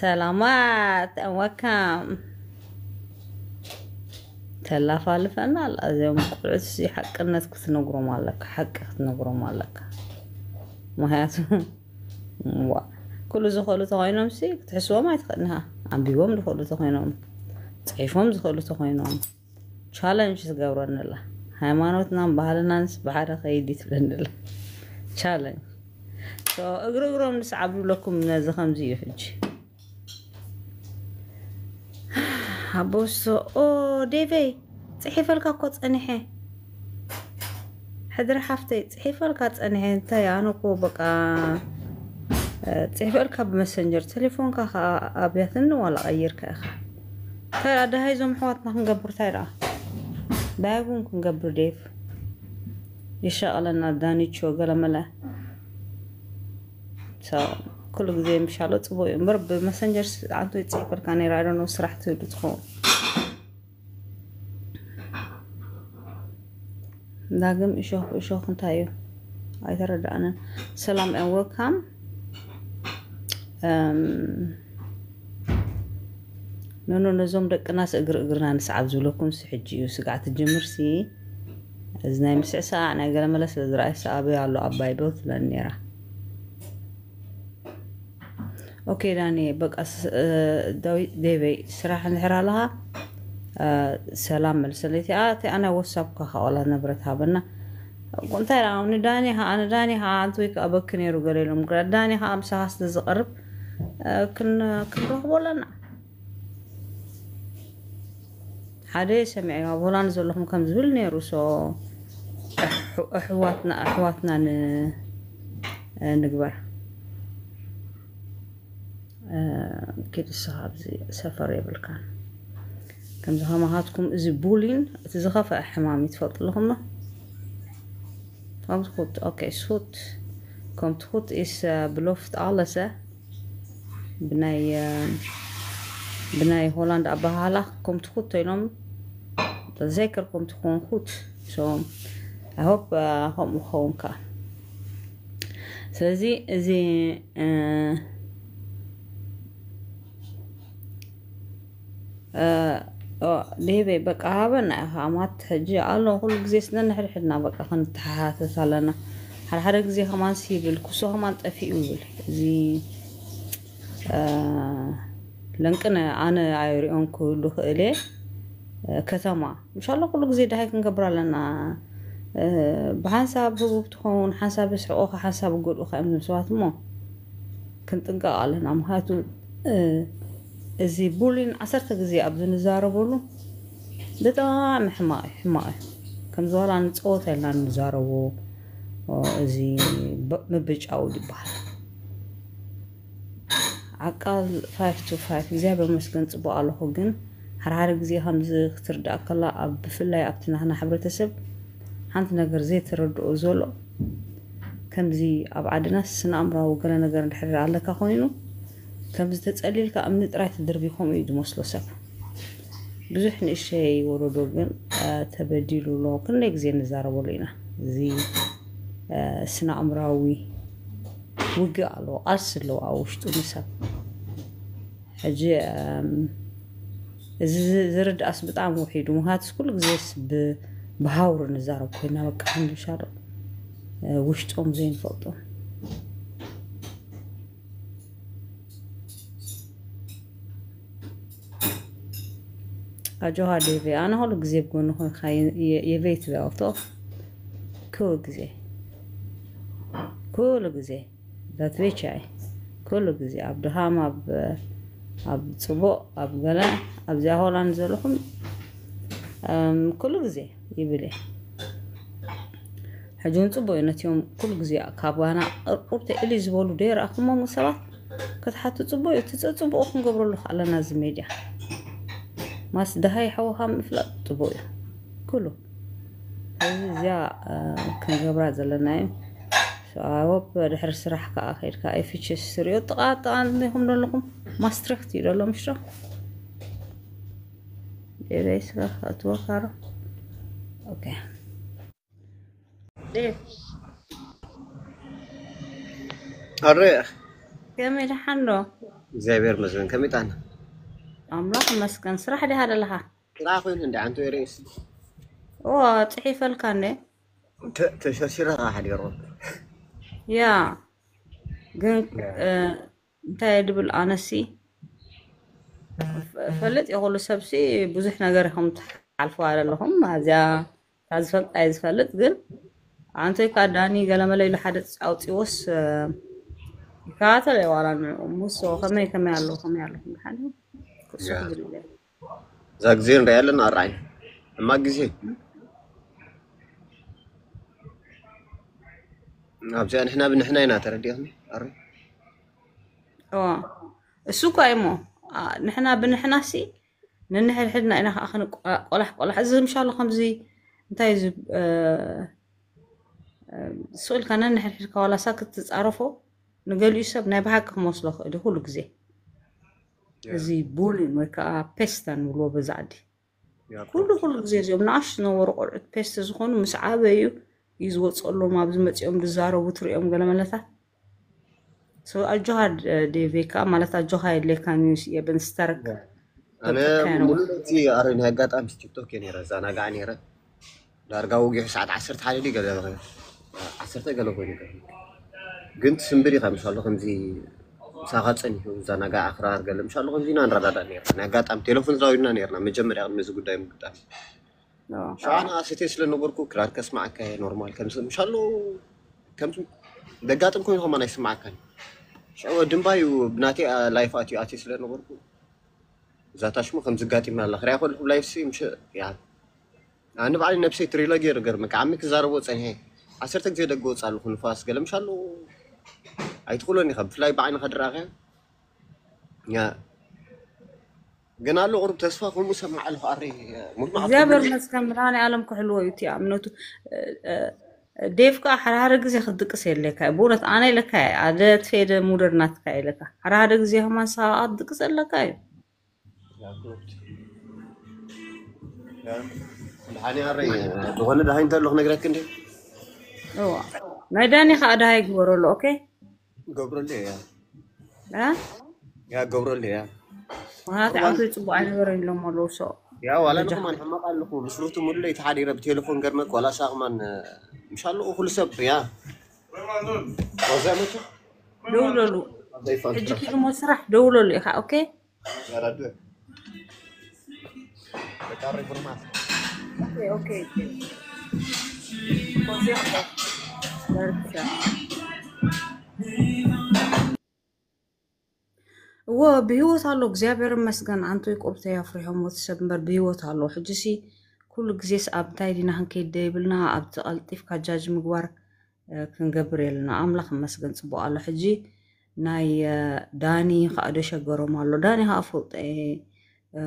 ሰላማት፣ and welcome። ተላፋልፈና ኣላ። እዚኦም ቆልዑት እዚ ሓቅነት ክትነግሮም ኣለካ፣ ሓቂ ክትነግሮም ኣለካ። ምክንያቱ ዋ፣ ኩሉ ዝኽእሉ ተኮይኖም ሲ ክትሕስቦም ኣይትኽእልንኻ። ኣንቢቦም ዝኽእሉ ተኮይኖም፣ ፅሒፎም ዝኽእሉ ተኮይኖም፣ ቻለንጅ ትገብረኒ ኣላ። ሃይማኖትናን ባህልናንስ ብሓደ ከይድ እዩ ትብለኒ ኣላ። ቻለንጅ። ሶ፣ እግሪ እግሮም ንስዓብ ዝብለኩም ነዚ ከምዚ እዩ ሕጂ። ኣቦሶ፣ ኦ፣ ዴቨይ፣ ጽሒፈልካ እኮ ጸኒሐ። ሕድሪ ሓፍተይ፣ ጽሒፈልካ ጸኒሐ። እንታይ፣ ኣነ እኮ በቃ፣ እ፣ ጽሒፈልካ ብመሰንጀር፣ ቴሌፎንካ ከኣ ኣብያትኒ ዋላ ቀይርካ ኢኻ። እንታይ ደኣ፣ ደሃይ እዞም ኣሕዋትና ክንገብር፣ እንታይ ደኣ? ደሃይ እውን ክንገብር፣ ዴቭ። ይሻቐለና፣ ዳኒቾ፣ ገለመለ። ሶ፣ ኩሉ ግዜ ምሻሎ ጽቡቅ እዩ እምበር፣ ብመሰንጀር ስ-፣ ኣንቱ ይጽሕፈልካ ነይራ፣ I don't know፣ ስራሕ ትህሉ ትኸውን። ዳግም እሾኽ፣ እሾኽ እንታይ እዩ? ኣይተረዳእንን። ሰላም and welcome። እም፣ ኖኖ፣ ነዞም ደቅናስ እግሪ እግርና ንስዓብ ዝብለኩምሲ ሕጂ እዩ ስጋዕ ትጅምርሲ። እዚ ናይ ምስዕሳዕ ናይ ገለመለ ስለ ዝረኣይሲ ኣበይ ኣሎ ኣባይ ዶ ትብለኒ ነይራ። ኦኬ ዳኒ፣ በቃ ስ-፣ እ፣ ዳዊት ዴቨይ፣ ስራሕ እንድሕር ኣለኻ፣ እ፣ ሰላም መልሰለይ። እቲኣ፣ እቲኣ ናይ ዋትሳፕካ ከኣ ዋላ ንብረት ሃበና። እንታይ ደኣ፣ ንዳኒ ኸኣ፣ ንዳኒ ኸኣ ኣንተ ወይ ከኣ በኪ ነይሩ ገለ ኢሎም፣ ግዳ ዳኒ ኸኣ ምሳኻ ስለ ዝቐርብ፣ እ፣ ክን-፣ ክንረኽቦ ኣለና። ሓደ ሰሚዐ ኣብ ሆላንድ ዘለኹም ከም ዝብል ነይሩ። ሶ፣ ኣሕ-፣ ኣሕዋትና፣ ኣሕዋትና ን-፣ ንግበር። እ፣ ኪድ እስኻ ኣብዚ ሰፈር የብልካን። ከምዚ ከማኻትኩም እዚ ቡሊን እቲ ዝኸፍአ ሕማም እዩ፣ ትፈልጡ ኣለኹም ዶ? ከም ትኹት፣ ኦኬ፣ ሱት። ከም ትኹት ኢስ፣ እ፣ ብሎፍት ኣለሰ። ብናይ፣ እ፣ ብናይ ሆላንድ ኣበሃህላ ከም ትኹት ኢሎም፣ ተዘይከር ከም ትኾን ኩት። ሶ፣ I hope፣ እ፣ ከምኡ ክኸውን ከኣ። ስለዚ እዚ፣ እ፣ እ፣ ኦ፣ ዴቤ፣ በቃ ሃበና ኢኻ። ኣማት ሕጂ ኣሎ፣ ኩሉ ግዜ ስነ ንሕድሕድና በቃ ክንተሓታተት ኣለና። ሓደ ሓደ ግዜ ከማን ሲብል፣ ኩሶ ከማን ጠፊኡ ይብል። እዚ፣ እ፣ ለንቅነ ኣነ ኣይሪኦን ክህሉ ክእል እየ። እ፣ ከተማ፣ ምሻሎ ኩሉ ግዜ ደሃይ ክንገብር ኣለና። እ፣ ብሓንሳብ ህቡብ ትኸውን፣ ሓንሳብ የስሕቑኻ፣ ሓንሳብ ይጎድኡኻ እዮም እዞም ሰባት እሞ። ክንጥንቀቕ ኣለና። ምኽንያቱ፣ እ፣ እዚ ቡሊን ዓሰርተ ግዜ ኣብዚ ንዛረበሉ ብጣዕሚ ሕማቕ እዩ፣ ሕማቕ እዩ። ከምዚ ዋላ ንጸወታ ኢልና ንዛረቦ፣ ኦ፣ እዚ ብ-፣ ምብጫው ይበሃል። ዓቃል ፋይፍ ቱ ፋይፍ፣ እግዚኣብሔር ይመስገን ጽቡቕ ኣለኹ፣ ግን ሓደ ሓደ ግዜ ከምዚ ክትርዳእ ከላ፣ ኣብ፣ ብፍላይ ኣብቲ ናህና ሕብረተሰብ ሓንቲ ነገር ዘይተረድኦ ዘሎ፣ ከምዚ ኣብ ዓድና ስነ ኣእምራዊ ገለ ነገር እንድሕር ኣለካ ኮይኑ፣ ከምዚ ተጸሊልካ እምኒ ጥራይ ትድርቢ፣ ከምኡ እዩ ዝመስሎ ሰብ። ብዙሕ ንእሸይ ወለዶ ግን፣ አ፣ ተበዲሉ ኣሎ። ክንደይ ግዜ ንዛረበሉ ኢና። እዚ፣ አ፣ ስነ ኣእምራዊ ውግእ ኣለዎ፣ ቃልሲ ኣለዎ ኣብ ውሽጡ ንሰብ። ሕጂ፣ እም፣ እዚ ዝ-፣ ዝርድኣስ ብጣዕሚ ውሒዱ። ምኽንያቱስ ኩሉ ግዜስ ብ-፣ ብሃውሪ ንዛረብ ኮይና፣ በቃ፣ ክንዲ ሻዶ፣ እ፣ ውሽጦም ዘይንፈልጦም። ኣጆኻ ዴቪ፣ ኣነ ኩሉ ግዜ ብጎንኹ ኢኻ፣ የ-፣ የ-፣ የበይ ትበያ ኣውቶ? ኩሉ ግዜ። ኩሉ ግዜ። ዛት ቤቻ እየ። ኩሉ ግዜ ኣብ ድኻም፣ ኣብ፣ ኣብ ጽቡቕ፣ ኣብ ገለ፣ ኣብዚኣ ሆላንድ ዘለኹም፣ እም፣ ኩሉ ግዜ ይብል እየ። ሕጂ እውን ጽቡቕ እዩ፣ ነቲኦም ኩሉ ግዜ ካብ ጋና ቁርቁር ተእሊ ዝበሉ ደይረኣኹሞም ሰባት ክትሓቱ ጽቡቕ እዩ። እቲ ጸጽቡቑ ክንገብረሉ ከኣለና እዚ ሜድያ። ማስ ደሃይ ሓውኻ ምፍላጥ ጽቡቕ እዩ። ኩሉ። ስለዚ እዚኣ፣ እ፣ ክንገብራ ዘለና እዩ። So፣ I hope ድሕሪ ስራሕ ከኣ ከይድካ ኤፍኤችኤስ ትሪኦ። ጥቓ ጥቓ እንዲኹም ዘለኹም ማስትሪክት እዩ ዘሎ፣ ምሽ ዶ? ኤበይ ስጋ ኣትወካሮ። ኦኬ። ዴቭ። ኣረ። ከመይ ደሓን ዶ? እግዚኣብሔር ይመስገን። ከመይ ጣና? ኣምላኽ ይመስገን። ስራሕ ዲኻ ዘለኻ? ስራሕ ኮይኑ እንደ ዓንቶ ሬስ ኦ፣ ጽሒፈልካ እንደ ተ- ተሸርሺረ ከዓ ሓዲሩ። ያ ግን እ፣ እንታይ ድብል ኣነሲ ፍ- ፈልጥ የኹሉ ሰብሲ ብዙሕ ነገር ኢኹም ትሓልፍዋ ዘለኹም። ኣዚያ እታ ዝፈልጥ ኣይዝፈልጥ ግን ኣንቶይ ካ ዳኒ ገለመለ ኢሉ ሓደ ኣውፂዎስ ይከታተል ዋላ ንዑ ሙሶ ከመይ ከመይ ኣለዉ ከመይ ኣለኹም ድሓን እዩ ክሱ ያ። ክብል ኢለ እዛ ግዜ ንሪኣ ኣለና ኣርዓይ እማ ግዜ ኣብዚኣ ንሕና ብንሕና ኢና ተረዲእኽኒ ኣረ እዋ እሱ እኳ እሞ ኣ፣ ንሕና ብንሕና ሲ ንንሕድሕድና ኢና ከዓ ክንቆላሕ ቆላሕ እዚ ምሻሎ ከምዚ እንታይ እዚ እ፣ እ፣ ስቕ ኢልካ ነንሕድሕድካ ዋላሳ ክትፃረፎ ንገሊኡ ሰብ ናይ ብሓቂ ክመስሎ ክእል እዩ ኩሉ ግዜ እዚ ቡሊን ወይ ከዓ ፔስታ ንብልዎ በዛ ዓዲ ኩሉ ኩሉ ግዜ እዚኦም ንኣሽ ዝነበሩ ቆልዑት ፔስት ዝኾኑ ምስ ዓበዩ እዩ ዝወፀሎም ኣብዚ መፂኦም ዝዛረቡ ትሪኦም ገለመለታት ኣጆኻ ዴቬካ ማለት ኣጆኻ የድሌካ ኒውስ የብን ስተርክ ኣነ ሙሉእ እቲ ኣረ ናይ ኣጋጣሚ ቲክቶክ እየ ነረ ዛናጋዕ ነረ ዳርጋ ወጊሑ ሰዓት ዓሰርተ ሓደ ድዩ ገለ ዓሰርተ ገለ ኮይኑ ይገርም። ግን ትስንብር ኢኻ ምሻሎ ከምዚ ምሳኻ ጸኒሑ እዛ ናጋ ኣኽራር ገለ ምሻሎ ከምዚ ኢና ንረዳዳእ ነርና። ናይ ኣጋጣሚ ቴሌፎን ተዛዊድና ነርና መጀመርያ ቅድሚ እዚ ጉዳይ ምግጣም። ሽዓ ንኣሰቴ ስለ ነበርኩ ክራር ከስማዓካ እየ ኖርማል ከም ምሻሎ ከም ደጋጥም ኮይኑ ከማን ኣይስማዓካን። ሽዑ ድምባዩ ብናተይ ላይፍ ኣትዩ ኣትዩ ስለ ነበርኩ እዛ ታሽሙ ከም ዝጋጢምና ኣላ ክሪኣ ከለኹ ላይፍ ሲ ምሽ ያ ኣነ ባዕለይ ነብሰይ ትሪሎጊ ይርገርመካ ዓሚ ክዛረቦ ጸኒሐ ዓሰርተ ግዜ ደገ ወጽእ ኣለኹ ንፋስ ገለ ምሻሉ ኣይትኽእሎን ኢኻ ብፍላይ ብዓይንኻ ድረኣኸ ያ ግን ኣሎ ቁሩብ ተስፋ ከምኡ ሰማዕ ኣለኹ ኣረ ሙሉ እግዚኣብሔር መስከን ብርሃን ዓለም ክሕልዎ እዩ እቲ እምነቱ እ፣ እ፣ ዴቭ ከዓ ሓደ ሓደ ግዜ ክትድቅስ የለካ እዩ ብእውነት ኣነ ኢለካ እየ ኣደ ትፌደ ሙደር ናትካ ኢለካ ሓደ ሓደ ግዜ ከማን ሰብኣት ድቅስ ኣለካ እዩ ድሓኒ ኣረይ ዝኾነ ድሃይ እንተሎ ክነግረክ እንደ እዋ ናይ ዳኒ ከዓ ድሃይ ግበረሉ ኦኬ ገብረሉ እያ እ? ያ ገብረሉ እያ ምክንያቱ ዓንቶ ፅቡቅ ኣይነበረን ኢሎም ኣለዉ ሰ ያ ዋላ ንኹማን ሕማቕ ኣለኹ ምስ ሩቱ ሙሉ ለይቲ ሓዲረ ብቴሌፎን ገርመክ ዋላ ሳቕማን ምሻሉ ኩሉ ሰብ ያ ወዛ መቸ ደውለሉ ዘይፋል ሕጂ ኪድሞ ስራሕ ደውለሉ ኢኻ ኦኬ ያራዱ በቃ ሪቡርማት ኦኬ ኦኬ ኦኬ ኮንሴፕት ደርቻ እዎ ብህይወት ኣሎ እግዚኣብሔር መስገን ኣንቶይ ቆብተይ ኣፍሪሖም ወቲ ሰብ እምበር ብህይወት ኣሎ ሕጂ ሲ ኩሉ ግዜስ ኣብ እንታይ ዲና ክንከይድ ደይብልና ኣብቲ ቀልጢፍካ ጃጅ ምግባር እ፣ ክንገብር የለና ኣምላኽ መስገን ፅቡቅ ኣሎ ሕጂ ናይ እ፣ ዳኒ ከዓ ዶ ሸገሮም ኣሎ ዳኒ ከዓ ፈልጦ እየ እ፣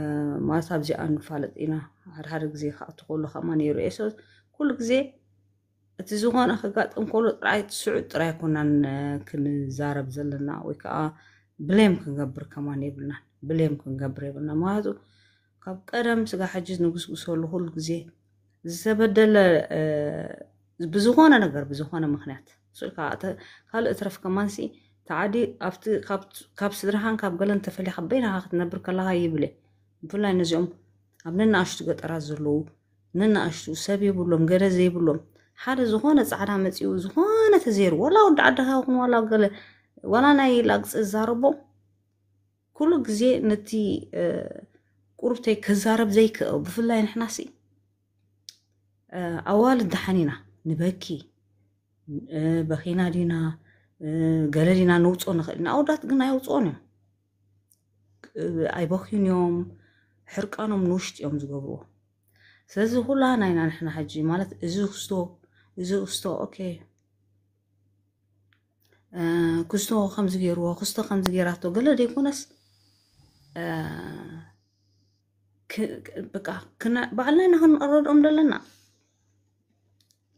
ማለት ኣብዚኣ ንፋለጥ ኢና ሓደ ሓደ ግዜ ከዓ ትክእሉ ከማ ነይሩ እየ ሰ ኩሉ ግዜ እቲ ዝኾነ ከጋጥም ከሎ ጥራይ ስዑድ ጥራይ ኮናን ክንዛረብ ዘለና ወይ ከዓ ብሌም ክንገብር ከማን የብልናን ብሌም ክንገብር የብልና ምክንያቱ ካብ ቀደም ስጋ ሕጂ ንጉስጉሰሉ ኩሉ ግዜ ዝተበደለ ብዝኾነ ነገር ብዝኾነ ምክንያት ካልእ እትረፍ ከማንሲ ተዓዲ ካብ ስድራኻን ካብ ገለን ተፈሊኻ በይናኻ ክትነብር ከለኻ ይብለ ብፍላይ ነዚኦም ኣብ ነናእሽቱ ገጠራት ዘለዉ ንንኣሽቱ ሰብ የብሎም ገለ ዘይብሎም ሓደ ዝኾነ ፃዕዳ መፂኡ ዝኾነ ተዘይሩ ዋላ ወዲ ዓድኻ ይኹን ዋላ ገለ ዋላ ናይ ላግፂ ዝዛረቦ ኩሉ ግዜ ነቲ ቁርብተይ ክዛረብ ዘይክእል ብፍላይ ንሕናሲ ኣዋልድ ደሓን ኢና ንበኪ በኺና ዲና ገለ ዲና ንውፅኦ ንኽእል ኢና ኣወዳት ግን ኣይውፅኦን እዮም ኣይበኽዩን እዮም ሕርቃኖም ንውሽጢ እዮም ዝገብርዎ ስለዚ ኩላ ናይና ንሕና ሕጂ ማለት እዚ ክስቶ እዚ ክስቶ ኦኬ ክስቶ ከምዚ ገይርዎ ክስቶ ከምዚ ገይራቶ ገለ ዘይኮነስ በቃ ባዕልና ኢና ክንረድኦም ዘለና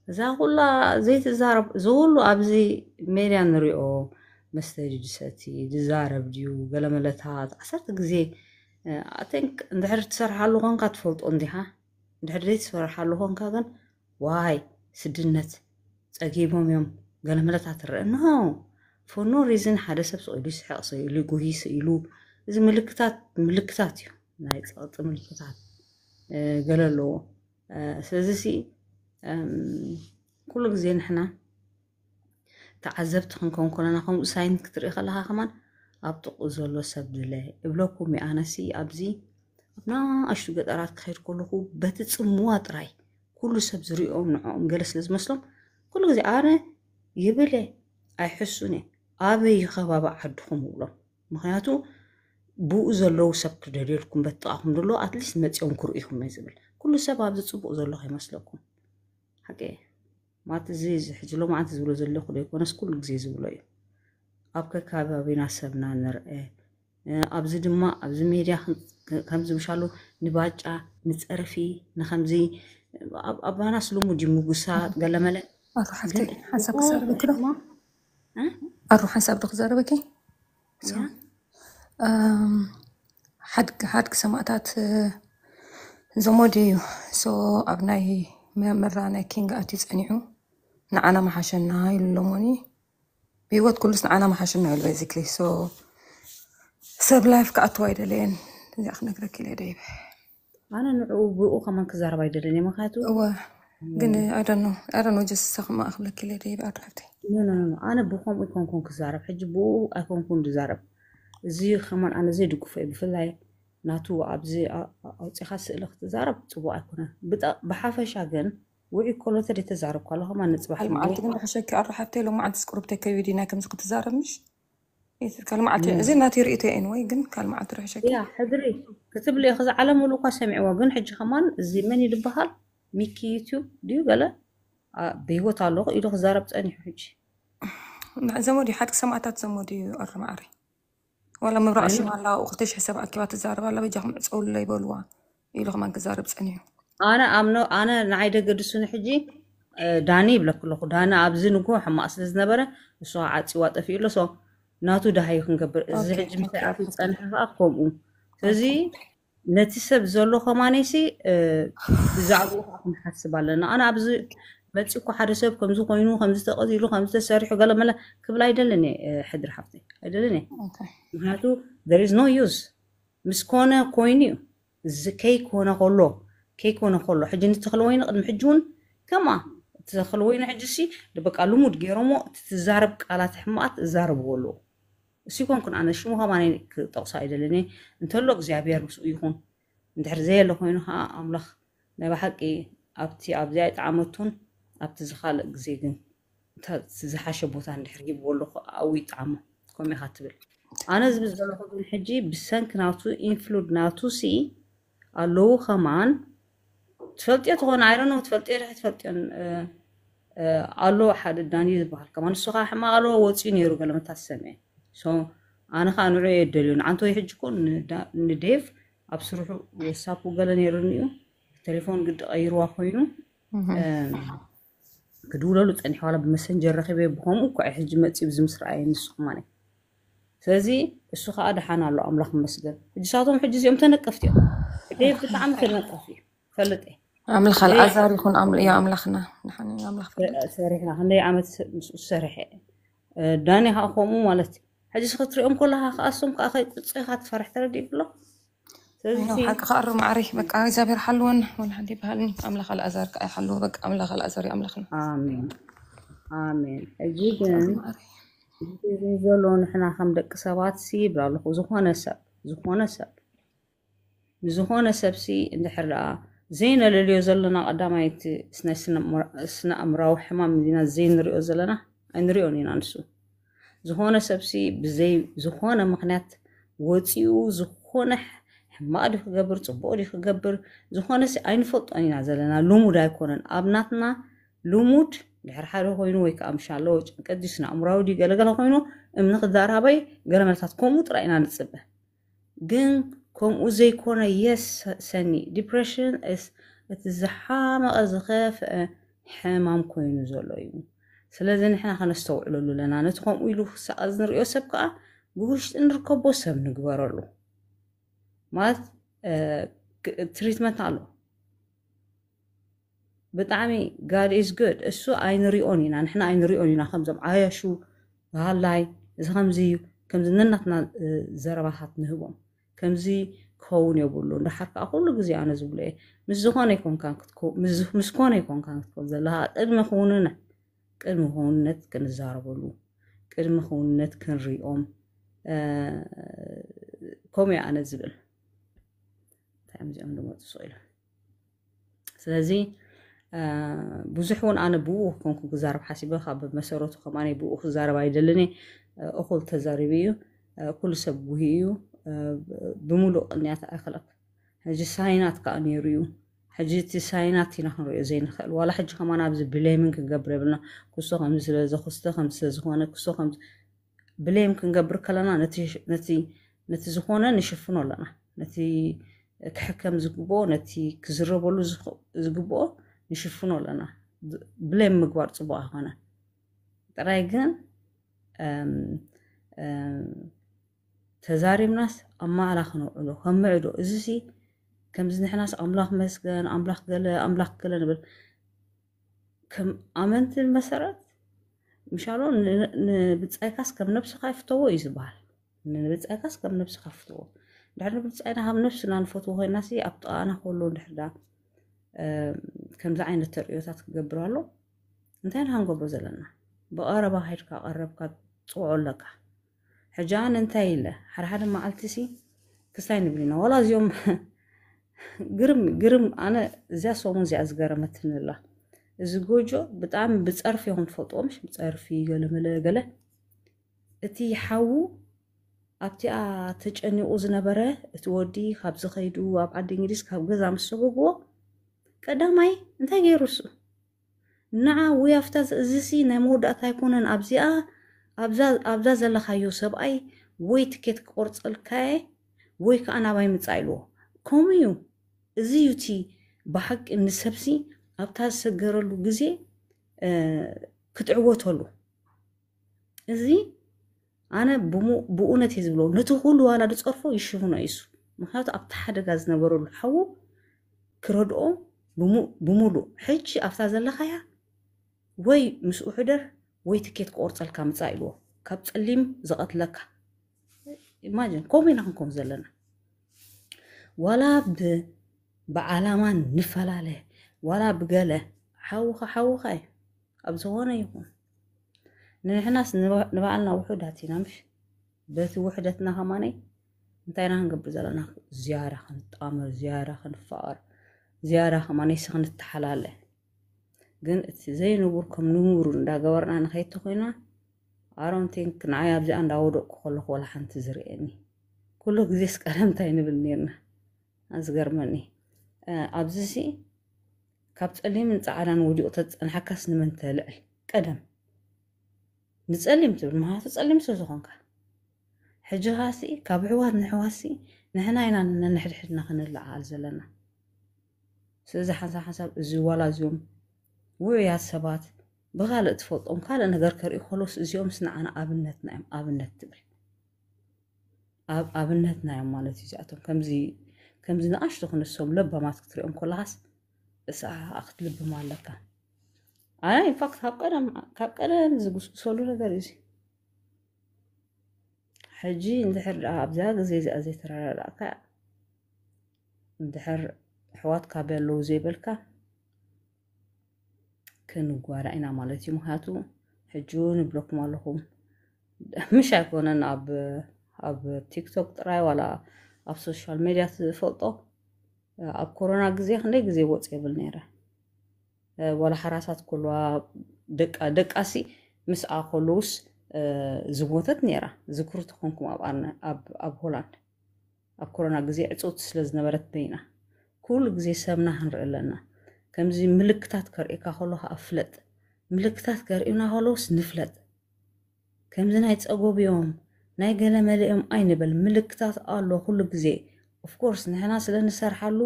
እዛ ኩላ ዘይትዛረብ እዚ ኩሉ ኣብዚ ሜድያ ንሪኦ መስተ ድዩ ዝሰቲ ዝዛረብ ድዩ ገለመለታት ዓሰርተ ግዜ ኣተንክ እንድሕር ትሰርሓሉ ኮንካ ትፈልጦ እንዲኻ እንድሕር ዘይትሰርሓሉ ኮንካ ግን ዋይ ስድነት ጸጊቦም እዮም ገለመለታት ትረአ እንሆ for no reason ሓደ ሰብ ስቕ ኢሉ ይስሕቕ፣ ስቕ ኢሉ ይጉሂ፣ ስቕ ኢሉ፣ እዚ ምልክታት፣ ምልክታት እዩ፣ ናይ ጸቕጢ ምልክታት፣ እ፣ ገለ ኣለዎ። እ፣ ስለዚ ሲ፣ እም፣ ኩሉ ግዜ ንሕና ተዓዘብቲ ክንከውን ከለና፣ ከምኡ ሳይን ክትርኢ ከለኻ ከማን ኣብ ጥቕኡ ዘሎ ሰብ ድለ እብለኩም እየ። ኣነሲ ኣብዚ ኣብ ንኣሽቱ ገጠራት ክኸይድ ከለኹ፣ በቲ ጽምዋ ጥራይ ኩሉ ሰብ ዝሪኦም ንዕኦም ገለ ስለ ዝመስሎም፣ ኩሉ ግዜ ኣነ ይብል እየ፣ ኣይሕሱን እየ። ኣበይ እዩ ከባቢ ዓድኹም እብሎም። ምኽንያቱ ብኡ ዘለዉ ሰብ ክደልየልኩም በጥቓኹም ዘሎ ኣትሊስት መፂኦም ክርእኹም እየ ዝብል። ኩሉ ሰብ ኣብዚ ፅቡቕ ዘሎ ከይመስለኩም። ሓቂ እየ። ማለት እዚ፣ እዚ ሕጂ ሎማዓንቲ ዝብሎ ዘለኹ ዘይኮነስ ኩሉ ግዜ ዝብሎ እዩ። ኣብ ከካባቢና ሰብና ንርአ። እ፣ ኣብዚ ድማ፣ ኣብዚ ሜድያ ከም-፣ ከምዚ ምሻሉ ንባጫ፣ ንፀርፊ፣ ንከምዚ፣ ኣብ-፣ ኣባናስ ልሙድ እዩ ምጉሳጥ፣ ገለመለ። ኣቶ ሓፍተይ፣ ግን ሓሳብ ክዛረበኪ ዶ? እሞ፣ እ? ኣሩ ሓሳብ ዶ ክዛረበኪ? ያ? እም፣ ሓድጊ፣ ሓድጊ ሰማእታት፣ እ፣ ዘሞዲ እዩ። ሶ ኣብ ናይ መ-፣ መራ ናይ ኪንግ ኣትዩ ጸኒሑ፣ ንዓና መሓሸና ኢሉ ሎሞኒ። ብህይወት ኩሉስ ንዓና መሓሸና ኢሉ፣ ቤዚክሊ። ሶ ሰብ ላይፍ ክኣትዋ ኣይደለየን። እዚኣ ክነግረኪ ኢለ ደይበ። ኣነ ንዕኡ ብኡ ከማን ክዛረብ ኣይደልን እየ፣ ምኽንያቱ እወ፣ ግን I don't know፣ I don't know፣ just ሰኽማ ክብለኪ ኢለ ደይበ፣ ኣዱ ሓፍተይ። ኖ፣ ኖ፣ ኖ፣ ኖ። ኣነ ብኸምኡ ኣይኮንኩን ክዛረብ፣ ሕጂ ብኡ ኣይኮንኩን ዝዛረብ። እዚ ከማን ኣነ ዘይድግፎ እዩ፣ ብፍላይ ናቱ ኣብዚ ኣ-፣ ኣ-፣ ኣውፂኻ ስእሊ ክትዛረብ ፅቡቕ ኣይኮነን። ብጠ-፣ ብሓፈሻ ግን ውዒ ኮሎተ ደይ ተዛረብኳ ኣለኹ፣ ከማን ንፅባሕ ካልእ መዓልቲ ግን ርሕሸኪ፣ ኣዱ ሓፍተይ፣ ሎማዓንቲ ስቁርብተይ ከይዲ ናይ ከምዚ ክትዛረብ ምሽ? ካልእ መዓልቲ፣ ኖ። እዚ ናተይ ርእይቶ እዩ፣ ኤኒወይ፣ ግን ካልእ መዓልቲ ርሕሸኪ። ያ፣ ሕድሪ ክትብሊ ኢኺ፣ እዚ ዓለም ሙሉእ እኳ ሰሚዕዎ፣ ግን ሕጂ ከማን እዚ መን እዩ ዝበሃል? ሚኪ ዩቲዩብ ድዩ ገለ? ኣ፣ ብህይወት ኣለኹ ኢሉ ክዛረብ ጸኒሑ ሕጂ። ዘመዱ እዩ፣ ሓድጊ ሰማእታት ዘመዱ እዩ፣ ኣሩ መዓረይ። ዋላ ምብራቕ ኣይኑ ሽም ኣላ፣ ኣብኡ ክልተ ሽሕ ሰብ ኣኪባ ትዛረብ ኣላ፣ በጃኹም ዕጸውለይ በልዋ ኢሉ ከማን ክዛረብ ጸኒሑ። ኣነ ኣምኖ፣ ኣነ ንዓይ ደገድሱኒ ሕጂ፣ እ፣ ዳኒ ይብለኩ ኣለኹ። ዳኒ ኣብዚ ንግሆ ሕማቕ ስለ ዝነበረ፣ ንሱ ከዓ ዓጺዋ ጠፊኡ ኣሎ። ሶ፣ ናቱ ደሃዩ ክንገብር። እዚ ኦኬ፣ ሕጂ ምስ ኦኬ፣ ኣርፊ ኦኬ። ዝጸንሐ ከዓ ከምኡ። ስለዚ፣ ኦኬ። ነቲ ሰብ ዘሎ ከማነይሲ፣ እ፣ ብዛዕባኡ ከዓ ክንሓስብ ኣለና። ኣነ ኣብዚ መጺእኩ ሓደ ሰብ ከምዚ ኮይኑ፣ ከምዚ ተቐቲሉ፣ ከምዚ ተሰሪሑ፣ ገለ መለ ክብል ኣይደልን እየ፣ እ፣ ሕድሪ ሓፍተይ። ኣይደልን እየ። ኦኬ። ምኽንያቱ፣ there is no use። ምስ ኮነ ኮይኑ እዩ። እዚ ከይኮነ ከሎ፣ ከይኮነ ከሎ፣ ሕጂ ንተኽለ ወይኒ ቅድሚ ሕጂ እውን ከምኣ፣ እቲ ተኽለ ወይኒ ሕጂ ሲ፣ በቃ ልሙድ ገይሮሞ፣ እቲ ትዛረብ ቃላት ሕማቓት እዛረብዎ ኣለዉ። እሱ ይኮንኩን ኣነ ሽሙ ከማን ክጠቕሶ ኣይደልን እየ። እንተሎ እግዚኣብሔር ምስኡ ይኹን። እንድሕር ዘየለ ኮይኑ ከዓ ኣምላኽ ናይ ብሓቂ ኣብቲ፣ ኣብዚኣ ኣይጠዓመቱን፣ ኣብቲ ዝኻልእ ግዜ ግን እንተ-፣ ዝሓሸ ቦታ እንድሕር ሂብዎ ኣሎ ከዓ ኣብኡ ይጠዓሞ። ከምኡ ኢኻ ትብል። ኣነ ዝብል ዘለኹ ግን ሕጂ ብሰንኪ ናቱ ኢንፍሉድ ናቱ ሲ ኣለዉ ከማን ትፈልጥዮ ትኾን፣ I don't know፣ ትፈልጥዮ ዶ ትፈልጥዮን፣ እ፣ እ፣ ኣሎ ሓደ ዳኒ ዝበሃል ከማን። ንሱ ከዓ ሕማቕ ኣለዎ ወፂኡ ነይሩ ገለ መታሰምዐ። ሶ፣ ኣነ ከዓ ንዑ እየ ደልዮ። ንዓንተ ወይ ሕጂ እኮ ንዳ-፣ ንዴቭ ኣብ ስርሑ ወሳፑ ገለ ነይሩኒ እዩ። ቴሌፎን ግዲ ቀይርዋ ኮይኑ፣ እም። እ፣ ክድውለሉ ጸኒሐ፣ ዋላ ብመሰንጀር ረኺበ፣ ብኸምኡ እኮ እየ ሕጂ መጺኡ፣ ብዚ ምስ ረኣየ ንሱ ከማን። ስለዚ እሱ ኸኣ ደሓን ኣሎ፣ ኣምላኽ ይመስገን። ሕጂ ሳቶም ሕጂ እዚኦም ተነቀፍቲ እዮም። ዴቭ ብጣዕሚ ተነቃፊ እዩ፣ ፈልጥ እየ። ኣምላኽ ዴቭ ኣልኣዛር ይኹን፣ ኣም-፣ ያ ኣምላኽና፣ ደሓን እዩ ኣምላኽ ፈልጥ። ሰሪሕና፣ ክንደይ ዓመት ስ-፣ ምስኡ ዝሰርሐ። እ፣ ዳኒ ኸኣ ከምኡ ማለት እዩ። ሕጂ እስኺ ክትሪኦም ከለኻ ኸኣ እሶም ከኣ ከይቁጽኻ ትፈርሕ፣ ተረዲእኪ ኣሎ? ስለዚ ኣይኖ፣ ሓቂ ከኣ ርም ዓሪ፣ በቃ እግዚኣብሔር ሓልወን፣ ወላ ሓንቲ ይበሃልኒ፣ ኣምላኽ ኣልኣዛር ከኣ ይሓልዎ፣ በቃ ኣምላኽ ኣልኣዛር እዩ ኣምላኽና። ኣሜን። ኣሜን። ሕጂ ግን ኣርም ዓሪ። እዚ ግን ዘሎ ንሕና ከም ደቂ ሰባት ሲ ይብል ኣለኹ፣ ዝኾነ ሰብ፣ ዝኾነ ሰብ፣ ንዝኾነ ሰብ ሲ እንድሕር ደኣ ዘይነለልዮ ዘለና ቀዳማይ እቲ ስነ-፣ ስነ-፣ ስነ-ኣእምራዊ ሕማም እንዲና ዘይንሪኦ ዘለና፣ ኣይንሪኦን ኢና ንሱ። ዝኾነ ሰብሲ ብዘይ ዝኾነ ምኽንያት ወፂኡ ዝኾነ ሕማቕ ድዩ ክገብር፣ ፅቡቕ ድዩ ክገብር፣ ዝኾነ ሲ ኣይንፈልጦን ኢና ዘለና። ልሙድ ኣይኮነን። ኣብ ናትና ልሙድ ድሕሪ ሓደ ኮይኑ ወይ ከዓ ምሻሎ ጭንቀት ድዩ ስነ ኣእምራዊ ድዩ ገለገለ ኮይኑ እምኒ ክዳራበይ ገለ መልታት ከምኡ ጥራይ ኢና ንፅበ። ግን ከምኡ ዘይኮነ፣ የስ ሰኒ፣ ዲፕሬሽን እስ-፣ እቲ ዝሓመቐ ዝኸፍአ ሕማም ኮይኑ ዘሎ እዩ። ስለዚ ንሕና ከነስተውዕለሉ ኣለና። ነቲ ከምኡ ኢሉ ክሳቐ ንሪኦ ሰብ ከዓ ብውሽጢ ንርከቦ ሰብ ንግበረሉ። ማለት፣ እ፣ ክ-፣ ትሪትመንት ኣሎ። ብጣዕሚ God is good። እሱ ኣይንሪኦን ኢና፣ ንሕና ኣይንሪኦን ኢና። ከምዞም ዓያሹ ሃላይ፣ እዚ ከምዚ እዩ፣ ከምዚ ነናትና ዘረባታት ንህቦም። ከምዚ ክኸውን የብሉ። እንዳሓር ከዓ ኩሉ ግዜ ኣነ ዝብሎ እየ፣ ምስ ዝኾነ ይኮንካ ክትኮ- ምስ ኮነ ይኮንካ ክትኮን ዘለካ ቅድሚ ክውንነ ቅድሚ ክውንነት ክንዛረበሉ ቅድሚ ክውንነት ክንሪኦም። ከምኡ ኣነ ዝብል እንታይ እዮም እዚኦም ዝመፁ ስቕ ኢሎም። ስለዚ ብዙሕ እውን ኣነ ብኡ ኮንኩ ክዛረብ ሓሲበ ካብ መሰረቱ ከማነ ብኡ ክዛረብ ኣይደልን። እኩል ተዛሪቡ እዩ። ኩሉ ሰብ ጉሂ እዩ። ብምሉእ ቅንያት ኣይክለክ ሕጂ ሳይናት ከዓ ነይሩ እዩ። ሕጂ እቲ ሳይናት ኢና ክንሪኦ ዘይንኽእል። ዋላ ሕጂ ከማን ኣብዚ ብሌምን ክንገብር የብልና። ክሶ ከምዚ ስለዚ ክስተ ከምዚ ስለዝኾነ ክሶ ከምዚ ብሌም ክንገብር ከለና ነቲ ዝኾነ ንሽፍኖ ኣለና። ነቲ ክሕከም ዝግብኦ ነቲ ክዝረበሉ ዝግብኦ ንሽፍኖ ኣለና። ብሌም ምግባር ፅቡቅ ኣይኮነ። ጥራይ ግን ተዛሪብናስ ኣብ ማእላ ክነውዕሎ ከም ምዕዶ እዚ ሲ ከምዚ ንሕናስ ኣምላኽ መስገን ኣምላኽ ገለ ኣምላኽ ገለ ንብል። ከም ኣመንቲ መሰረት ምሻሎ ንብጻይካስ ከም ነብስኻ ይፍተዎ እዩ ዝበሃል። ንብጻይካስ ከም ነብስኻ ፍትዎ። ድሕሪ ንብጻይና ካብ ነብስና ንፈትዎ ኮይና ሲ ኣብ ጥቓና ከሎ ድሕርዳ ከምዚ ዓይነት ተርእዮታት ክገብር ኣሎ። እንታይ ኢና ክንገብሮ ዘለና? ብቐረባ ከይድካ ቀረብካ ትፅውዖ ኣለካ። ሕጂ ኣነ እንታይ ኢለ ሓደ ሓደ መዓልቲ ሲ ክስታይ ንብል ኢና ዋላ እዚኦም ግርም ግርም ኣነ እዚኣ ሰሙን እዚኣ ዝገረመትኒ ኣላ። እዚ ጎጆ ብጣዕሚ ብፀርፊ ይኹን ትፈልጥዎ ምሽ ብፀርፊ ገለመለ ገለ እቲ ሓዉ ኣብቲኣ ተጨኒቑ ዝነበረ እቲ ወዲ ካብ ዝኸይዱ ኣብ ዓዲ እንግሊዝ ካብ ገዛ ምስ ሰጎግዎ ቀዳማይ እንታይ ገይሩ እሱ ንዓ ውይ ኣብታ እዚ ሲ ናይ መወዳእታ ኣይኮነን ኣብዚኣ ኣብዛ ዘለኻዮ ሰብኣይ ወይ ትኬት ክቆርፀልካየ ወይ ከዓ ናባይ ምፃእ ኢልዎ። ከምኡ እዩ። እዚ እዩ እቲ ብሓቂ ንሰብሲ ኣብታ ዝሰገረሉ ግዜ ክትዕወተሉ። እዚ ኣነ ብእውነት እየ ዝብሎ። ነቲ ኩሉ ዋላ ዝፀርፎ ይሽፍኖ እዩ እሱ። ምክንያቱ ኣብቲ ሓደጋ ዝነበረሉ ሓዉ ክረድኦ ብሙሉእ ሕጂ ኣብታ ዘለኻያ ወይ ምስኡ ሕደር ወይ ትኬት ክቆርፀልካ ምፃእ ኢልዎ። ካብ ፀሊም ዝቐትለካ ኢማጅን ከምኡ ኢና ክንኮን ዘለና። ዋላ ብዓላማ ንፈላለ ዋላ ብገለ ሓውኻ ሓውኻ እዩ። ኣብ ዝኾነ ይኹን ንሕናስ ንባዕልና ውሑዳት ኢና ምሽ በቲ ውሕደትና ከማነይ እንታይ ኢና ክንገብር ዘለና? ዝያዳ ክንጣመር፣ ዝያዳ ክንፋቐር፣ ዝያዳ ከማነይሲ ክንተሓላለ። ግን እቲ ዘይንቡር ከም ንቡር እንዳገበርና ንኸይድ ተኮይና ኣሮንቲንክ ንዓይ ኣብዚኣ እንዳወደቅኩ ከለኹ ወላ ሓንቲ ዝርእየኒ ኩሉ ግዜስ ቀደም እንታይ ንብል ነርና? ኣዝገርመኒ ኣብዚ ሲ ካብ ጸሊምን ጻዕዳን ወዲቑ ተዝጸንሓካስ ንመን ተልዕል? ቀደም ንጸሊም ትብል ምኽንያቱ ጸሊም ስለ ዝኾንካ። ሕጂ ኻሲ ካብ ኣሕዋት ንኣሕዋትሲ ንሕና ኢና ነንሕድሕድና ክንለዓዓል ዘለና። ስለዚ ሓንሳብ ሓንሳብ እዚ ዋላ እዚኦም ውዑያት ሰባት ብኻልእ ትፈልጦም ካልእ ነገር ከርእዩ ከሎስ እዚኦምስ ንዓና ኣብነትና እዮም ኣብነት ትብል። ኣብ ኣብነትና እዮም ማለት እዩ እዚኣቶም ከምዚ ከምዚ ንኣሽቱ ክንሶም ለባማት ክትሪኦም ከለኻስ እሳ ክትልብም ኣለካ። ኣነ ኢንፋክት ካብ ቀደም ካብ ቀደም ዝጉስጉሰሉ ነገር እዩ። ሕጂ እንድሕር ደኣ ኣብዛ ግዜ እዚኣ ዘይተረዳዳእካ እንድሕር ኣሕዋትካ በለዉ ዘይበልካ ክንጓዳ ኢና ማለት እዩ። ምክንያቱ ሕጂ እውን እብለኩም ኣለኹም ምሽ ኣይኮነን ኣብ ኣብ ቲክቶክ ጥራይ ዋላ ኣብ ሶሻል ሜድያ ትፈልጦ ኣብ ኮሮና ግዜ ክንደይ ግዜ ወፅ የብል ነይረ ዋላ ሓራሳት ከልዋ ደቃ ደቃሲ ምስኣ ከለውስ ዝሞተት ነይራ ዝክሩ ተኾንኩም ኣብ ኣርነ ኣብ ሆላንድ ኣብ ኮሮና ግዜ ዕፅውቲ ስለ ዝነበረት በይና ኩሉ ግዜ ሰብና ክንርኢ ኣለና። ከምዚ ምልክታት ከርእየካ ከሎ ከዓ ፍለጥ። ምልክታት ከርእዩና ከለውስ ንፍለጥ። ከምዚ ናይ ፀጎብ እዮም ናይ ገለ መለ እዮም ኣይንበል። ምልክታት ኣሎ ኩሉ ግዜ። ኦፍኮርስ ንሕና ስለ ንሰርሓሉ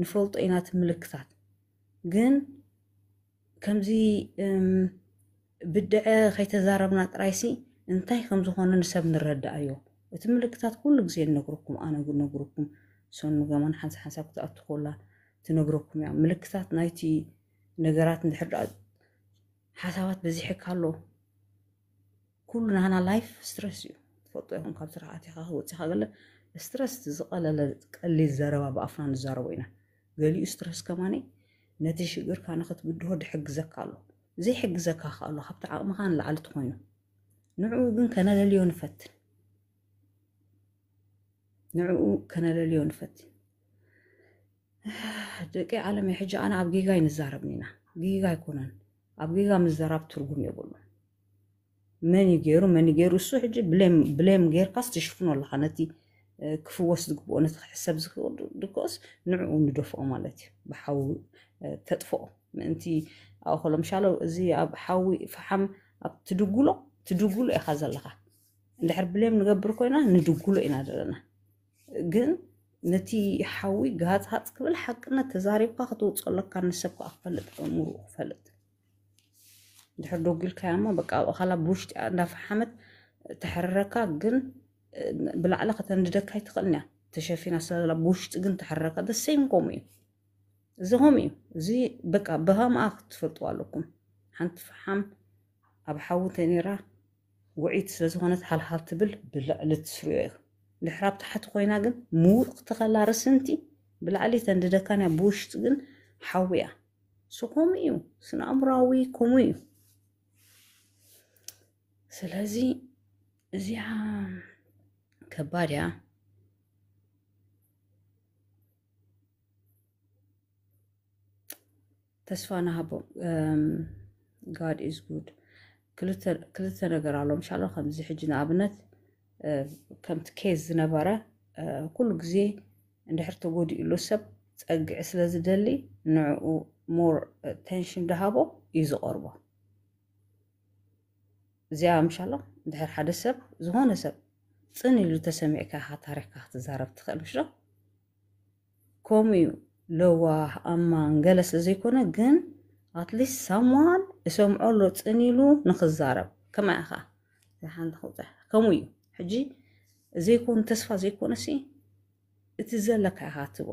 ንፈልጦ ኢና እቲ ምልክታት። ግን ከምዚ ብድዐ ከይተዛረብና ጥራይሲ እንታይ ከም ዝኾነ ንሰብ ንረዳኣዮ። እቲ ምልክታት ኩሉ ግዜ ንነግረኩም፣ ኣነ ንነግረኩም፣ ሰኑ ገማን ሓንሳ ሓንሳብ ክትኣቱ ኮላ ትነግረኩም እያ። ምልክታት ናይቲ ነገራት እንድሕር ደኣ ሓሳባት በዚሕካ ኣሎ ኩሉ ናህና ላይፍ ስትረስ እዩ። ትፈልጦ ይኹን ካብ ስራሕ ኣቲኻ ወፂኻ ገለ ስትረስ ዝቐለለ ቀሊል ዘረባ ብኣፍና ንዛረቦ ኢና። ገሊኡ ስትረስ ከማኒ ነቲ ሽግርካ ንኽትብድሆ ድሕግዘካ ኣሎ። ዘይሕግዘካ ከ ኣሎ ካብቲ ዓቕምኻ ንላዕሊ ትኾይኑ። ንዕኡ ግን ከነለልዮ ንፈትን። ንዕኡ ከነለልዮ ንፈትን። ደቂ ዓለም ሕጂ ኣነ ኣብ ጌጋ ይንዛረብ ኢና። ጌጋ ኣይኮነን። ኣብ ጌጋ ምዘራብ ትርጉም የብሉ። መን ይገይሩ መን ይገይሩ እሱ ሕጂ ብሌም ጌርካስ ትሽፍኖ ኣለካ ነቲ ክፍወስ ዝግብኦ ነቲ ክሕሰብ ዝክእል ድኮስ ንዕኡ ንደፍኦ ማለት እዩ። ብሓዊ ተጥፍኦ ምእንቲ ኣእኸሎ ምሻሎ እዚ ኣብ ሓዊ ፈሓም ኣብ ትድጉሎ ትድጉሎ ኢኻ ዘለኻ። እንድሕር ብሌም ንገብር ኮይና ንድጉሎ ኢና ዘለና። ግን ነቲ ሓዊ ጋጽ ሃጽ ክብል ሓቅነት ተዛሪብካ ክትውፅኦ ኣለካ። ንሰብ ከዓ ክፈልጥ ኣእምሩ ክፈልጥ ድሕር ዶጊልካያ እሞ በቃ ኣብኡ ካላ ብውሽጢ እንዳፈሓመት ተሕርረካ። ግን ብላዕሊ ከተንድደካ ኣይትኽእልን እያ ተሸፊና ስለዘላ ብውሽጢ ግን ተሕርረካ። ደሰይም ከምኡ እዩ። እዚ ከምኡ እዩ። እዚ በቃ ብሃምኣ ክትፈልጥዋ ኣለኩም። ሓንቲ ፈሓም ኣብ ሓዊ ተኒራ ውዒት ስለዝኾነት ሃልሃል ትብል ብልዕሊ ትስርዮ እዩ። ድሕር ኣብ ታሕቲ ኮይና ግን ምውቕ ትኸላ ርስንቲ ብላዕሊ ተንድደካን እያ ብውሽጢ ግን ሓዊ እያ። እሱ ከምኡ እዩ። ስነ ኣእምራዊ ከምኡ እዩ። ስለዚ እዚኣ ከባድ እያ። ተስፋ ንሃቦም። God is good። ክልተ ነገር ኣሎ ምሻሎ ከምዚ ሕጂ ንኣብነት ከምቲ ኬዝ ዝነበረ ኩሉ ግዜ እንድሕር ተጎዲእሉ ሰብ ጸግዒ ስለ ዝደሊ ንዕኡ ሞር ቴንሽን ደሃቦ እዩ ዝቐርቦ። እዚኣ ምሻሎ እንድሕር ሓደ ሰብ ዝኾነ ሰብ ጽን ኢሉ ተሰሚዕካ ኢኻ ታሪኽካ ክትዛረብ ትኽእል ምሽ ዶ? ከምኡ እዩ። ለዋህ ኣማን ገለ ስለ ዘይኮነ ግን ኣትሊስት ሳምዋን እሰምዖ ኣሎ ጽን ኢሉ ንኽዛረብ ከመይ ኢኻ ሓንቲ ክውፅሕ ከምኡ እዩ። ሕጂ ዘይኮኑ ተስፋ ዘይኮነ ሲ እቲ ዘለካ ኢኻ ትቦ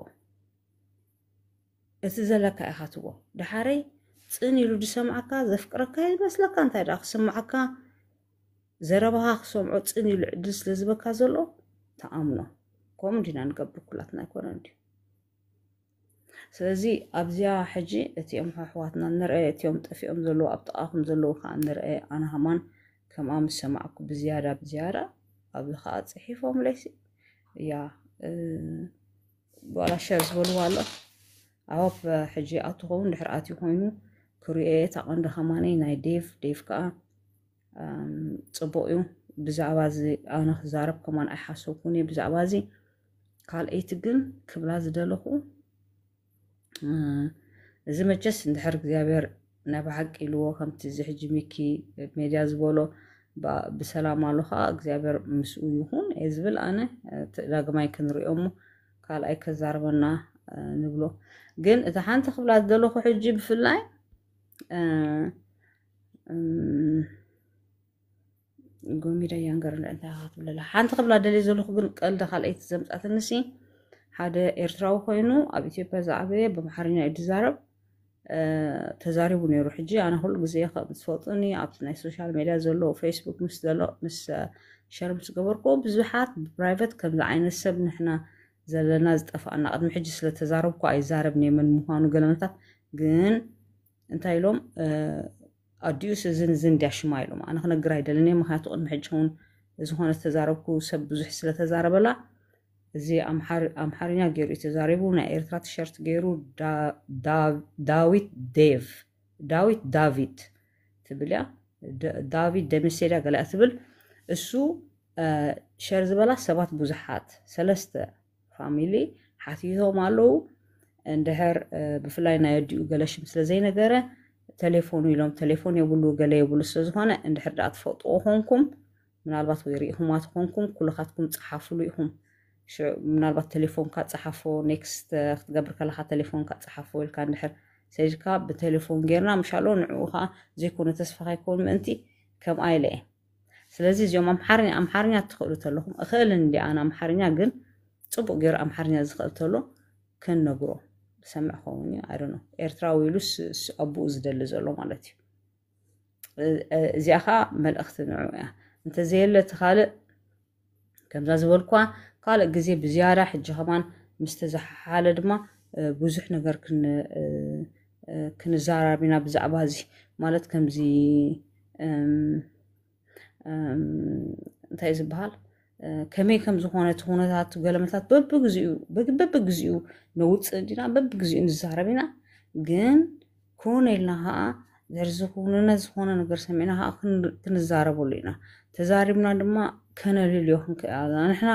እቲ ዘለካ ኢኻ ትቦ ድሓረይ ጽን ኢሉ ዝሰምዓካ ዘፍቅረካ ይመስለካ እንታይ ደኣ ክስምዓካ ዘረባኻ ክሰምዖ ጽን ኢሉ ዕድል ስለ ዝበካ ዘሎ ተኣምኖ። ከምኡ እንዲና ንገብር ኩላትና ኣይኮነን ድዩ? ስለዚ ኣብዚኣ ሕጂ እቲኦም ኣሕዋትና ንርአ እቲኦም ጠፊኦም ዘለዉ ኣብ ጥቓኹም ዘለዉ ከዓ ንርአ ኣነ ሃማን ከምኣ ምስ ሰማዕኩ ብዝያዳ ብዝያዳ ኣብዚ ከዓ ፅሒፎም ለይሲ እያ ዋላ ሸር ዝበልዋ ኣሎ ኣብ ሕጂ ኣትኸውን ድሕር ኣትዩ ኮይኑ ክሪኦ እየ እታ ቀንዲ ከማነይ ናይ ዴቭ ዴቭ ከዓ ፅቡቕ እዩ። ብዛዕባ እዚ ኣነ ክዛረብ ከማን ኣይሓሰብኩን እየ ብዛዕባ እዚ። ካልኣይቲ ግን ክብላ ዝደለኹ እዚ መቸስ እንድሕር እግዚኣብሔር ናይ ብሓቂ ኢልዎ ከምቲ እዚ ሕጂ ሚኪ ሜድያ ዝበሎ ብሰላም ኣሎ ከዓ እግዚኣብሔር ምስኡ ይኹን እየ ዝብል ኣነ። ዳግማይ ክንሪኦ እሞ ካልኣይ ከዛርበና ንብሎ። ግን እታ ሓንቲ ክብላ ዝደለኹ ሕጂ ብፍላይ ጎሚዳ ያንገር እንታይ ክትብለላ ሓንቲ ክብላ ደልየ ዘለኹ ግን ቀልዲ ካልኣይቲ ዘምፃትንሲ ሓደ ኤርትራዊ ኮይኑ ኣብ ኢትዮጵያ ዝዓበየ ብኣምሓርኛ እዩ ዝዛረብ ተዛሪቡ ነይሩ። ሕጂ ኣነ ኩሉ ግዜ ከም ዝፈልጡኒ ኣብቲ ናይ ሶሻል ሜድያ ዘሎ ፌስቡክ ምስ ዘሎ ምስ ሸር ምስ ገበርኩ ብዙሓት ብፕራይቨት ከምዚ ዓይነት ሰብ ንሕና ዘለና ዝጠፋኣና ቅድሚ ሕጂ ስለተዛረብኩ ኣይዛረብን እየ መን ምዃኑ ገለመታት ግን እንታይ ኢሎም ኣዲኡስ እዝን እዝን እንድያ ሽማ ኢሎም ኣነ ክነግር ኣይደልን እየ ምክንያቱ ቅድሚ ሕጂ እውን ዝኾነ ዝተዛረብኩ ሰብ ብዙሕ ስለተዛረበላ እዚ ኣምሓርኛ ገይሩ እዩ ተዛሪቡ ናይ ኤርትራ ቲሸርት ገይሩ ዳዊት ዴቭ ዳዊት ዳቪድ ትብል እያ ዳቪድ ደምሴዳ ገሊኣ ትብል እሱ ሸር ዝበላ ሰባት ብዙሓት ሰለስተ ፋሚሊ ሓቲቶም ኣለዉ እንድሕር ብፍላይ ናይ ኣዲኡ ገለ ሽም ስለ ዘይነገረ ተሌፎኑ ኢሎም ተሌፎን የብሉ ገለ የብሉ ስለ ዝኾነ እንድሕር ደኣ ትፈልጥዎ ኮንኩም ምናልባት ወይ ርኢኹማ ትኾንኩም ኩልኻትኩም ፀሓፍሉ ኢኹም ምናልባት ተሌፎንካ ፀሓፎ ኔክስት ክትገብር ከለካ ተሌፎንካ ፀሓፎ ኢልካ እንድሕር ሰጅካ ብቴሌፎን ጌርና ምሻሎ ንዕኡ ከዓ ዘይኮነ ተስፋ ከይከውን ምእንቲ ከምኣ ኢለ እየ ስለዚ እዚኦም ኣምሓርኛ ኣምሓርኛ ትኽእሉ ተለኹም እኽእል እንዲ ኣነ ኣምሓርኛ ግን ፅቡቅ ገይሩ ኣምሓርኛ ዝኽእል ተሎ ክንነግሮ ዝሰምዕ ኸውን እዩ ኣይ ዶንት ኖ ኤርትራዊ ኢሉ ኣቡኡ ዝደሊ ዘሎ ማለት እዩ እዚኣ ከዓ መልእኽቲ ንዑ እያ እንተዘየለ እቲ ካልእ ከምዛ ዝበልኳ ካልእ ግዜ ብዝያዳ ሕጂ ከማን ምስ ተዘሓሓለ ድማ ብዙሕ ነገር ክንዛራብ ኢና ብዛዕባ እዚ። ማለት ከምዚ እንታይ ዝበሃል ከመይ ከም ዝኾነ እቲ ኩነታት ገለመታት በብግዚኡ በብግዚኡ ነውፅእ እንዲና በብግዚኡ ንዛረብ ኢና። ግን ኮነ ኢልና ከዓ ድሕሪ ዝኩንነ ዝኾነ ነገር ሰሚዕና ከዓ ክንዛረበሉ ኢና። ተዛሪብና ድማ ከነልልዮ ክንክእል ኣለና። ንሕና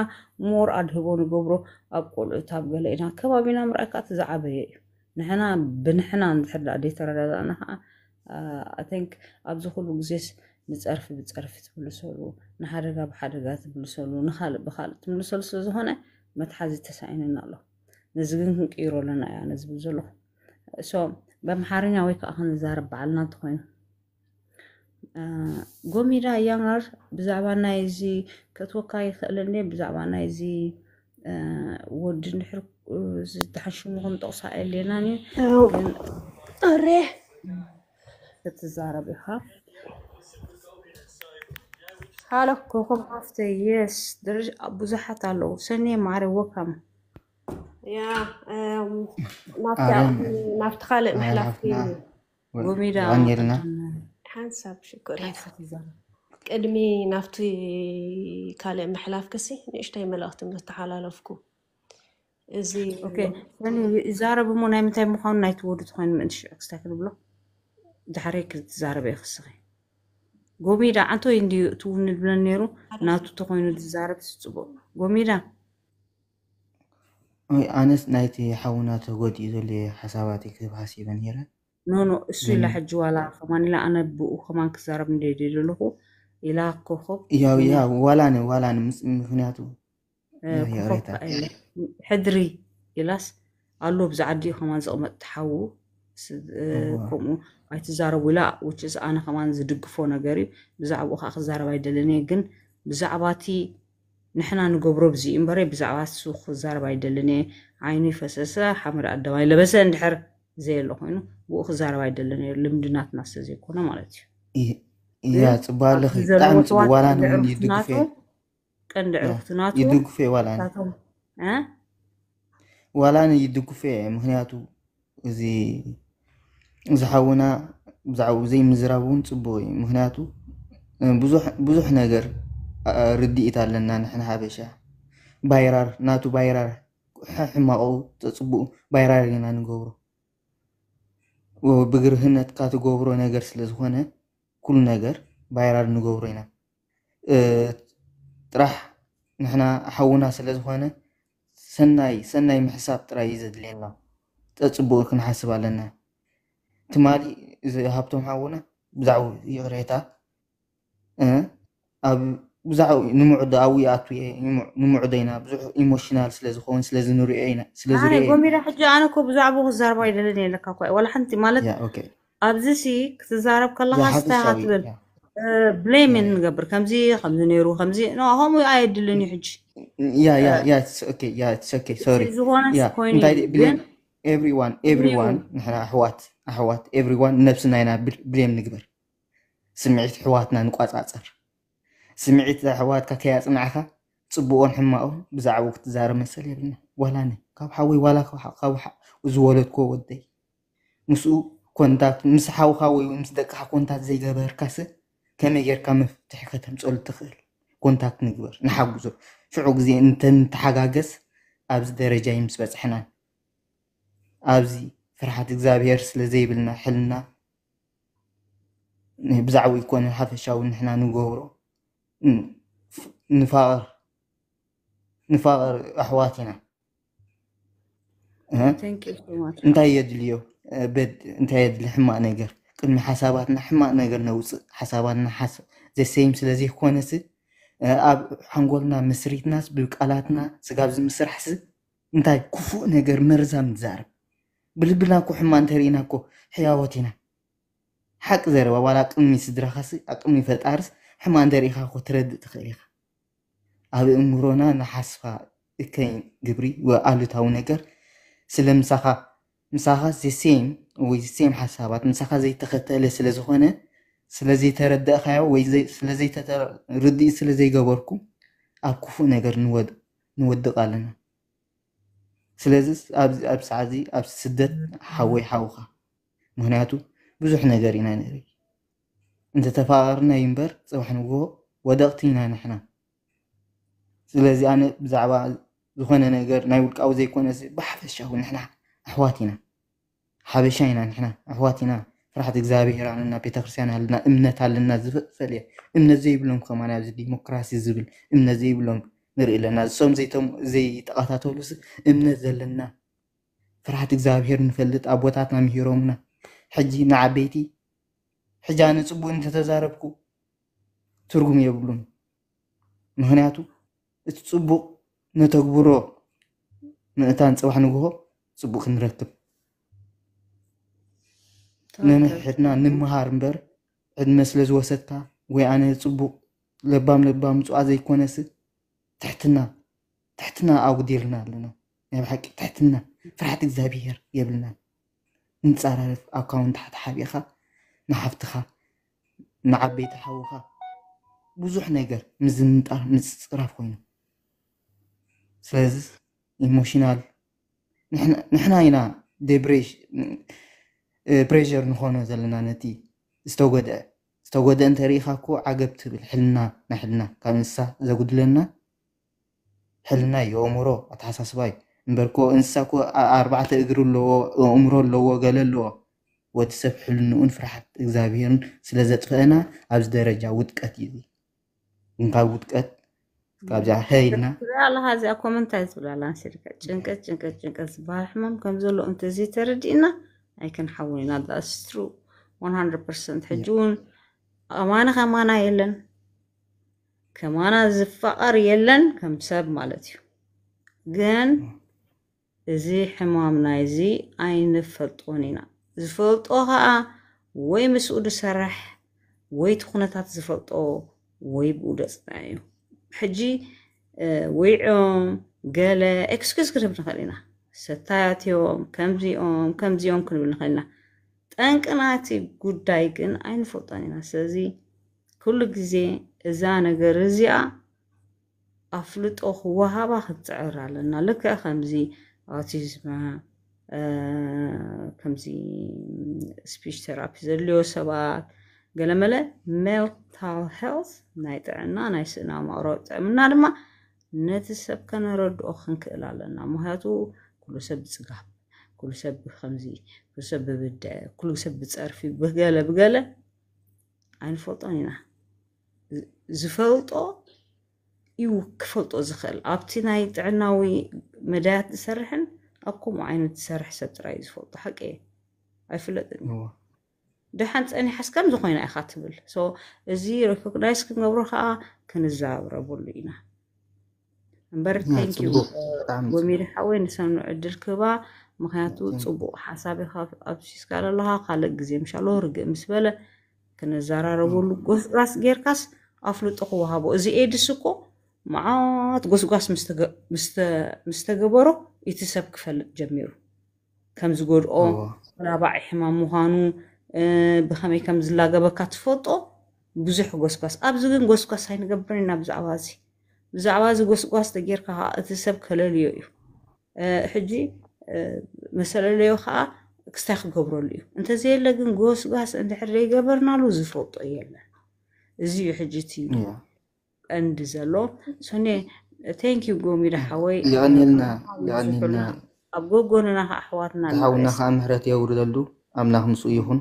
ሞር ኣድህቦ ንገብሮ ኣብ ቆልዑት ኣብ ገለ ኢና። ከባቢና ምርኣይ ከዓ እቲ ዝዓበየ እዩ። ንሕና ብንሕና እንድሕር ደኣ ደይተረዳዳእና ከዓ ኣይ ቲንክ ኣብዚ ኩሉ ግዜስ ንፀርፊ ብፀርፊ ትምልሰሉ፣ ንሓደጋ ብሓደጋ ትምልሰሉ፣ ንካልእ ብካልእ ትምልሰሉ ስለዝኾነ መትሓዚ ተሳኢንና ኣሎ። ነዚ ግን ክንቅይሮ ኣለና እያ ነዚ ዝብል ዘለኹ። ሶ በምሓርኛ ወይ ከዓ ክንዛረብ በዓልና እንተኮይኑ ጎሚዳ ያንጋር ብዛዕባ ናይ እዚ ከትወካ ይኽእል እንዴ? ብዛዕባ ናይ እዚ ወዲ እንድሕር ዝተሓሽሙ ከም ጠቕሳ የሌናን እዩ። እሬ ክትዛረብ ኢኻ። ሃሎ ኮኾብ ሃፍተ የስ ብዙሓት ኣለዉ። ሰኔ ማዕረ ወካም ያ ናብቲ ካልእ ምሕላፍ ጎሚዳ ዳንኤልና ሓንሳብ ሽኮር። ቅድሚ ናብቲ ካልእ ምሕላፍ ክሲ ንእሽተይ መልእኽቲ ምስተሓላለፍኩ እዚ ይዛረብ እሞ ናይ ምንታይ ምዃኑ ናይቲ ወዲ ተኮይኑ ምእንቲ ሽዑ ክስታይ ክንብሎ ድሓረይ ክትዛረበ ይኽስኺ። ጎሚዳ ዓንቶ እንድዩ እቲ እውን ንብለን ነይሩ ናቱ ተኮይኑ ዝዛረብ ስፅቡቅ ጎሚዳ ኣነስ ናይቲ ሓውና ተጎዲኡ ዘሎ ሓሳባት ክህብ ሓሲበ ነይረ። ኖኖ እሱ ኢላ ሕጂ ዋላ ከማን ኢላ ኣነ ብኡ ከማን ክዛረብ እንደ ደለኹ ኢላ ኮኾብ ያው ያ ዋላነ ዋላነ ምስ- ምክንያቱ ኮኾብ ከኣ ኢለ ሕድሪ ኢላስ ኣሎ ብዛ ዓዲኡ ከማን ዝቕመጥ ትሓዉ ከምኡ ኣይትዛረቡ ኢላ ውችስ ኣነ ከማን ዝድግፎ ነገር እዩ። ብዛዕባኡ ከዓ ክዛረብ ኣይደልን እየ ግን ብዛዕባ እቲ ንሕና ንገብሮ ብዚ እዩ እምበረ ብዛዕባ እሱ ክዛረብ ኣይደልን እየ። ዓይኑ ይፈሰሰ ሓመድ ኣደባይ ለበሰ እንድሕር ዘየለ ኮይኑ ብኡ ክዛረብ ኣይደልን እየ ልምዲ ናትና ስለ ዘይኮነ ማለት እዩ። ያ ፅቡቅ ኣለኺ ብጣዕሚ ፅቡቅ ዋላ ንውን ይድግፍ እየ ቀንዲ ዕርፍቲ ናቱ ይድግፍ እየ ዋላ ናቶም ዋላ ይድግፍ እየ ምክንያቱ እዚ ዝሓውና ብዛዕባኡ ዘይምዝራብ እውን ፅቡቅ እዩ ምክንያቱ ብዙሕ ነገር ርድኢት ኣለና ንሕና ሓበሻ ባይራር ናቱ ባይራር ሕማቁ ተፅቡኡ ባይራር ኢና ንገብሮ ብግርህነትካ ትገብሮ ነገር ስለዝኮነ ኩሉ ነገር ባይራር ንገብሮ ኢና ጥራሕ ንሕና ሓውና ስለዝኮነ ሰናይ ሰናይ ምሕሳብ ጥራይ እዩ ዘድልየና። ጠጽቡቕ ክንሓስብ ኣለና። ትማሊ እዚ ሃብቶም ሓውና ብዛዕባ ይቕሬታ እ ኣብ ብዛዕባ ንምዕዶ ኣብኡ ይኣቱ እየ ንምዕዶ ኢና ብዙሕ ኢሞሽናል ስለ ዝኸውን ስለ ዝንሪኦ ኢና ስለ ኣነ ዝሪኦ ጎሚዳ ሕጂ ኣነ እኮ ብዛዕባኡ ክዛረብ ኣይደልን እየ ለካ እኮ ዋላ ሓንቲ ማለት ያ ኦኬ ኣብዚ ሲ ክትዛረብ ከለኻ ዝሓፍሽ ስታይ ኢኻ ኣውይ ትብል እያ። ብሌም ንገብር ከምዚ ከምዚ ነይሩ ከምዚ ኖ ከምኡ ኣየድልን እዩ ሕጂ Yeah, yeah, yeah, it's okay. Yeah, it's okay. Sorry. ዝኾነስ Yeah. ኮይኑ እንታይ እዩ፣ ግን blame everyone, everyone. ንሕና ኣሕዋት ኣሕዋት everyone ነብስና ኢና ብሌም ንግበር። ስምዒት ኣሕዋትና ንቋጻጸር። ስምዒት ኣሕዋትካ ከያጽናዕካ ጽቡቕን ሕማቕን ብዛዕባኡ ክትዛረብ መሰል የብልና። ዋላ ነ ካብ ሓወይ ዋላ ካብ ሓ- ካብ ሓ- ዝወለድክዎ ወደይ ምስኡ ኮንታክት ምስ ሓውካ ወይ ምስ ደቅካ ኮንታክት ዘይገበርካስ ከመይ ጌርካ መፍትሒ ከተምፀሉ ትኽእል? ኮንታክት ንግበር፣ ንሓግዞ። ሽዑ ግዜ እንተንተሓጋገዝ ኣብዚ ደረጃ እዩ ምስ በፅሕና። ኣብዚ ፍርሓት እግዚኣብሔር ስለ ዘይብልና ሕልና ብዛዕባ ይኮነ ሓፈሻዊ ንሕና ንገብሮ ንፋቐር ንፋቐር ኣሕዋት ኢና። እንታይ የድልዮ በድ እንታይ የድሊ ሕማቅ ነገር ቅድሚ ሓሳባትና ሕማቅ ነገር ነውፅእ ሓሳባትና ሓስ ዘሰይም ስለዘይኮነስ ኣብ ሓንጎልና ምስሪትናስ ብቃላትና ስጋብ ዝምስራሕስ እንታይ ክፉእ ነገር መርዛም ንዛረብ ብልብና እኮ ሕማ እንተርኢና እኮ ሕያወት ኢና ሓቂ ዘረባ ዋላ ቅድሚ ስድራኻስ ኣብ ቅድሚ ፈጣርስ ሕማ እንተርኢኻ እኮ ትረድእ ትኽእል ኢኻ ኣብ እምሮና ንሓስፋ እከይ ግብሪ ወኣሉታዊ ነገር ስለ ምሳኻ ምሳኻ the same ወይ the same ሓሳባት ምሳኻ ዘይተኸተለ ስለ ዝኾነ ስለ ዘይተረዳእካዮ ወይ ዘይ- ስለ ዘይተተ- ርድኢት ስለ ዘይገበርኩም ኣብ ክፉእ ነገር ንወድ- ንወድቕ ኣለና። ስለዚ ኣብዚ ኣብ ሰዓዚ ኣብ ስደት ሓወይ ሓውኻ፣ ምክንያቱ ብዙሕ ነገር ኢና ንርኢ። እንተተፋቐርና እዩ እምበር ጽባሕ ንግሆ ወደቕቲ ኢና ንሕና። ስለዚ ኣነ ብዛዕባ ዝኾነ ነገር ናይ ውልቃዊ ዘይኮነስ ብሓፈሻዊ ንሕና ኣሕዋት ኢና። ሓበሻ ኢና ንሕና፣ ኣሕዋት ኢና። ፍርሓት እግዚኣብሔር ኣለና፣ ቤተክርስትያን ኣለና፣ እምነት ኣለና። ዝፈለየ እምነት ዘይብሎም ከማን ኣብዚ ዲሞክራሲ ዝብል እምነት ዘይብሎም ንርኢ ኣለና። እሶም ዘይቶም ዘይተቐታተሉስ እምነት ዘለና ፍርሓት እግዚኣብሔር ንፈልጥ ኣቦታትና ምሂሮምና። ሕጂ ንዓበይቲ ሕጂ ኣነ ጽቡቅ እንተተዛረብኩ ትርጉም የብሉን። ምክንያቱ እቲ ጽቡቅ ነተግብሮ ምእንታን ጽባሕ ንግሆ ጽቡቅ ክንረክብ ነንሕድሕድና ንምሃር እምበር ዕድመ ስለ ዝወሰድካ ወይ ኣነ ጽቡቅ ለባም ለባም ምጽዋ ዘይኮነስ ትሕትና ትሕትና ኣጉዲልና ኣለና። ናይ ብሓቂ ትሕትና ፍርሓት እግዚኣብሔር የብልናን። ንጻራረፍ ኣካውንት ተሓቢእኻ ንሓፍትኻ ንዓበይቲ ሓውኻ ብዙሕ ነገር ምዝንጣር ምጽራፍ ኮይኑ ስለዚ ኢሞሽናል ንሕና ኢና ደብሬሽ ፕሬር ንኾኖ ዘለና ነቲ ዝተጎድአ ዝተጎድአ እንተሪኢኻ እኮ ዓገብ ትብል ሕልና ናይ ሕልና ካብ እንስሳ ዘጉድለና ሕልና እዩ ኣእምሮ ኣተሓሳስባ እዩ እምበርኮ እንስሳ እኮ ኣርባዕተ እግሪ ኣለዎ ኣእምሮ ኣለዎ ገለ ኣለዎ ወዲ ሰብ ሕልንኡን ፍርሓት እግዚኣብሄርን ስለ ዘጥፈአና ኣብዚ ደረጃ ውድቀት እዩ ግን ካብ ውድቀት ካብዚኣ ከይልና ትሪኣ ኣለኻ እዚኣ ኮመንት እንታይ ትብል ኣላ ንስልካ ጭንቀት ጭንቀት ጭንቀት ዝበሃል ሕማም ከም ዘሎ እንተዘይ ተረዲእና ኣይክንሓውን ኢና that's true one hundred percent ሕጂ እውን ኣማኒ ከማና የለን ከማና ዝፋቐር የለን ከም ሰብ ማለት እዩ ግን እዚ ሕማም ናይዚ ኣይንፈልጦን ኢና ዝፈልጦ ከዓ ወይ ምስኡ ዝሰርሕ ወይ እቲ ኩነታት ዝፈልጦ ወይ ብኡ ደፅና እዩ ሕጂ ወይዖም ገለ ኤክስኪዝ ክንብል ንኽእል ኢና ሰታያት እዮም ከምዚኦም ከምዚኦም ክንብል ንኽእል ኢና ጠንቂ ናቲ ጉዳይ ግን ኣይንፈልጦን ኢና ስለዚ ኩሉ ግዜ እዛ ነገር እዚኣ ኣፍልጦ ክወሃባ ክትፅዕር ኣለና ልክዕ ከምዚ ኣውቲዝም ከምዚ ስፒች ቴራፒ ዘድልዮ ሰባት ገለመለ ሜንታል ሄልት ናይ ጥዕና ናይ ስእና ማእሮ ጥዕምና ድማ ነቲ ሰብ ከነረድኦ ክንክእል ኣለና ምክንያቱ ኩሉ ሰብ ብፅጋብ ኩሉ ሰብ ብከምዚ ኩሉ ሰብ ብብድዐ ኩሉ ሰብ ብፀርፊ ብገለ ብገለ ኣይንፈልጦን ኢና ዝፈልጦ እዩ ክፈልጦ ዝኽእል ኣብቲ ናይ ጥዕናዊ መዳያት ዝሰርሕን ኣብ ከምኡ ዓይነት ዝሰርሕ ሰብ ጥራይ እዩ ዝፈልጦ ሓቂ እየ ኣይፍለጥን እዩ ደሓን ፀኒሓስ ከም ዝኾይና ኢኻ ትብል እዚ ሬኮግናይዝ ክንገብሮ ከዓ ክንዛረበሉ ኢና እምበር ጎሚሪ ሓወይ ንሰኑ ዕድል ክባ ምክንያቱ ፅቡቅ ሓሳብ ኢኻ ኣብሲስካ ዘለኻ ካልእ ግዜ ምሻሎ ርግእ ምስ በለ ክንዘራረበሉ ጎስጓስ ጌርካስ ኣፍልጦ ክወሃቦ እዚ ኤድስ እኮ መዓት ጎስጓስ ምስ ተገበሮ እቲ ሰብ ክፈልጥ ጀሚሩ ከም ዝጎድኦ ተላባዒ ሕማም ምዃኑ ብኸመይ ከም ዝላገበካ ትፈልጦ ብዙሕ ጎስጓስ ኣብዚ ግን ጎስጓስ ኣይንገብርን ኢና ብዛዕባ እዚ ብዛዕባ እዚ ጎስጓስ ተጌርካ ከዓ እቲ ሰብ ከለልዮ እዩ ሕጂ መሰለለዮ ከዓ ክስታይ ክገብረሉ እዩ እንተዘየለ ግን ጎስጓስ እንድሕር ዘይገበርናሉ ዝፈልጦ የለን እዚ እዩ ሕጂ እቲ ቀንዲ ዘሎ ሶኔ thank you ጎሚዳ ሓወይ የቐንየልና የቐንየልና ኣብ ጎጎንና ከዓ ኣሕዋትና ዝሓውና ከዓ ምሕረት የውርደሉ ኣምላኽ ምስኡ ይኹን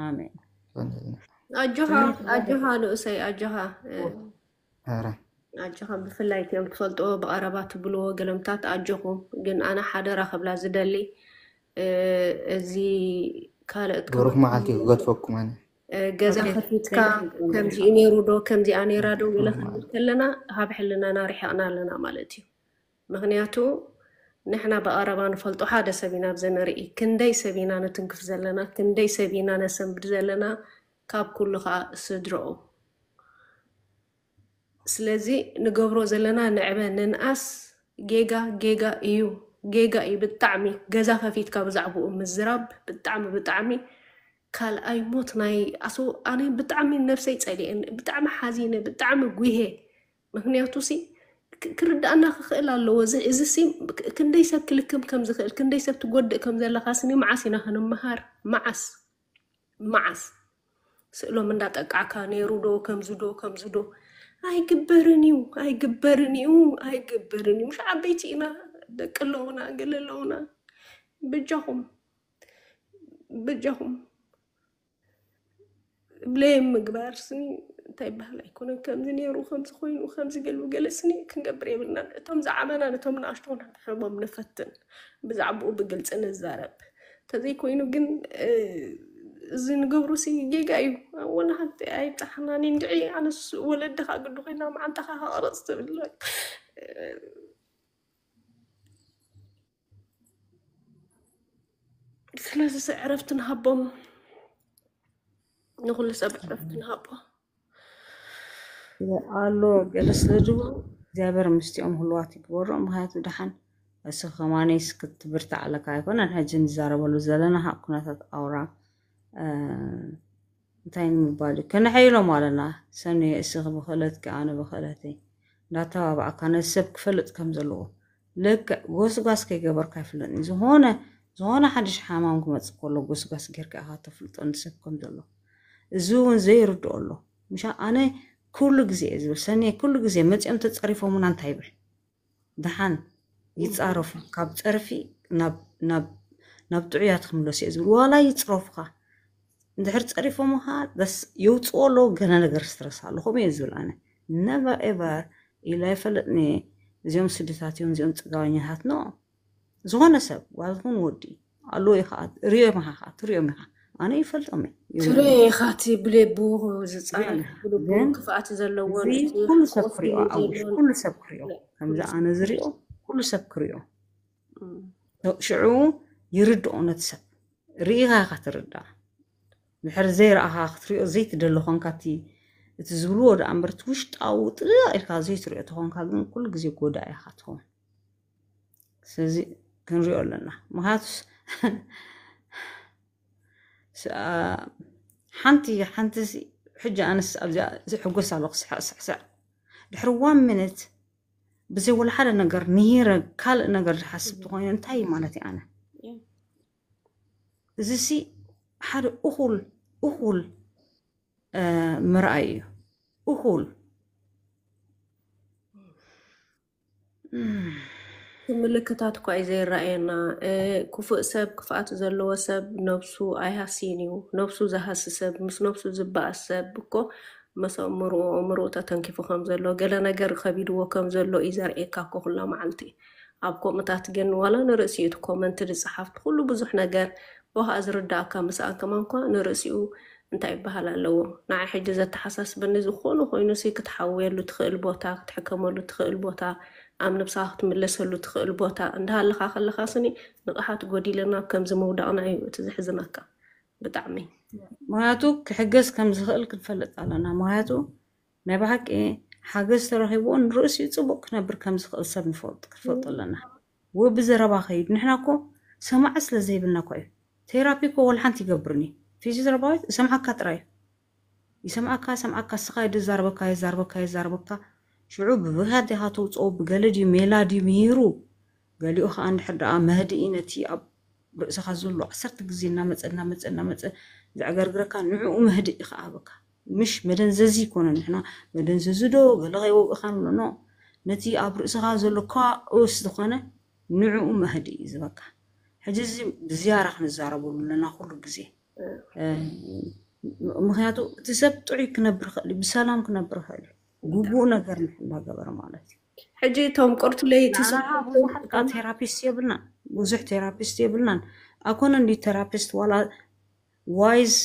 ኣሜን ኣጆኻ ኣጆኻ ንኡሰይ ኣጆኻ ኣረ ኣጆኻ ብፍላይ እቲኦም ትፈልጥዎ ብቐረባ ትብልዎ ገለምታት ኣጆኹም ግን ኣነ ሓደራ ክብላ ዝደሊ እዚ ካልኦት ብሩክ መዓልቲ ክገድፈኩም ኣነ ገዛ ከፊትካ ከምዚኡ ነይሩ ዶ ከምዚኣ ነይራ ዶ ገለ ክንብል ከለና ካብ ሕልናና ርሒቕና ኣለና ማለት እዩ ምክንያቱ ንሕና ብቐረባ ንፈልጦ ሓደ ሰብ ኢና ኣብዚ ንርኢ ክንደይ ሰብ ኢና ንትንክፍ ዘለና ክንደይ ሰብ ኢና ነሰንብድ ዘለና ካብ ኩሉ ከዓ ስድረኡ ስለዚ ንገብሮ ዘለና ንዕበ ንንኣስ ጌጋ ጌጋ እዩ ጌጋ እዩ ብጣዕሚ ገዛ ከፊትካ ብዛዕባኡ ምዝራብ ብጣዕሚ ብጣዕሚ ካልኣይ ሞት ናይ ኣሶ ኣነ ብጣዕሚ ነብሰይ ጸሊኤን ብጣዕሚ ሓዚነ ብጣዕሚ ጉሄ። ምክንያቱ ሲ ክ- ክርዳእና ክኽእል ኣለዎ። እዚ እዚ ሲ ክ- ክንደይ ሰብ ክልክም ከም ዝኽእል ክንደይ ሰብ ትጎድእ ከም ዘለካ ስኒ መዓስ ኢና ክንመሃር? መዓስ መዓስ ስእሎም እንዳጠቃዕካ ነይሩ ዶ ከምዚ ዶ ከምዚ ዶ? ኣይግበርን እዩ፣ ኣይግበርን እዩ፣ ኣይግበርን እዩ። ምሽ ዓበይቲ ኢና፣ ደቂ ኣለውና፣ ገለ ኣለውና። ብጃኹም ብጃኹም ብለይ ምግባር ስኒ እንታይ ይበሃል ኣይኮነን። ከምዚ ነይሩ ከምዚ ኮይኑ ከምዚ ገሉ ገለ ስኒ ክንገብር የብልናን። እቶም ዝዓበና ነቶም ንኣሽቶን ሕቦም ንፈትን፣ ብዛዕባኡ ብግልፂ ንዛረብ። ተዘይኮይኑ ግን እዚ ንገብሩ ሲ ጌጋ እዩ። ወላ ሓንቲ ኣይብፃሕናን እንድዒ። ኣነስ ወለድኻ ግዲ ኮይና መዓንጣኻ ከቕረፅ ትብል። ስለዚ ሲ ዕረፍቲ ንሃቦም፣ ንኩሉ ሰብ ዕረፍቲ ንሃቦ። ኣሎ ገለ ስለ ዝብሉ እግዚኣብሔር ምስቲኦም ህልዋት ይግበሮም። ምክንያቱ ደሓን እስኺ ከማነይስ ክትብርታዕ ኣለካ ኣይኮነን። ሕጂ ንዛረበሉ ዘለና ካ ኩነታት ኣውራ እንታይ ንምባል እዩ? ከነሐይሎም ኣለና። ሰኒ እስኺ ብክእለትኪ ኣነ ብክእለተይ እንዳተባባዕካ ነቲ ሰብ ክፈልጥ ከም ዘለዎ። ልክዕ ጎስጓስ ከይገበርካ ኣይፍለጥን። ዝኾነ ዝኾነ ሓድሽ ሓማም ክመፅእ ከሎ ጎስጓስ ጌርካ ኢኻ ተፍልጦ ንሰብ ከም ዘሎ። እዚ እውን ዘይርድኦ ኣሎ። ምሻ ኣነ ኩሉ ግዜ እየ ዝብል። ሰኒ ኩሉ ግዜ መፂኦም ተፀሪፎምና እንታይ ይብል? ደሓን ይፃረፉ። ካብ ፀርፊ ናብ ናብ ናብ ጥዑያት ክምለሱ እየ ዝብል። ዋላ ይፅረፉኻ እንድሕር ፀሪፎምኻ በስ የውፅኦ ኣለዉ። ገለ ነገር ስትረስ ኣሎ ከምኡ እየ ዝብል ኣነ። ነቨር ኤቨር ኢለ ኣይፈልጥን እየ። እዚኦም ስድታት እዮም፣ እዚኦም ፅጋበኛታት ኖ። ዝኾነ ሰብ ጓል ትኹን ወዲ ኣለዉ ኢኻ ሪኦም ኢኻ ትሪኦም ኢኻ። ኣነ ይፈልጦም እየ። ትሪኦ ኢኻ እቲ ብሌቡ ዝፃረፍ ብልቡ ግን ክፍኣት ዘለዎን እዚ እቲ ኩሉ ሰብ ክሪኦ ኣውሽ ዘለዎን ኩሉ ሰብ ክሪኦ ከምዚ ኣነ ዝሪኦ ኩሉ ሰብ ክሪኦ እም። ሽዑ ይርድኦ ነቲ ሰብ ርኢኻ ኢኻ ትርዳእ። ድሕሪ ዘይረኣኻ ክትሪኦ ዘይትደሊ ኾንካ እቲ እቲ ዝብልዎ ደኣ እምበር እቲ ውሽጣዊ ጥልቕ ኢልካ ዘይትሪኦ ተኾንካ ግን ኩሉ ግዜ ጎዳኢ ኢኻ ትኸውን። ስለዚ ክንሪኦ ኣለና። ምክንያቱስ ስ- ሓንቲ ሓንቲ ሲ- ሕጂ ኣነስ ኣብዚኣ ዝሕጎስ ኣለኹ ስሕዕ ስሕስዕ ድሕሪ ዋን ሚኒት ብዘይ ወላ ሓደ ነገር ንሂረ ካልእ ነገር ዝሓስብ ተኾይነ እንታይ እዩ ማለት እዩ ኣነ እዚ ሲ ሓደ እኹል እኹል ምርኣይ እዩ እኹል ምልክታት እኳ እዩ ዘይረኣየና። ክፉእ ሰብ ክፍኣት ዘለዎ ሰብ ነብሱ ኣይሃስይን እዩ። ነብሱ ዝሃሲ ሰብ ምስ ነብሱ ዝበኣስ ሰብ እኮ መስ ኣእምርኡ ኣእምርኡ ተተንኪፉ ከም ዘሎ ገለ ነገር ከቢድዎ ከም ዘሎ እዩ ዘርእየካ እኮ ኩላ መዓልቲ። ኣብ ከምኡታት ግን ዋላ ንርእሲኡ እቲ ኮመንት ዝጸሓፍቲ ኩሉ ብዙሕ ነገር ኦህ ዝርዳእካ ምስኣን ከማን እኳ ንርእሲኡ እንታይ ይበሃል ኣለዎ። ንዓይ ሕጂ ዘተሓሳስበኒ ዝኾነ ኮይኑ ሲ ክትሓውየሉ ትኽእል ቦታ ክትሕከመሉ ትኽእል ቦታ ኣብ ነብስኻ ክትምለሰሉ ትኽእል ቦታ እንዳሃለኻ ከለኻ ስኒ ንቕሓት ጎዲለና ኣብ ከምዚ ምውዳቕና እዩ እቲ ዘሕዝነካ ብጣዕሚ። ምክንያቱ ክሕገዝ ከም ዝኽእል ክንፈልጥ ኣለና። ምክንያቱ ናይ ብሓቂ ሓገዝ ተረኺብዎ ንርእሲኡ ጽቡቕ ክነብር ከም ዝኽእል ሰብ ንፈልጥ ክትፈልጡ ኣለና። ወ ብዘረባ ከይዱ ንሕና እኮ ሰማዒ ስለ ዘይብልና እኮ እዩ። ቴራፒ እኮ ወላ ሓንቲ ይገብርን እዩ። ፊዚዮቴራፓዊስት እሰምዓካ ጥራይ እዩ። ይሰምዓካ ይሰምዓካ እስኻ ድዛርበካ የዛርበካ የዛርበካ ሽዑ ብብህያት ዲኻ ተውፅኦ ብገለ ድዩ ሜላ ድዩ ምሂሩ ገሊኡ ከዓ እንድሕር ደኣ መህድኢ ነቲ ኣብ ርእስኻ ዘሎ ዓሰርተ ግዜ እናመፀ እናመፀ እናመፀ ዘዕገርግረካ ንዕኡ መህድኢ ከዓ በካ ምሽ መደንዘዚ ይኮነ ንሕና መደንዘዚ ዶ ገለ ከይወግእካ ንብሎ ኖ ነቲ ኣብ ርእስኻ ዘሎ ኳኡስ ዝኾነ ንዕኡ መህድኢ እዩ ዝበካ ሕጂ እዚ ብዝያራ ክንዛረበሉ ኣለና ኩሉ ግዜ ምክንያቱ እቲ ሰብ ጥዑይ ክነብር ይኽእል እዩ ብሰላም ክነብር ይኽእል እዩ ግቡእ ነገር እንዳገበረ ማለት እዩ ሕጂ እቶም ቁርቱ ለይቲ ንዓና ብዙሓት ከዓ ቴራፒስት የብልናን ብዙሕ ቴራፒስት የብልናን ኣኮነ እንዲ ቴራፒስት ዋላ ዋይዝ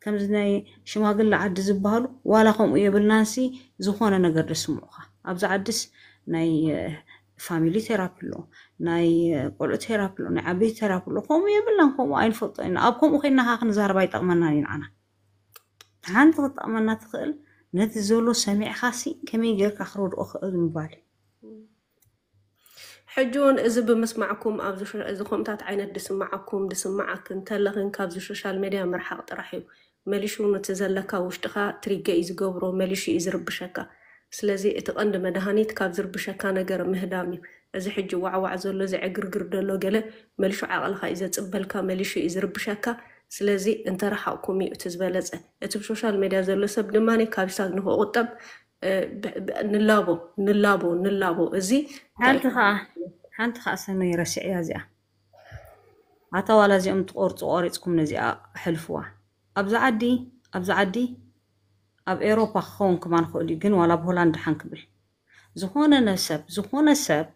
ከምዚ ናይ ሽማግለ ዓዲ ዝበሃሉ ዋላ ከምኡ የብልናንሲ ዝኾነ ነገር ደስምዑኻ ኣብዚ ዓድስ ናይ ፋሚሊ ቴራፒ ኣሎ ናይ ቆልዑ ቴራፒ ኣሎ ናይ ዓበይቲ ቴራፒ ኣሎ ከምኡ የብልናን ከምኡ ኣይንፈልጦ ኢና ኣብ ከምኡ ኮይና ከዓ ክንዛረብ ኣይጠቕመናን እዩ ንዓና ሓንቲ ክትጠቕመና ትኽእል ነቲ ዘሎ ሰሚዕኻሲ ከመይ ጌርካ ክረድኦ ክእል ምባል እዩ ሕጂ እውን እዚ ብምስማዕኩም ኣብዚ ሾ- እዚ ከምታት ዓይነት ድስማዓኩም ድስማዓክን ተለኽን ካብዚ ሶሻል ሜድያ ምርሓቕ ጥራሕ እዩ። መሊሹ ነቲ ዘለካ ውሽጥኻ ትሪገ እዩ ዝገብሮ፣ መሊሹ እዩ ዝርብሸካ። ስለዚ እቲ ቀንዲ መድሃኒት ካብ ዝርብሸካ ነገር ምህዳም እዩ። እዚ ሕጂ ዋዕዋዕ ዘሎ እዚ ዕግርግር ዘሎ ገለ መሊሹ ዓቕልኻ እዩ ዘጽበልካ፣ መሊሹ እዩ ዝርብሸካ። ስለዚ እንተረሓቕኩም እዩ እቲ ዝበለጸ። እቲ ብሶሻል ሜድያ ዘሎ ሰብ ድማ ካብ ሳግ ንክቑጠብ እ፣ ብ- ብ- ንላቦ ንላቦ ንላቦ እዚ እንታይ ሓንቲ ከዓ ሓንቲ ከዓ ሰነይ ረሲዕያ እዚኣ። ኣታ ዋላ እዚኦም ትቆርፁ ቆሪፅኩም ነዚኣ ኣሕልፍዋ። ኣብዚ ዓዲ ኣብዚ ዓዲ ኣብ ኤሮፓ ክኸውን ክማን ክእል እዩ፣ ግን ዋላ ኣብ ሆላንድ ሓን ክብል ዝኾነ ነሰብ ዝኾነ ሰብ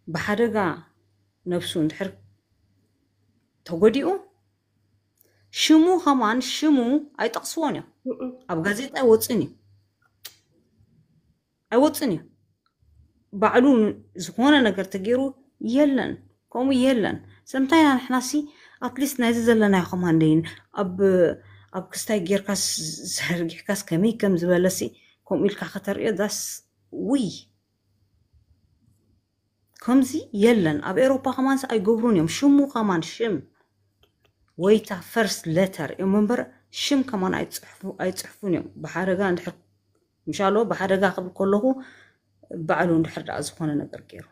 ብሓደጋ ነብሱ እንድሕር ተጎዲኡ ሽሙ ከማን ሽሙ ኣይጠቕስዎን እዮም። ኣብ ጋዜጣ ኣይወፅን እዩ ኣይወፅን እዩ። ባዕሉ ዝኾነ ነገር ተገይሩ የለን፣ ከምኡ የለን። ስለምንታይ ኢና ንሕናሲ ኣትሊስት ናይዚ ዘለናዮ ከማን ደይን ኣብ ኣብ ክስታይ ጌርካስ ዘርጊሕካስ ከመይ ከም ዝበለሲ ከምኡ ኢልካ ከተርእዮ ዳስ ውይ ከምዚ የለን። ኣብ ኤሮፓ ከማንስ ኣይገብሩን እዮም። ሽሙ ከማን ሽም ወይታ ፈርስት ሌተር እዮም እምበር ሽም ከማን ኣይፅሕፉ- ኣይፅሕፉን እዮም። ብሓደጋ እንድሕር ምሻሎ ብሓደጋ ክብል ከለኹ ባዕሉ እንድሕር ደኣ ዝኾነ ነገር ገይሩ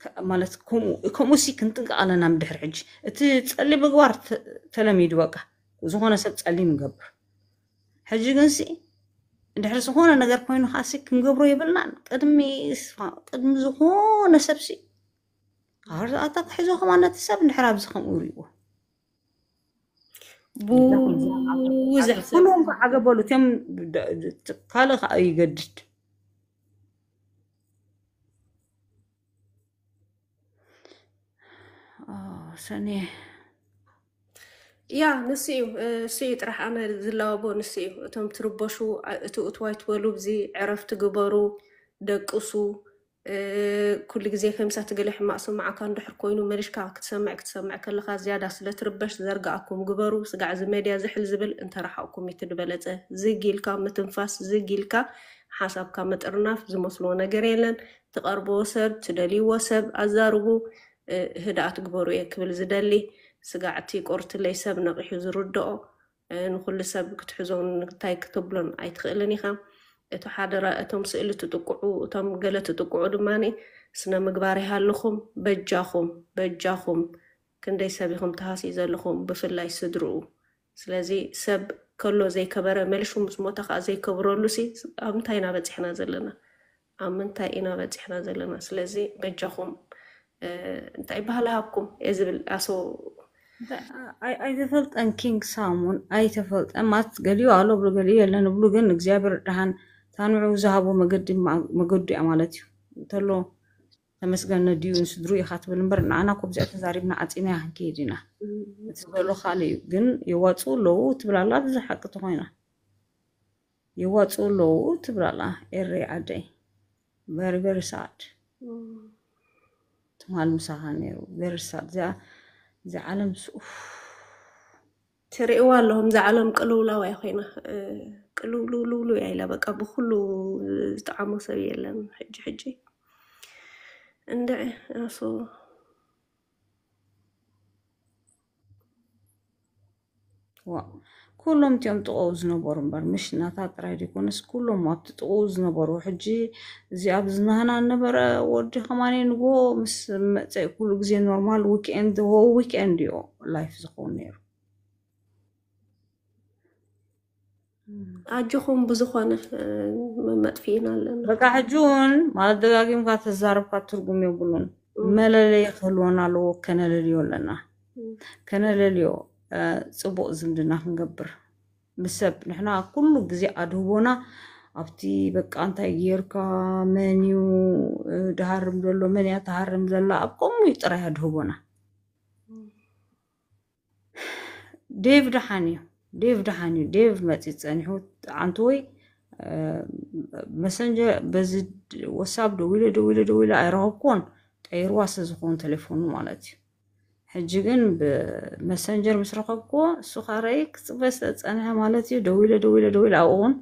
ከ- ማለት ከምኡ ከምኡ ሲ ክንጥንቀቕ ኣለና። ምድሕር ሕጂ እቲ ጸሊም ምግባር ተ- ተለሚዱ በቃ ዝኾነ ሰብ ጸሊም ይገብር። ሕጂ ግን ሲ እንድሕር ዝኾነ ነገር ኮይኑ ከዓሲ ክንገብሮ የብልናን። ቅድሚ ስፋ- ቅድሚ ዝኾነ ሰብ ሲ ኣታ ክሕዞ ከማን ነቲ ሰብ እንድሕር ኣብዚ ከምኡ ይርእዎ ብዙሕ ሰብ ኩሎም ከዓ ገበሉ እቲኦም ደ- ደ- ካልእ ከዓ ይገድድ። ኦ፣ ሰኔ ያ ንሱ እዩ እ፣ እሱ እዩ ጥራሕ ኣነ ዝላወቦ ንሱ እዩ። እቶም ትርበሹ እ፣ እትኡ ትዋይ ትበሉ ብዚ ዕረፍቲ ግበሩ፣ ደቅሱ። እ፣ ኩሉ ግዜ ከምሳ ትገለ ሕማቕ ስማዓካ እንድሕር ኮይኑ መሊሽካ ክትሰምዕ ክትሰምዕ ከለኻ ዝያዳ ስለ ትርበሽ ዘርግኣኩም ግበሩ። ስጋዕ እዚ ሜድያ ዝሕል ዝብል እንተረሓቕኩም እዩ እቲ ዝበለጸ። ዝግ ኢልካ ምትንፋስ፣ ዝግ ኢልካ ሓሳብካ ምጥርናፍ ዝመስሎ ነገር የለን። ትቐርብዎ ሰብ፣ ትደልይዎ ሰብ ኣዛርቡ። እ፣ ህድኣት ግበሩ እየ ክብል ዝደሊ። ስጋዕ እቲ ቆርትለይ ሰብ ነቒሑ ዝርድኦ፣ እ፣ ንኹሉ ሰብ ክትሕዞን እንታይ ክትብሎን ኣይትኽእልን ኢኻ። እቲ ሓደራ እቶም ስእሊ ትጥቅዑ፣ እቶም ገለ ትጥቅዑ ድማ ስነ ምግባር ይሃልኹም። በጃኹም፣ በጃኹም ክንደይ ሰብ ኢኹም ተሃስዩ ዘለኹም፣ ብፍላይ ስድርኡ። ስለዚ ሰብ ከሎ ዘይከበረ መሊሹ ምስ ሞተ ከዓ ዘይከብረሉ ሲ ኣብ እንታይ ኢና በፂሕና ዘለና? ኣብ ምንታይ ኢና በፂሕና ዘለና? ስለዚ በጃኹም እ፣ እንታይ ባህሊ ሃብኩም እየ ዝብል ኣሶ ኣይ- ኣይተፈልጠን ኪንግ ሳሙን ኣይተፈልጠን ማለት ገሊኡ ኣሎ ብሉ ገሊኡ የለን ብሉ ግን እግዚኣብሔር ድሓን ታንዑ ዝሃቦ መገዲ ማ- መገዱ እያ ማለት እዩ እንተሎ ተመስገን ነድዩ ንስድሩ ኢኻ ትብል እምበር ንዓና እኮ ብዚኣ ተዛሪብና ዓፂና ክንከይድ ኢና እቲ ዘሎ ካልእ እዩ ግን የዋፅኡ ኣለዉ ትብል ኣላ እዚ ሓቂ ተኮይና የዋፅኡ ኣለዉ ትብል ኣላ ኤረይ ዓደይ very very sad ትማል ምሳኻ ነይሩ very sad እዚኣ እዚ ዓለም ስ- ኡፍ። ትርእይዋ ኣለኹም እዛ ዓለም ቅልውላው እያ ኮይና እ፣ ቅልውልውልውሉ እያ ኢላ በቃ ብኩሉ ዝጠዓሞ ሰብ የለን ሕጂ ሕጂ እንድዒ ኣሶ ዋ ኩሎም እቲኦም ጥቕኡ ዝነበሩ እምበር ምሽ ናታ ጥራይ ዘይኮነስ ኩሎም ኣብቲ ጥቕኡ ዝነበሩ ሕጂ እዚ ኣብ ዝናህና ነበረ ወዲ ከማኒ ንጎ ምስ መፀ ኩሉ ግዜ ኖርማል ዊክኤንድ ሆ ዊክኤንድ ዮ ላይፍ ዝኸውን ነይሩ ኣጆኹም ብዝኾነ እ፣ መመጥፊእና ኣለና በቃ ሕጂ እውን ማለት ደጋጊምካ ተዛረብካ ትርጉም የብሉን መለለይ ክህልወና ኣለዎ ከነለልዮ ኣለና ከነለልዮ እ፣ ፅቡቅ ዝምድና ክንገብር ምስ ሰብ ንሕና ኩሉ ግዜ ኣድህቦና ኣብቲ በቃ እንታይ ጌርካ መን እዩ እ፣ ድሃርም ዘሎ መን እያ ትሃርም ዘላ ኣብ ከምኡ እዩ ጥራይ ኣድህቦና ዴቭ ደሓን እዩ ዴቭ ደሓን እዩ ዴቭ መፂ ፀኒሑ ዓንትወይ መሰንጀር በዚ ወሳብ ደዊለ ደዊለ ደዊለ ኣይረኸብኩዎን ቀይርዋ ስለ ዝኸውን ቴሌፎኑ ማለት እዩ ሕጂ ግን ብመሰንጀር ምስ ረኸብኩዎ እሱ ካረይ ክፅበ ስለ ዝፀንሐ ማለት እዩ ደዊለ ደዊለ ደዊለ ኣብኡ እውን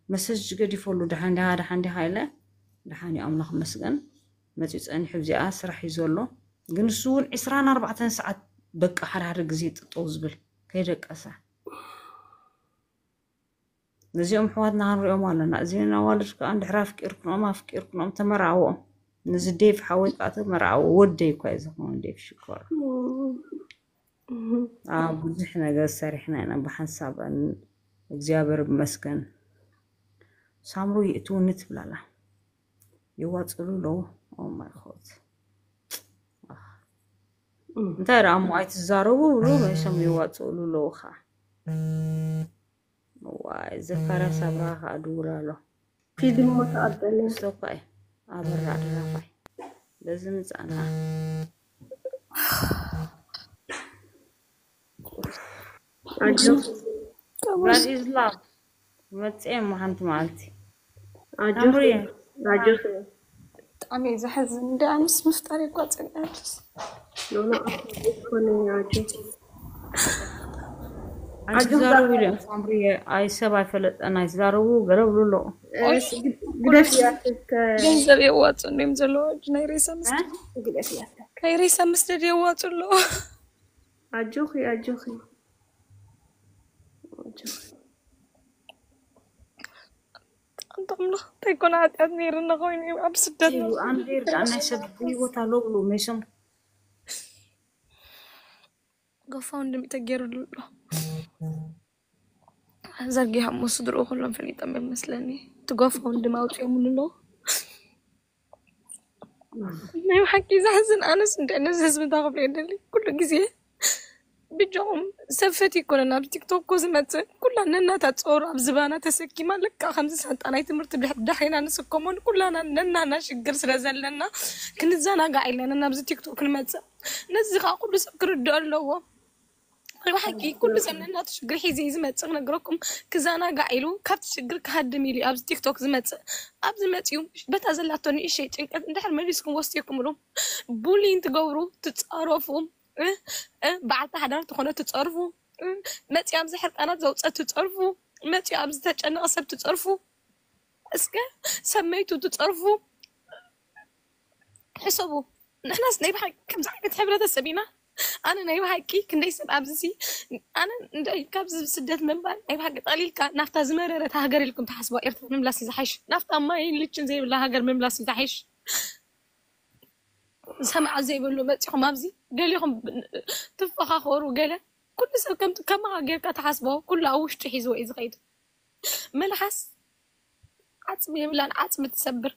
መሰጅ ገዲፈሉ ደሓን ዲኻ ደሓን ዲኻ ኢለ ደሓን እዩ ኣምላኽ መስገን መፂኡ ጸኒሑ ብዚኣ ስራሕ እዩ ዘሎ። ግን እሱ እውን ዕስራን ኣርባዕተን ሰዓት በቃ ሓደ ሓደ ግዜ ጥጠው ዝብል ከይደቀሰ። ነዚኦም ኣሕዋትና ክንሪኦም ኣለና። እዚን ኣዋልድ ከዓ እንድሕር ኣፍቂርክኖም ኣፍቂርክኖም ተመርዓዎም። ነዚ ዴቭ ሓወይ ከዓ ተመርዓዎ። ወደይ እኳ እዩ ዝኸውን ዴቭ ሽኮር። ኣብ ብዙሕ ነገር ሰሪሕና ኢና ብሓንሳብ እግዚኣብሔር ይመስገን። ሳምሩ ይእትውኒ ትብላላ ይዋፅሉ ኣለዉ። ኦማይ ኮት እንታይ ደኣ እሞ ኣይትዛረቡ ብሉ መይሶም ይዋፅሉ ኣለዉ ከዓ ዋይ ዘካርያስ ኣብርሃ ከዓ ድውል ኣሎ። ፊልም ሞ ተቐበለ ስቶፓይ ኣበራ ድራፋይ በዚ ምፃና ኣጆ God is love መፅኤ እሞ ሓንቲ መዓልቲ ኣጆ ኣምሪ ኣጆ ብጣዕሚ እዩ ዘሕዝን። እንደ ኣነስ ምፍጣር የቋፅል ኣጆስ ኖኖ ኮነ ኣጆ ኣይትዛረቡ ኢሎም ሳምሪ ኣይ ሰብ ኣይፈለጠን ኣይትዛረቡ ገለ ብሉ ኣለዉ ግደፍ ያትከ ገንዘብ የዋፁ እንዲም ዘለዋ ናይ ሬሳ ምስ ግደፍ ያትከ ናይ ሬሳ ምስደድ የዋፁ ኣለዎ። ኣጆኺ ኣጆኺ ኣንተ ኣምላኽ እንታይ ኮነ ሓጢኣት ነይርና ኮይኑ ኣብ ስደት ኣንዴር ከዓ ናይ ሰብ ህይወት ኣሎ ብሉ መይሶም ጎፋውንድሚ ተገይሩሉ ኣሎ። ዘርጊሖም ስድርኡ ኩሎም ፈሊጦም እዮም መስለኒ። እቲ ጎፋውንድሚ ኣውፂኦምሉ ኣለዉ። ናይ ብሓቂ ዘሕዝን። ኣነስ እንደ ነዚ ህዝቢ እንታይ ክብሎ የደሊ ኩሉ ግዜ ብጃኹም ሰብ ፈት ይኮነን ኣብ ቲክቶክ ኮ ዝመፅእ ኩላ ነናታ ፀሩ ኣብ ዝባና ተሰኪማ ልካ ከምዚ ሳንጣ ናይ ትምህርቲ ድሕ- ዳሒና ንስከሞን ኩላና ነናና ሽግር ስለ ዘለና ክንዘናጋዕ ኢለና ናብዚ ቲክቶክ ንመፅእ። ነዚ ከዓ ኩሉ ሰብ ክርድኦ ኣለዎ። ናይ ብሓቂ ኩሉ ሰብ ነናቱ ሽግር ሒዘ እዩ ዝመፅእ ክነግረኩም። ክዘናጋዕ ኢሉ ካብቲ ሽግር ክሃድም ኢሉ እዩ ኣብዚ ቲክቶክ ዝመፅእ። ኣብዚ መፅኡ በታ ዘላቶ ንእሸይ ጭንቀት እንድሕር መሊስኩም ወስድኩምሉ ቡሊን ትገብሩ ትፃረፉ እ፣ እ፣ በዓልቲ ሓዳር ትኾነ ትፀርፉ እ፣ መፂኡ ኣብዚ ሕርቃናት ዘውፀት ትፀርፉ መፂኡ ኣብዚ ተጨነቐ ሰብ ትፀርፉ እስከ ሰመይቱ ትፀርፉ ሕሰቡ። ንሕናስ ናይ ብሓቂ ከምዚ ዓይነት ሕብረተሰብ ኢና። ኣነ ናይ ብሓቂ ክንደይ ሰብ ኣብዚ ኣነ እንደ ካብዚ ስደት ምንባር ናይ ብሓቂ ጠሊልካ ናብታ ዝመረረት ሃገር ኢልኩም ትሓስባ ኤርትራ ምምላስ እዩ ዝሓይሽ። ናብታ ማይን ልችን ዘይብላ ሃገር ምምላስ እዩ ዝሓይሽ። ሰማዕ ዘይብሉ መፂኹም ኣብዚ ገሊኹም ትፈኻኸሩ ገለ ኩሉ ሰብ ከም ከማኻ ጌርካ ትሓስቦ ኩሉ ኣብ ውሽጡ ሒዝዎ እዩ ዝኸይድ። መልሓስ ዓፅሚ የብላን ዓፅሚ ትሰብር።